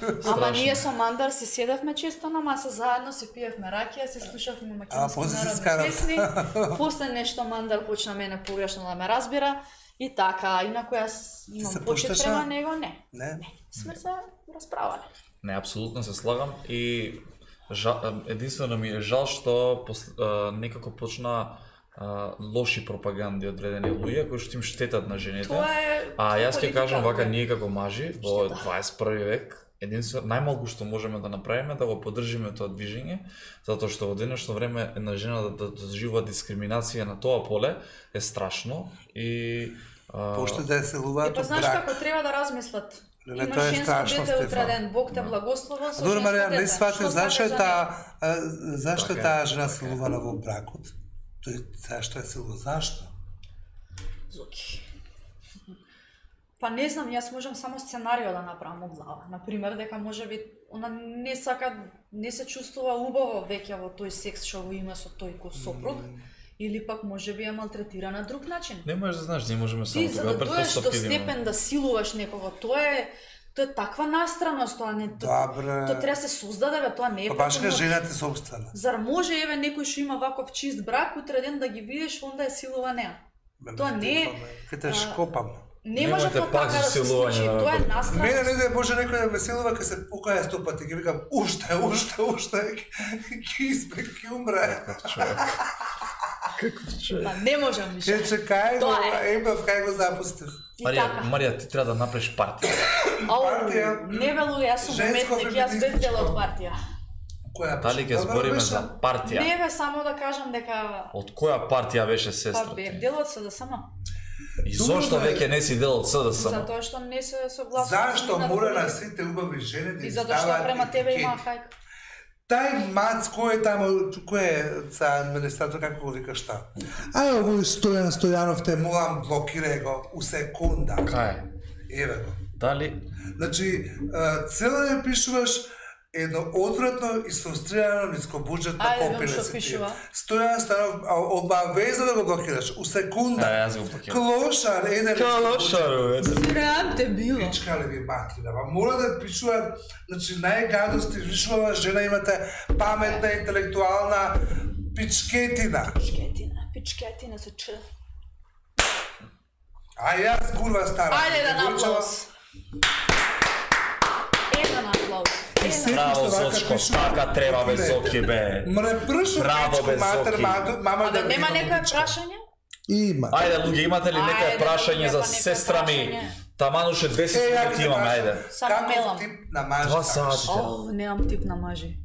Ама страшно. ние со Мандар си седевме често на маса заедно, си пиевме ракија, се слушавме А, македонски после се народни скарав. песни. После нешто Мандар почна мене погрешно да ме разбира и така, инаку јас се имам почит пушташе? према него, не. Не? Сме се расправале. Не, апсолутно се слагам и жал, единствено ми е жал што пос, а, некако почна а, лоши пропаганди одредени луѓе кои што им штетат на жените. Тоа е А јас ќе политика, кажам вака, да. ние како мажи во Штета. дваесет и први век, единствено најмалку што можеме да направиме да го поддржиме тоа движење, затоа што во денешно време една жена да, да доживува дискриминација на тоа поле е страшно и а, Пошто да се селуваат Е, па од знаеш брак. како треба да размислат. Не, Има тоа е женско страшно, дете Стефан. утре ден, Бог те благослови со Добро, женско Марија, не дете. сватив Што зашто е сакаш за таа него? а, зашто е Така е, таа жена така е. силувана во бракот? Тој зашто е силува? Зашто? Зоки. Па не знам, јас можам само сценарио да направам од глава. Например, дека можеби она не сака, не се чувствува убаво веќе во тој секс што го има со тој кој сопруг, или пак можеби е малтретира на друг начин. не можеш да знаеш, ние можеме само Ти за тогава да дојдеш до претпоставки да имаме. степен да силуваш некого, тоа е тоа е таква настраност, тоа не тоа, Добре. тоа треба да се создаде, бе, тоа не е Па баш преку ка ноќ. жената собствена. Зар може еве некој што има ваков чист брак, утре ден да ги видиш, онда е силува неа. Тоа не е- Ке те шкопам. Не може Немојте тоа пак така за да се силување случи, да ме тоа е пр- настраност. Мене не да може некој да ме силува ке се покаја сто пати, ќе викам уште, уште, уште, ќе испек, ќе умре. Човек. Каков човек? Па не можам Ќе више. чекај го, Тоа е. емав кај го запустив. И Марија, така. Марија, ти треба да направиш партија. Ау, партија. не белу, јас сум Женско уметник, јас без дел од феминистичко. партија. Која Дали ќе Добро збориме беше? за партија? Не бе, само да кажам дека Од која партија беше па сестра бев ти? дел од СДСМ. И зошто Добро, бе. веќе не си дел од СДСМ? Затоа што не се согласувам. Зашто мора на сите убави жени да И им затоа што ставаат према тебе има етикети? хајка. Тај мац кој е тамо, кој е за администратор, како го викаш та? Ај, овој Стојан Стојанов те молам, блокирај го у секунда. Кај? Еве го. Дали Значи, а, цело ден пишуваш едно отвратно и сфрустрирано нискобуџетно Ајде, копиле што си ти. пишува. Стојан Станов, обавезно да го блокираш, у секунда. Да, јас го блокирам. Клошар, еден Клошар, Срам те било. Пичка ли ви матрина, ба мора да пишуваат, значи најгадости, вишувава жена, имате паметна, интелектуална пичкетина. Пичкетина, пичкетина се чу. А јас курва стара. Ајде да на аплауз. Еден аплауз. Еден. Браво, Зочко, така треба бе, Зоки, бе. Мре пршо Браво, пичко бе, матер, Зоки. мама, мама А да да нема видам некоја пичка. прашање? Има. Ајде, луѓе, имате ли некоја Ајде, прашање за па некоја сестра ми? прашање. Тамануше двесет Е, ја минути ти имаме, прашам, ајде. Само мелам. Каков тип на мажа? Два сати. О, немам тип на мажи.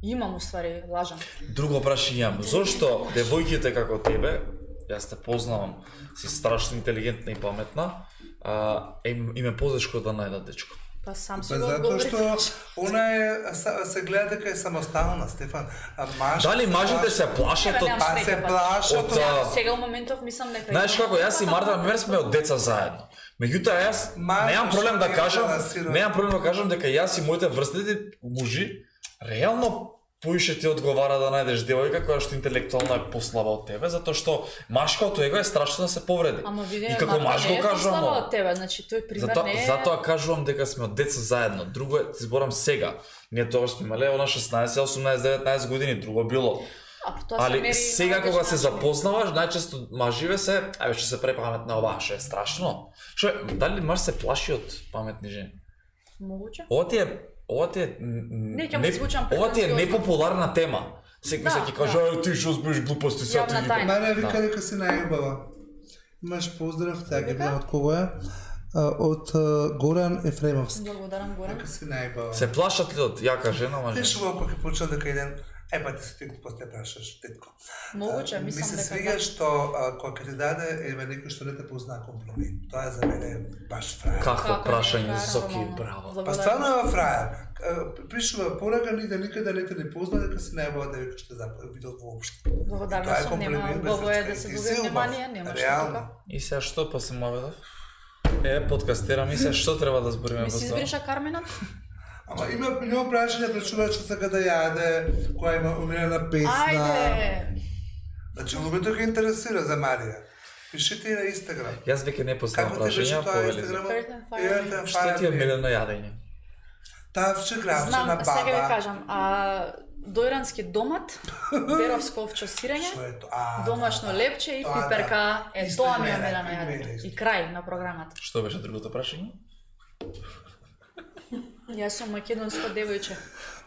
Имам уствари, лажам. Друго прашање имам. Зошто девојките како тебе, јас те познавам, си страшно интелигентна и паметна, а, им, им е позешко да најдат дечко? Па сам си Па го затоа одговори. што она е, са- се гледа дека е самостална, Стефан. А мажите Дали мажите се плашат Тебе од... немам Па среќа, се па. плашат Од, од... а, Сега у моментов мислам дека... Знаеш како, јас и Марта Мер сме од деца заедно. Меѓутоа јас Марта немам проблем да што кажам, е балансирана. немам проблем да кажам дека јас и моите врстници мужи реално поише ти одговара да најдеш девојка која што интелектуално е послаба од тебе, затоа што машкото его е страшно да се повреди. Ама види, И како маж го кажувам, од тебе, значи тој пример Затоа, не е... затоа кажувам дека сме од деца заедно. Друго е, ти зборам сега. Ние тогаш сме имале она шеснаесет, осумнаесет, деветнаесет години, друго било. А, тоа се Али мери сега на кога различен се начин. запознаваш, најчесто маживе се, ајде што се препаметна оваа, што е страшно. Што е, дали маж се плаши од паметни жени? Могуче? Ова ти е, ова ти е н- Не, ќе му не- звучам ова ти е претенциозно. непопуларна тема. Секој Да, се ќе каже, ај ти што збеш глупости сега ти Јавна ги- тајна. Марија вика Да. дека си најубава. Имаш поздрав, така Вика? гледам од кого е. А, Од а, Горан Ефремовски. Благодарам, Горан. Дека си најубава. Се плашат ли од јака жена, мажа? Пишува кога ќе почна дека еден Е, па ти се тетко, после прашаш, тетко. Могуче, А, мислам Ми се дека свига да. што а, кога ќе ти даде еве некој што не те позна комплимент. Тоа е за мене баш фраер. Какво Како прашање, не, Зоки, нормално. браво. Па Благодарам. стварно е фраер. А, Пишува порага ни да никаде не те не позна дека си најбава девојка што запад видел воопшто. Благодарна Тоа е сум, нема комплимент без убаво е речка. да се Ти добие си убав. внимание, нема што Реално. тука. И сега што па се маведов? Е, подкастирам и се што треба да збориме Ми во си тоа? избриша Карменат? Ама има има прашање пред човек што сака да јаде, која има умирена песна. Ајде! Значи луѓето ги интересира за Марија. Пишете и на Инстаграм. Јас веќе не поставам Како ти беше прашања, тоа повели. Инстаграм? Earth and Fire. Што ти е милено јадење? Тавче, гравче Знам, на сега ви баба. кажам, а дојрански домат, беровско овче сирење, Што е тоа? А, домашно да, да. лепче и Тоа да. пиперка, е Исто тоа и ми е мене, милено и мене јадење. исто. И крај на програмата. Што беше другото прашање? Јас сум македонско девојче.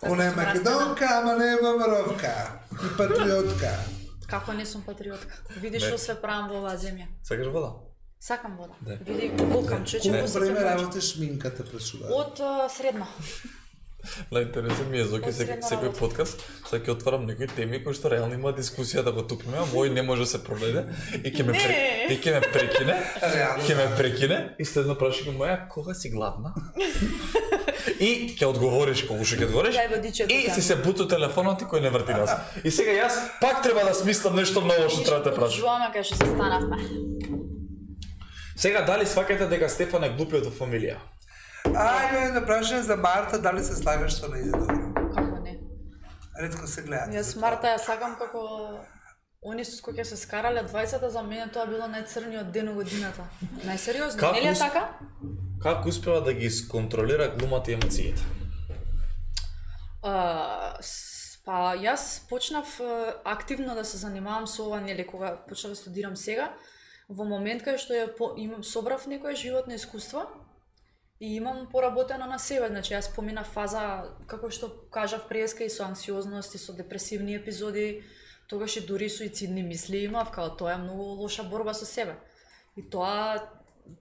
Така Она е сум растена. македонка, ама не е мамаровка. И патриотка. Како не сум патриотка? Види Не. што се правам во оваа земја. Сакаш вода? Сакам вода. Да. Види, булкам, чече, Колку посеќам време вода. работиш минката прашува? Од а, средно. La интересен ми е Зоки Од секој средна секој работа. подкаст, сега ќе отварам некои теми кои што реално има дискусија да го тупиме, а мој не може да се проведе и ќе ме Не. пре- и ќе ме прекине. Реално. Ќе ме прекине и следно прашање моја кога си гладна? И ќе одговориш кога ќе одговориш. Дај водичето И тamo. си се буту телефонот и кој не врти нас. И сега јас пак треба да смислам нешто ново што треба да те прашам. Жуаме кај што се станавме. Сега дали сваќате дека Стефан е глупиот во фамилија? А, има едно прашање за Марта, дали се слагаш што не иде добро? Како не? Ретко се гледа. Јас Марта ја сакам како они со кои ќе се скарале двајцата, за мене тоа било најцрниот ден од годината. Најсериозно, Како нели е ус- така? Како успева да ги сконтролира глумата и емоциите? А, с- па јас почнав а, активно да се занимавам со ова, нели кога почнав да студирам сега, во момент кај што ја по, имам собрав некое животно искуство и имам поработено на себе, значи јас поминав фаза како што кажав преска и со анксиозност и со депресивни епизоди, тогаш и дури суицидни мисли имав, као тоа е многу лоша борба со себе. И тоа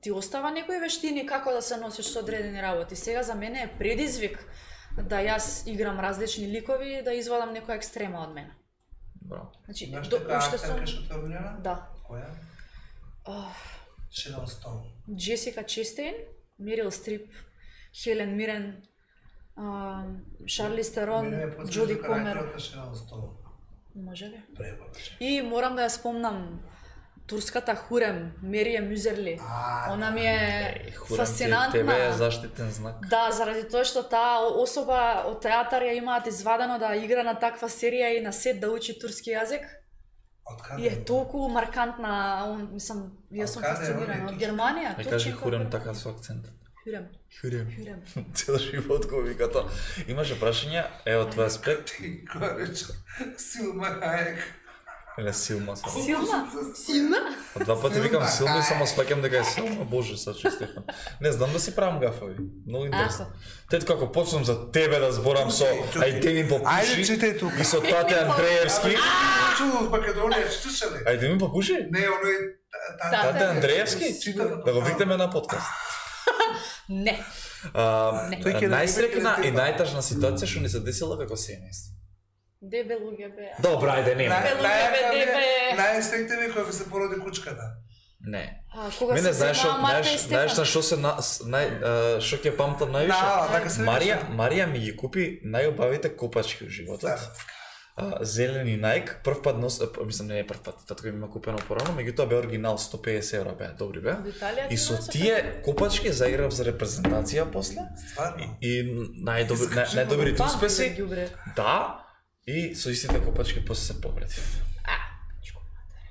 ти остава некои вештини како да се носиш со одредени работи. Сега за мене е предизвик да јас играм различни ликови и да извадам некоја екстрема од мене. Браво. Значи, Имаш до, така уште сум... актерка што те обвинена? Да. Која? Ах, Шерон Стоун. Джесика Честейн, Мерил Стрип, Хелен Мирен, а, Шарли Стерон, Мене ме потврди Джоди Комер. карактерот на Шерон Стоун. Може ли? Пребавче. И морам да ја спомнам турската Хурем, Мерием Мюзерли. Она ми е фасцинантна. Тебе е заштитен знак. Да, заради тоа што таа особа од театар ја имаат извадено да игра на таква серија и на сет да учи турски јазик. И е толку маркантна, он, мислам, јас сум фасцинирана од Германија. Не кажи Хурем така со акцент. Хурем. Хурем. Хурем. Цел живот го вика тоа. Имаше прашање, е од твој аспект. Ти го рече, Силма Хаек. Или Силма само. Силма? Силма? Два пати викам Силма и само спаќам дека е Силма. Боже, сачи Стефан. Не знам да си правам гафави. Многу интересно. Тет како почнам за тебе да зборам со ајде ми попуши. Ајде читај тука. И со Тате Андреевски. Чу Македонија, читаш ли? Ајде ми попуши. Не, оној Тате Андреевски. Да го викнеме на подкаст. Не. Најстрекна и најтажна ситуација што ни се десила како семејство. Дебе луѓе беа. Добра, ајде нема. Најстректе ми кога се породи кучката. Не. Кога се зема Марта и Стефан. Знаеш на што се нај што ќе памтам највише? Марија, Марија ми ги купи најубавите копачки во животот. Зелени Nike, прв пат нос, мислам не е прв пат, татко ми има купено порано, меѓутоа бе оригинал сто педесет евра бе, добри бе. И со тие копачки заиграв за репрезентација после. И најдобри најдобрите успеси. Да. И со истите копачки после се повредив.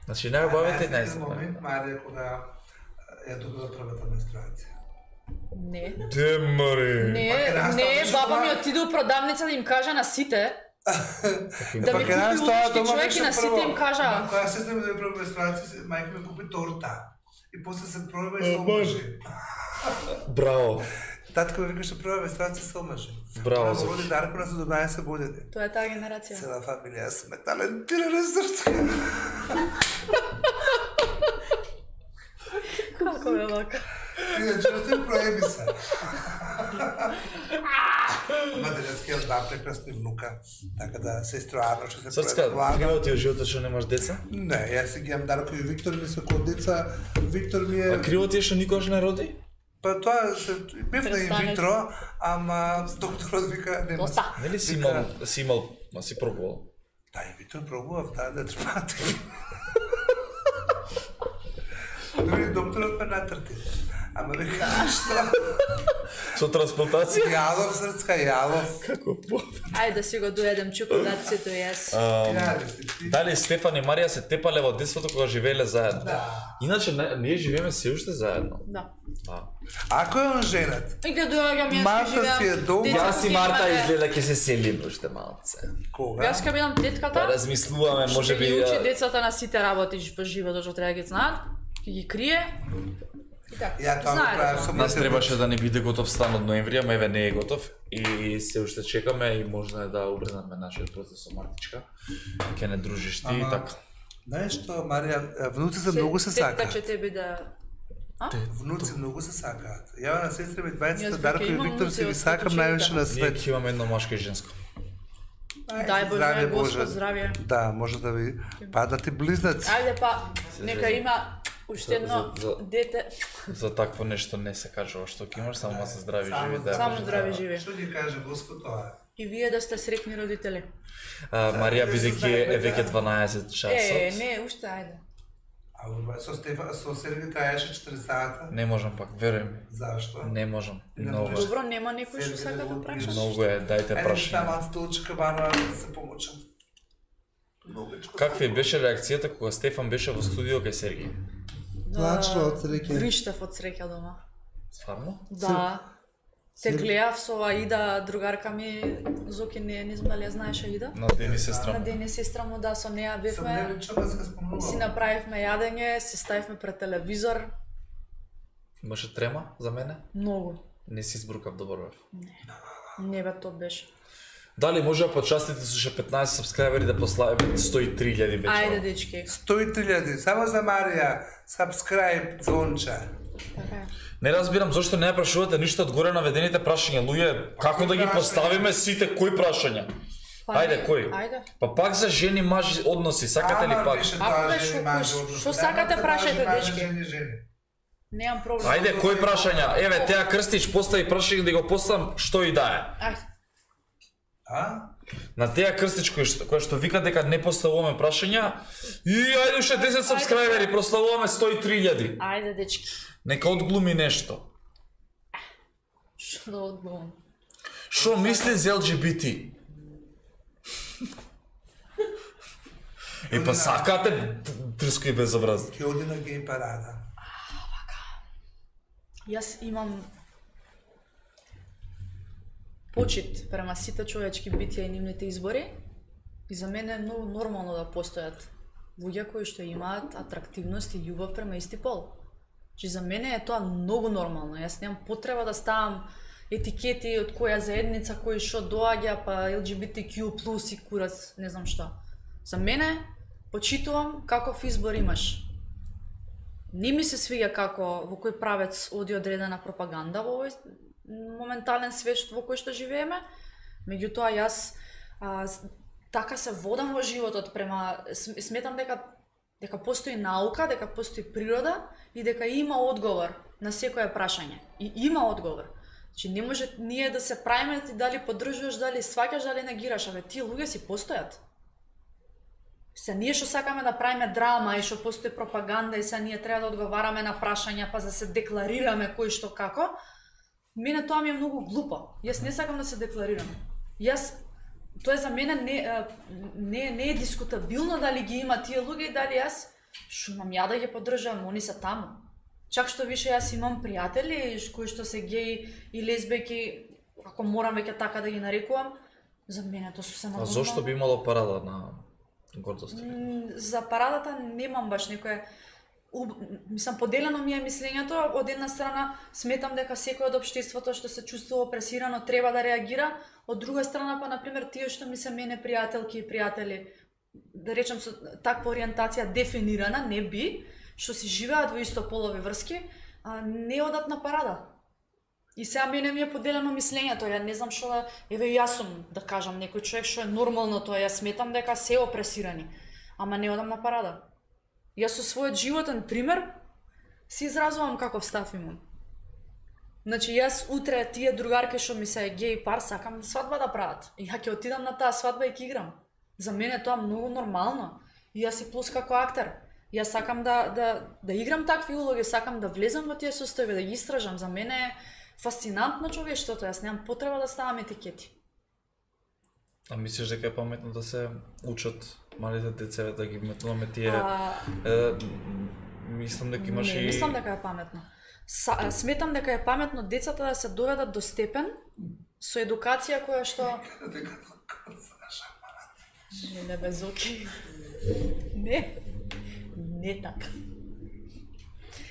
Значи најубавите и најзабавните. Марија кога ја добила првата менструација. Не. Де мари. Не, не, баба ми отиде у продавница да им кажа на сите. Да ми купи лутички човек и на сите им кажа. Кога се знаме да ја прва менструација, мајка ми купи торта. И после се проба и се омажи. Браво. Татко ми викаше прва менструација се омажи. Браво. Тоа роди Дарко на седумнаесет години. Тоа е таа генерација. Цела фамилија сме талентирани срцка. Како е вака? Иначе не проеби се. Ма денеска имам два прекрасни внука, така да сестро Арно ќе се Срцка, криво ти е животот што немаш деца? Не, јас си ги имам Дарко и Виктор ми се кod деца. Виктор ми е... А криво ти е што никош не роди? Па тоа се бев на инвитро, ама докторот вика нема. Нели си имал, си имал, ма си пробувал? Да, инвитро пробував, да, да трпате. Дори докторот ме натрти. Ама вика што? Со трансплантација? Јалов, срцка, јалов. Како по? Ајде да си го доедем чоколадцето јас. Дали Стефан и Марија се тепале во детството кога живееле заедно? Да. Иначе ние живееме се уште заедно. Да. Ако е он женат? И кога доаѓам јас Марта живеам. си е долго. Јас и Марта изгледа ќе се селиме уште малце. Кога? Јас кога бидам тетката. Па размислуваме, може би. Ќе ги учи децата на сите работи во животот што треба да ги знаат. Ќе ги крие. Ја тоа го правев со Нас требаше да не биде готов стан од ноември, ама еве не е готов и се уште чекаме и можно е да убрзаме нашиот процес со Мартичка. Ќе не дружиш ти и така. Знаеш што, Марија, внуците многу се сакаат. Тетка ќе тебе да... Внуци многу се сакаат. Ја на сестри ми двајцата Дарко и Виктор си ги сакам највише на Ние свет. ќе имаме едно машко и женско. Дај Боже, Господ здравје. Да, може да ви паднат и близнаци. Ајде па, нека има уште едно дете. За такво нешто не се кажува што ќе имаш, само се здрави живи да. Само здрави живи. Што ги каже Господ тоа? И вие да сте среќни родители. Марија бидејќи е веќе дванаесет часот. Е, не, уште ајде. А со Стефан, со Сергија траеше четири сата. Не можам пак, веруј ми. Зашто? Не можам. Многу. Добро, нема некој што сака да прашаш. Многу е, дајте Ајде, прашање. таман столчка бано да се помочам. Каква беше реакцијата кога Стефан беше во студио кај Сергија? Плачно од среќа. Вриштев од среќа дома. Стварно? Да. Те гледав со Аида, другарка ми, Зоки не, не знам дали ја знаеш Аида. На Дени сестра. На Дени сестра му, да, со неа Сам бевме. не чува се спомнувам. Си направивме јадење, се ставивме пред телевизор. Имаше трема за мене? Многу. Не си избрукав добро бев. Не бе, тоа беше. Дали може да почастите со ше петнаесет сабскрајбери да пославиме сто и три илјади вече? Ајде, дечки. сто и три илјади, само за Марија, subscribe, звонче. Така е. Не разбирам зошто не ја прашувате ништо од горе наведените прашања, луѓе, како да ги поставиме сите, кои прашања? Ајде, кој? Ајде. Па пак за жени мажи односи, сакате ли пак? Ако бе, шо- шо сакате прашајте, дечки? Немам проблем. Ајде, кои прашања? Еве, Теа Крстич постави прашање да го поставам што и да е. Ајде. А? На теа крстич кој што, кој што вика дека не поставуваме прашања, и ајде уште десет сабскрајбери, прославуваме сто и три илјади. Ајде, дечки. Нека одглуми нешто. Што да одглумам? Шо мисли за Ел Џи Би Ти? И па сакате трско и безобразно. Ќе оди на гей парада. Јас имам почит према сите човечки битија и нивните избори и за мене е многу нормално да постојат луѓе кои што имаат атрактивност и љубов према исти пол. Чи за мене е тоа многу нормално. Јас немам потреба да ставам етикети од која заедница, кој што доаѓа, па Ел Џи Би Ти Q плюс и курац, не знам што. За мене почитувам каков избор имаш. Не ми се свиѓа како во кој правец оди одредена пропаганда во овој моментален свет во кој што живееме, меѓутоа јас а, така се водам во животот према сметам дека дека постои наука, дека постои природа и дека има одговор на секое прашање. И има одговор. Значи не може ние да се правиме ти дали поддржуваш, дали сваќаш, дали негираш, абе тие луѓе си постојат. Се ние што сакаме да правиме драма и што постои пропаганда и се ние треба да одговараме на прашања па да се декларираме кој што како, мене тоа ми е многу глупо. Јас не сакам да се декларирам. Јас тоа за мене не не не е дискутабилно дали ги има тие луѓе и дали јас што имам ја да ги поддржувам, они се таму. Чак што више јас имам пријатели кои што се геи и лесбејки, ако морам веќе така да ги нарекувам, за мене тоа сосема нормално. А зошто би имало парада на гордост? За парадата немам баш некоја мислам поделено ми е мислењето. Од една страна сметам дека секој од општеството што се чувствува опресирано треба да реагира, од друга страна па на пример тие што ми се мене пријателки и пријатели, да речем со таква ориентација дефинирана, не би, што си живеат во истополови врски, а, не одат на парада. И сега мене ми е поделено мислењето, ја не знам што да, еве јас сум да кажам некој човек што е нормално тоа, јас сметам дека се опресирани, ама не одам на парада. Јас со својот животен пример си изразувам каков став имам. Значи јас утре тие другарки што ми се геј пар сакам свадба да прават. И ја ќе отидам на таа свадба и ќе играм. За мене тоа многу нормално. И јас си плюс како актер. Јас сакам да да да играм такви улоги, сакам да влезам во тие состојби, да ги истражам. За мене е фасцинантно човештвото, јас немам потреба да ставам етикети. А мислиш дека е паметно да се учат малите деца да ги метнуваме тие? А... Е, мислам дека имаш не, и... Не, мислам дека е паметно. Са, сметам дека е паметно децата да се доведат до степен со едукација која што... Не, не, без оки. Не, не така.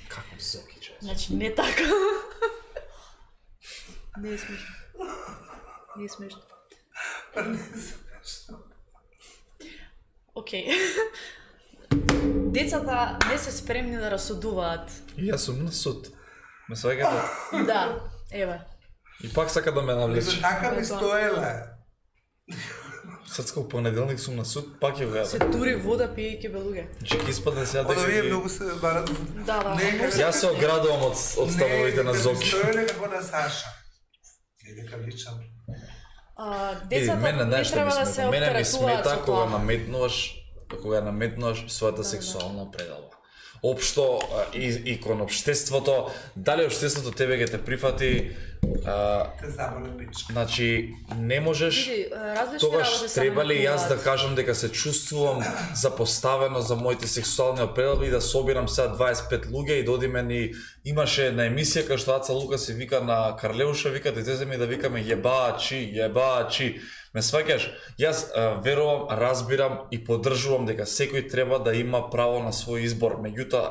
Како зоки, че? Значи, не така. Не е смешно. Не е смешно. Па не е смешно. Океј. Децата не се спремни да расудуваат. И јас сум на суд. Ме сваќате? Да, еве. И пак сака да ме навлече. Така ми стоеле. Сацка, понеделник сум на суд, пак ја Се гледам. тури вода пиејќи белуѓе. Че ќе испадне сега Ода дека вие ги... многу се барат. Да, да. Јас се оградувам од, од ставовите на Зоки. Не, стоеле како на Саша. Не дека личам. А, Еди, децата мене не знаеш што ми треба да смета? се Мене ми оптеретуваат смета со кога тоа. наметнуваш, кога наметнуваш својата Да, сексуална предалба. Општо и, и кон општеството, дали општеството тебе ќе те прифати, а, Те заболе пич. значи не можеш. Види, различни Тогаш работи се треба ли јас да манипулираат. кажам дека се чувствувам запоставено за моите сексуални предалби и да собирам сега дваесет и пет луѓе и да одиме ни имаше една емисија кај што Аца Лука се вика на Карлеуша, вика да ми да викаме јебачи, јебачи. Ме сваќаш? Јас а, верувам, разбирам и поддржувам дека секој треба да има право на свој избор, меѓутоа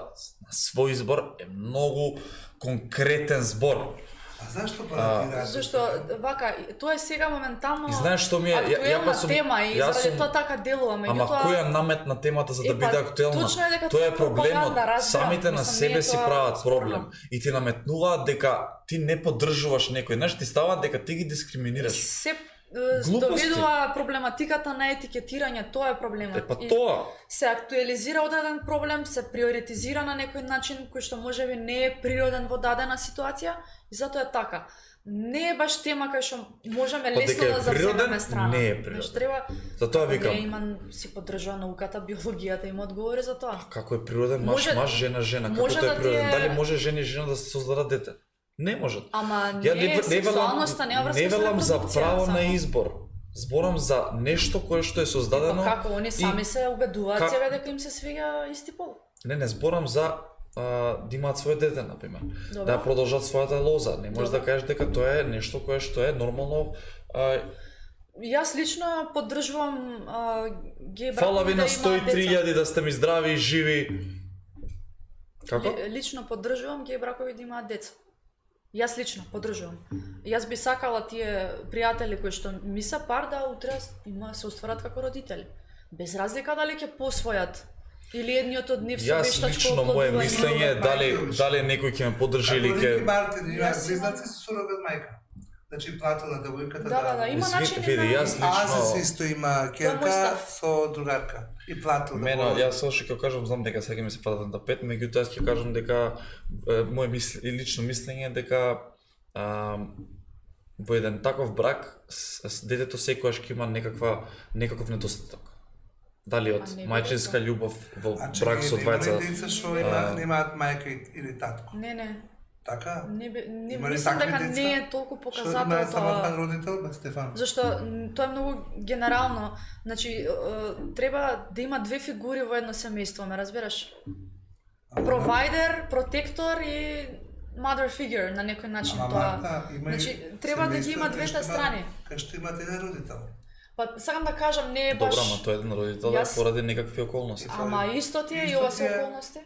на свој избор е многу конкретен збор. А зашто парадираат? Зашто вака, тоа е сега моментално И знаеш што ми е, ја, ја па актуелна сум, тема и јас заради сум- тоа така делува, Ама меѓутоа која наметна темата за да Е, па, биде актуелна? точно е дека Тоа е тоа е проблемот. пропаганда, разбирам, Самите на мислам, себе не е си тоа прават спорно. проблем и ти наметнуваат дека ти не поддржуваш некој, знаеш, ти ставаат дека ти ги дискриминираш. се доведува проблематиката на етикетирање, тоа е проблемот. Е, па тоа. Се актуализира одреден проблем, се приоритизира на некој начин кој што можеби не е природен во дадена ситуација и затоа е така. Не е баш тема кај што можеме лесно да заземеме страна. Не е природен. Значи треба. Затоа викам. Не имам си поддржува науката, биологијата има одговори за тоа. Како е природен маж, Може, маж, жена, жена, како може тоа е да природен? е... Дали може жена и жена да се создадат дете? Не можат. Ама не, Ја не, не сексуалноста не врска не со велам за репродукција, право само. на избор. Зборам за нешто кое што е создадено. Па како они сами и... се убедуваат Ка... себе дека им се свига исти пол. Не, не зборам за а, да имаат свое дете, например. Добро. Да продолжат својата лоза. Не можеш Добро. да кажеш дека тоа е нешто кое што е нормално. А... Јас лично поддржувам геј бракови Фала ви да на сто и имаат три деца. илјади да сте ми здрави и живи. Како? Ли, лично поддржувам геј бракови да имаат деца. Јас лично поддржувам. Јас би сакала тие пријатели кои што ми се пар да утре има се устварат како родители. Без разлика дали ќе посвојат или едниот од нив со Јас вештачко лично мое оплодување. мислење е дали дали некој ќе ме поддржи или Ако ќе Рики Мартин има Јас имам- близнаци со сурогат мајка. Значи платила девојката Да, да, да, има Изви- начини види, на... јас лично- Азис исто има Тоа е керка мој став. со другарка и платила. Мене, јас со што ќе кажам, знам дека сега ми се падат на тапет, меѓутоа јас ќе кажам дека е, моje мисли, лично мислење е дека а, во еден таков брак с, с детето секогаш ќе има некаква некаков недостаток. Дали од А не би мајчинска љубов во А брак со двајца. деца што има, немаат мајка и- или татко. Не, не. Така? Не, би- не Има ли мислам такви дека деца? не е толку Што показател има тоа. самотен родител, бе Стефан? Зашто м, тоа е многу генерално. Значи е, треба да има две фигури во едно семејство, ме разбираш? Провайдер, протектор и mother figure на некој начин Ама тоа. Марта, има и Значи треба да ги семејства има кај двете што има- страни. Кај што имате еден родител. Па сакам да кажам не е баш. Добра, ама тоа е еден родител Јас- поради некакви околности. Ама исто ти е и Исто ова ти се е. околности.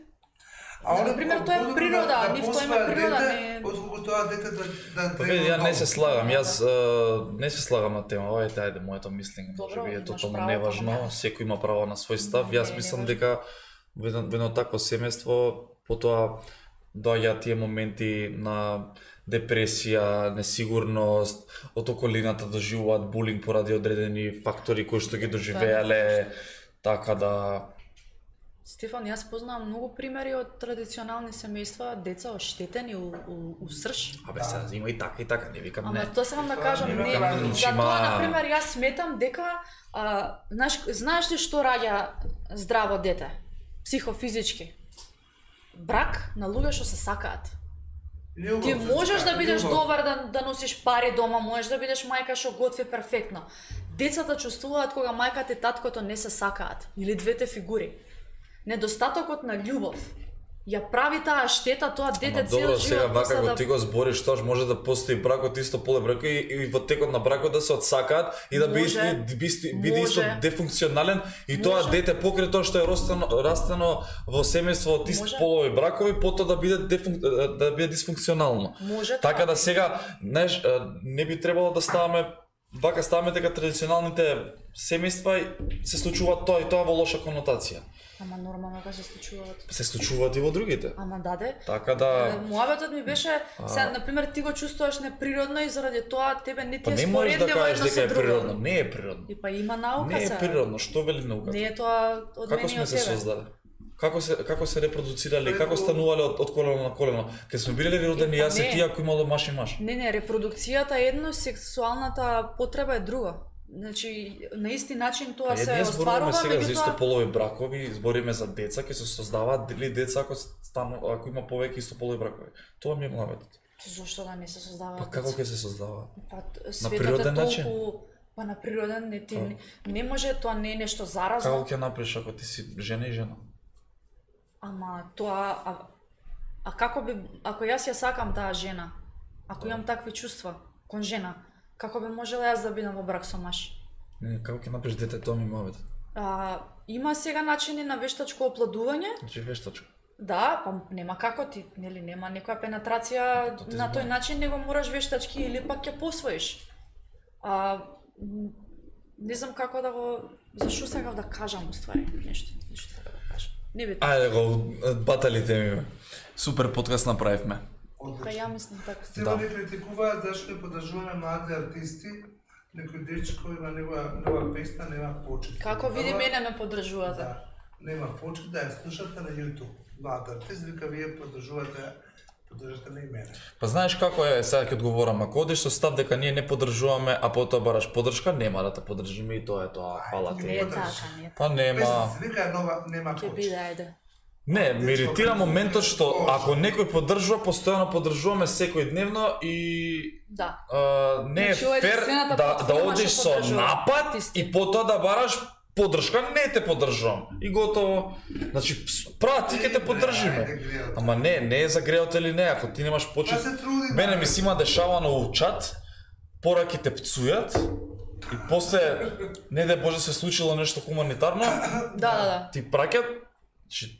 А На они пример, тоа е подобро природа, да, нив да тоа има посвоја природа, дете, не- отколку тоа дете да да Па треба види, ја не дом. се слагам, јас а, не се слагам на тема, ова е тајде моето мислење, Добро, може би е имаш тотално право, неважно, ама- секој има право на свој став. Не, Јас не мислам важно. дека во едно, во едно такво семејство потоа доаѓаат тие моменти на депресија, несигурност, од околината доживуваат булинг поради одредени фактори кои што ги доживеале, така да Стефан, јас познавам многу примери од традиционални семејства, деца оштетени у, у, у срж. абе се има и така и така, не викам Ама не. тоа сакам да кажам, нема не, правилно. за Има- тоа, например, јас сметам дека, а, знаеш, знаеш ли што раѓа здраво дете? Психофизички. Брак на луѓе што се сакаат. Љубов, Ти можеш да бидеш љубов. добар да, да носиш пари дома, можеш да бидеш мајка што готви перфектно. Децата чувствуваат кога мајката и таткото не се сакаат, или двете фигури. Недостатокот на љубов ја прави таа штета, тоа дете Ама цел добро, живот сега вака после го да ти го збориш, тоа може да постои бракот исто поле бракот и, и во текот на бракот да се отсакаат и да биде Може. исто, биде, биде исто Може. дефункционален и тоа Може. дете покрај тоа што е растено, растено во семејство од исти Може. полови бракови, потоа да биде дефун, да биде дисфункционално. Може Така тоа. да сега, знаеш, не би требало да ставаме вака ставаме дека традиционалните семејства се случуваат тоа и тоа во лоша конотација. Ама нормално кога се случуваат. Се случуваат и во другите. Ама даде. Така да Муабетот ми беше, се на пример ти го чувствуваш неприродно и заради тоа тебе не ти па е не можеш да споредливо кажеш едно дека со е друго. природно, не е природно. И па има наука Не е се. природно, што вели науката? Не е тоа од Како мене и сме од се тебе. создаде? Како се како се репродуцирале, како станувале од, од колено на колено? Кога сме биле родени Па јас и не. ти ако имало маш и маш. Не, не, репродукцијата е едно, сексуалната потреба е друго. Значи, на исти начин тоа Па се ние зборуваме остварува, сега за меѓутоа истополови бракови, збориме за деца, ќе се создаваат дали деца ако стану ако има повеќе истополови бракови. Тоа ми е муабетот. зошто да не се создава? Па како ќе се создава? Па т- светот е природен толку начин? па на природен не ти Па. не, не може, тоа не е нешто заразно. Како ќе направиш ако ти си жена и жена? Ама тоа а, а како би ако јас ја сакам таа жена, ако имам такви чувства кон жена, како би можела јас да бидам во брак со маж? Не, како ќе направиш дете, тоа ми е муабетот. А, има сега начини на вештачко оплодување. Значи вештачко. Да, па нема како ти, нели, нема некоја пенетрација Тоа ти на тој зборам. начин, него мораш вештачки или пак ќе посвоиш. А, м, не знам како да го зашо сакав да кажам уствари нешто, нешто така да кажам. Не би. Ајде го баталите ми. Бе. Супер подкаст направивме. Па ја мислам така. Стефани критикуваат зашто не поддржуваме млади артисти некој дечко има негова нова песна, нема почет. Како види мене ме поддржувате. Да, нема почет да ја слушате на YouTube. Млад артист, вика вие поддржувате, поддржате на и мене. Па знаеш како е, сега ќе одговорам, ако одиш со став дека ние не поддржуваме, а потоа бараш поддршка, нема да те поддржиме и тоа е тоа, фала ти. Не е така, не е така. Па нема. Песната се вика нова, нема Ќе почет. биде, ајде. Не, ме иритира моментот што ако некој поддржува, постојано поддржуваме секој дневно и Да. а, не е Значи, ова е фер единствената да, да платформа одиш што со поддржува напад артисти. и потоа да бараш поддршка, не те поддржувам. И готово. Значи, прати ќе те поддржиме. Ама не, не е за греот или не, ако ти немаш почет. Па се труди, Мене да. ми си има дешавано у чат, пораки те пцујат и после, не да Боже се случило нешто хуманитарно, Да, да, да. ти праќат, значи,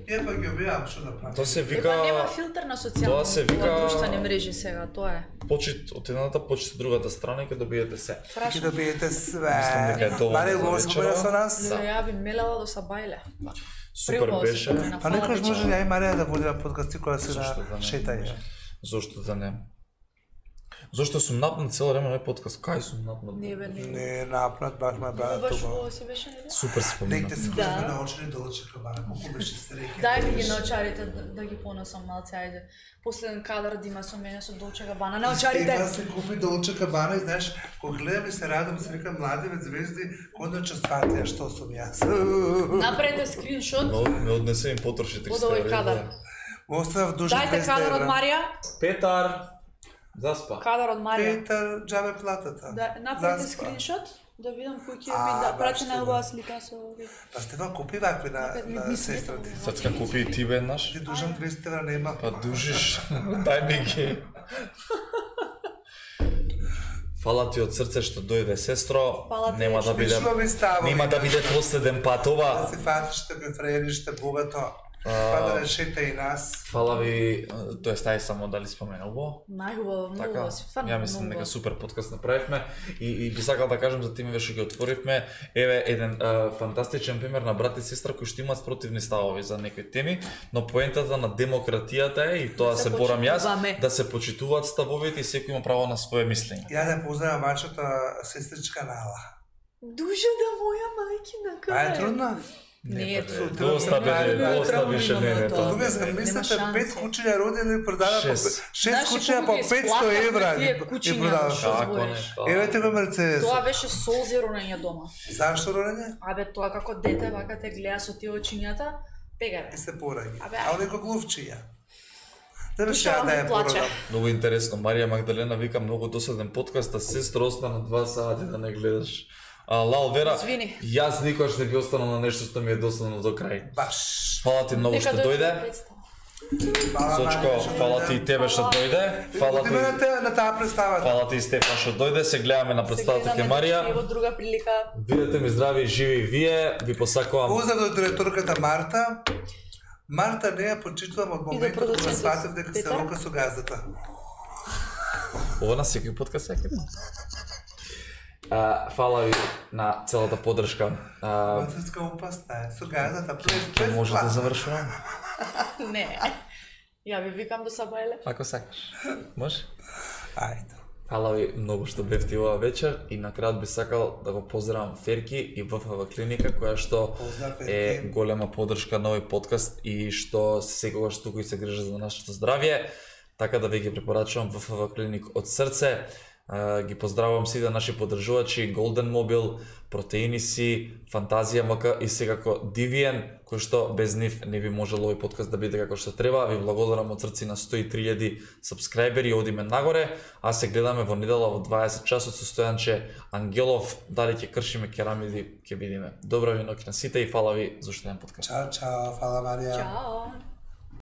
Е, па ги објавам што да правам. тоа се Вика... вика нема филтер на социјални тоа се вика- друштвени мрежи сега, тоа е. почит од едната, почит од другата страна и ќе добиете се. Ќе Прашам. добиете све. Мислам дека е доволно Маре, за го вечера. спомена со нас? Да. Ја би мелела до Сабајле. Супер Приубаво се беше. помена, Па фала некојаш ти. може ја и Марија да води на подкасти која се Зошто да на не? шетање. Зошто да не? Зошто сум напнат цело време на подкаст? Кај сум напнат? Не бе, не. Не, напред, баш ме бара Баш тука. во се беше не. Супер се помина. Некте се Да. кој научени да очека бара, колку беше среќа. Дај ми ги наочарите да, да ги понесам малце, ајде. Последен кадар да има со мене со Долче Габана. Наочарите! Стефан се купи Долче Габана и знаеш, кога гледам и се радам, се викам млади вет звезди, кондаче сватија што сум јас. Направете скриншот Но ме однесе им потроши од триста овој евра. кадар. Му оставав дужен Дајте двеста кадар од евра. Марија. Петар, заспа. Кадар од Марија. Петар, джабе платата. Да, направете Заспа. скриншот да видам кој ќе А, би да баш прати тоа. на убава слика со овој. Па Стефан купи вакви на, Опет ми на ми сестра ти. сметна. Сад ка купи и ти веднаш. Ти дужан двеста евра нема. Па дужиш. Дај ми ги. Фала ти од срце што дојде, сестро. Фала ти, Нема да биде Смешно ми става. нема да биде последен пат Да ова. се фатиш така фреериште богато. Па да решете и нас. Фала ви, тоа е стај само дали споменал во. Најубаво, многу Така, вас. Стварно ја мислам многу дека вас. супер подкаст направивме и, и би сакал да кажам за тимове што ги отворивме. Еве еден а, фантастичен пример на брат и сестра кои што имаат спротивни ставови за некои теми, но поентата на демократијата е и тоа Да се се борам јас, почитуваме. да се почитуваат ставовите и секој има право на свое мислење. Ја да поздравам вашата сестричка Нала. Душа да моја мајкина, Па е кај трудна. Не е трудно. трудно. Доста бе, Не, доста не, више не, не не, е тоа. тоа. Тука Нема замислете шанси. пет кучиња родени продава по Шест. шест Знаеш, кучиња по колку ги петсто исплакавме евра тие ги кучиња, продава. што Како не? збориш? Тоа. Еве ти го Мерцедес. Тоа беше солзи роење дома. Зашто родење? Абе, тоа како дете вака те гледа со тие очињата, тега И бе. се пораѓа. Абе, А оне глувчиња. Да беше Душа ја да ми ја плаче. породам. Многу интересно. Марија Магдалена вика многу досаден подкаст, а сестра остана два сати да не гледаш. А, Лал Вера, Извини. јас никош не би останал на нешто што ми е досадно до крај. Баш. Фала ти многу што Нека дојде. да представам. Фала, Сочко, Марија, што фала дојде. ти и тебе што дојде. Фала Отиме на ти, те- на таа представа. фала ти и Стефан што дојде. Се гледаме на представата ке И Марија. во друга прилика. Бидете ми здрави и живи и вие. Ви посакувам. Поздрав до директорката Марта. Марта не ја почитувам од моментот кога продуцентот сватив дека се Петар. рока со газдата. Ова на секој подкаст секој ден. А, фала ви на целата поддршка. А, Француска опасна е, со газдата, през ќе през може да плат. завршуваме. Не. Ја ви викам до Сабајле. Ако сакаш. Може? Ајде. Фала ви многу што бевте ова вечер и на крај би сакал да го поздравам Ферки и ВФВ клиника која што Поздрав, е Ферки. голема поддршка на овој подкаст и што секогаш тука и се грижа за нашето здравје. Така да ви ги препорачувам ВФВ клиник од срце. А, ги поздравувам сите наши поддржувачи Golden Mobile, Протеини си, Фантазија МК и секако Дивиен, кој што без нив не би можел овој подкаст да биде како што треба. Ви благодарам од срце на сто и три илјади сабскрајбери, одиме нагоре, а се гледаме во недела во дваесет часот со Стојанче Ангелов, дали ќе кршиме керамиди, ќе видиме. Добра ви ноќ на сите и фала ви за уште еден подкаст. Чао, чао, фала Марија. Чао.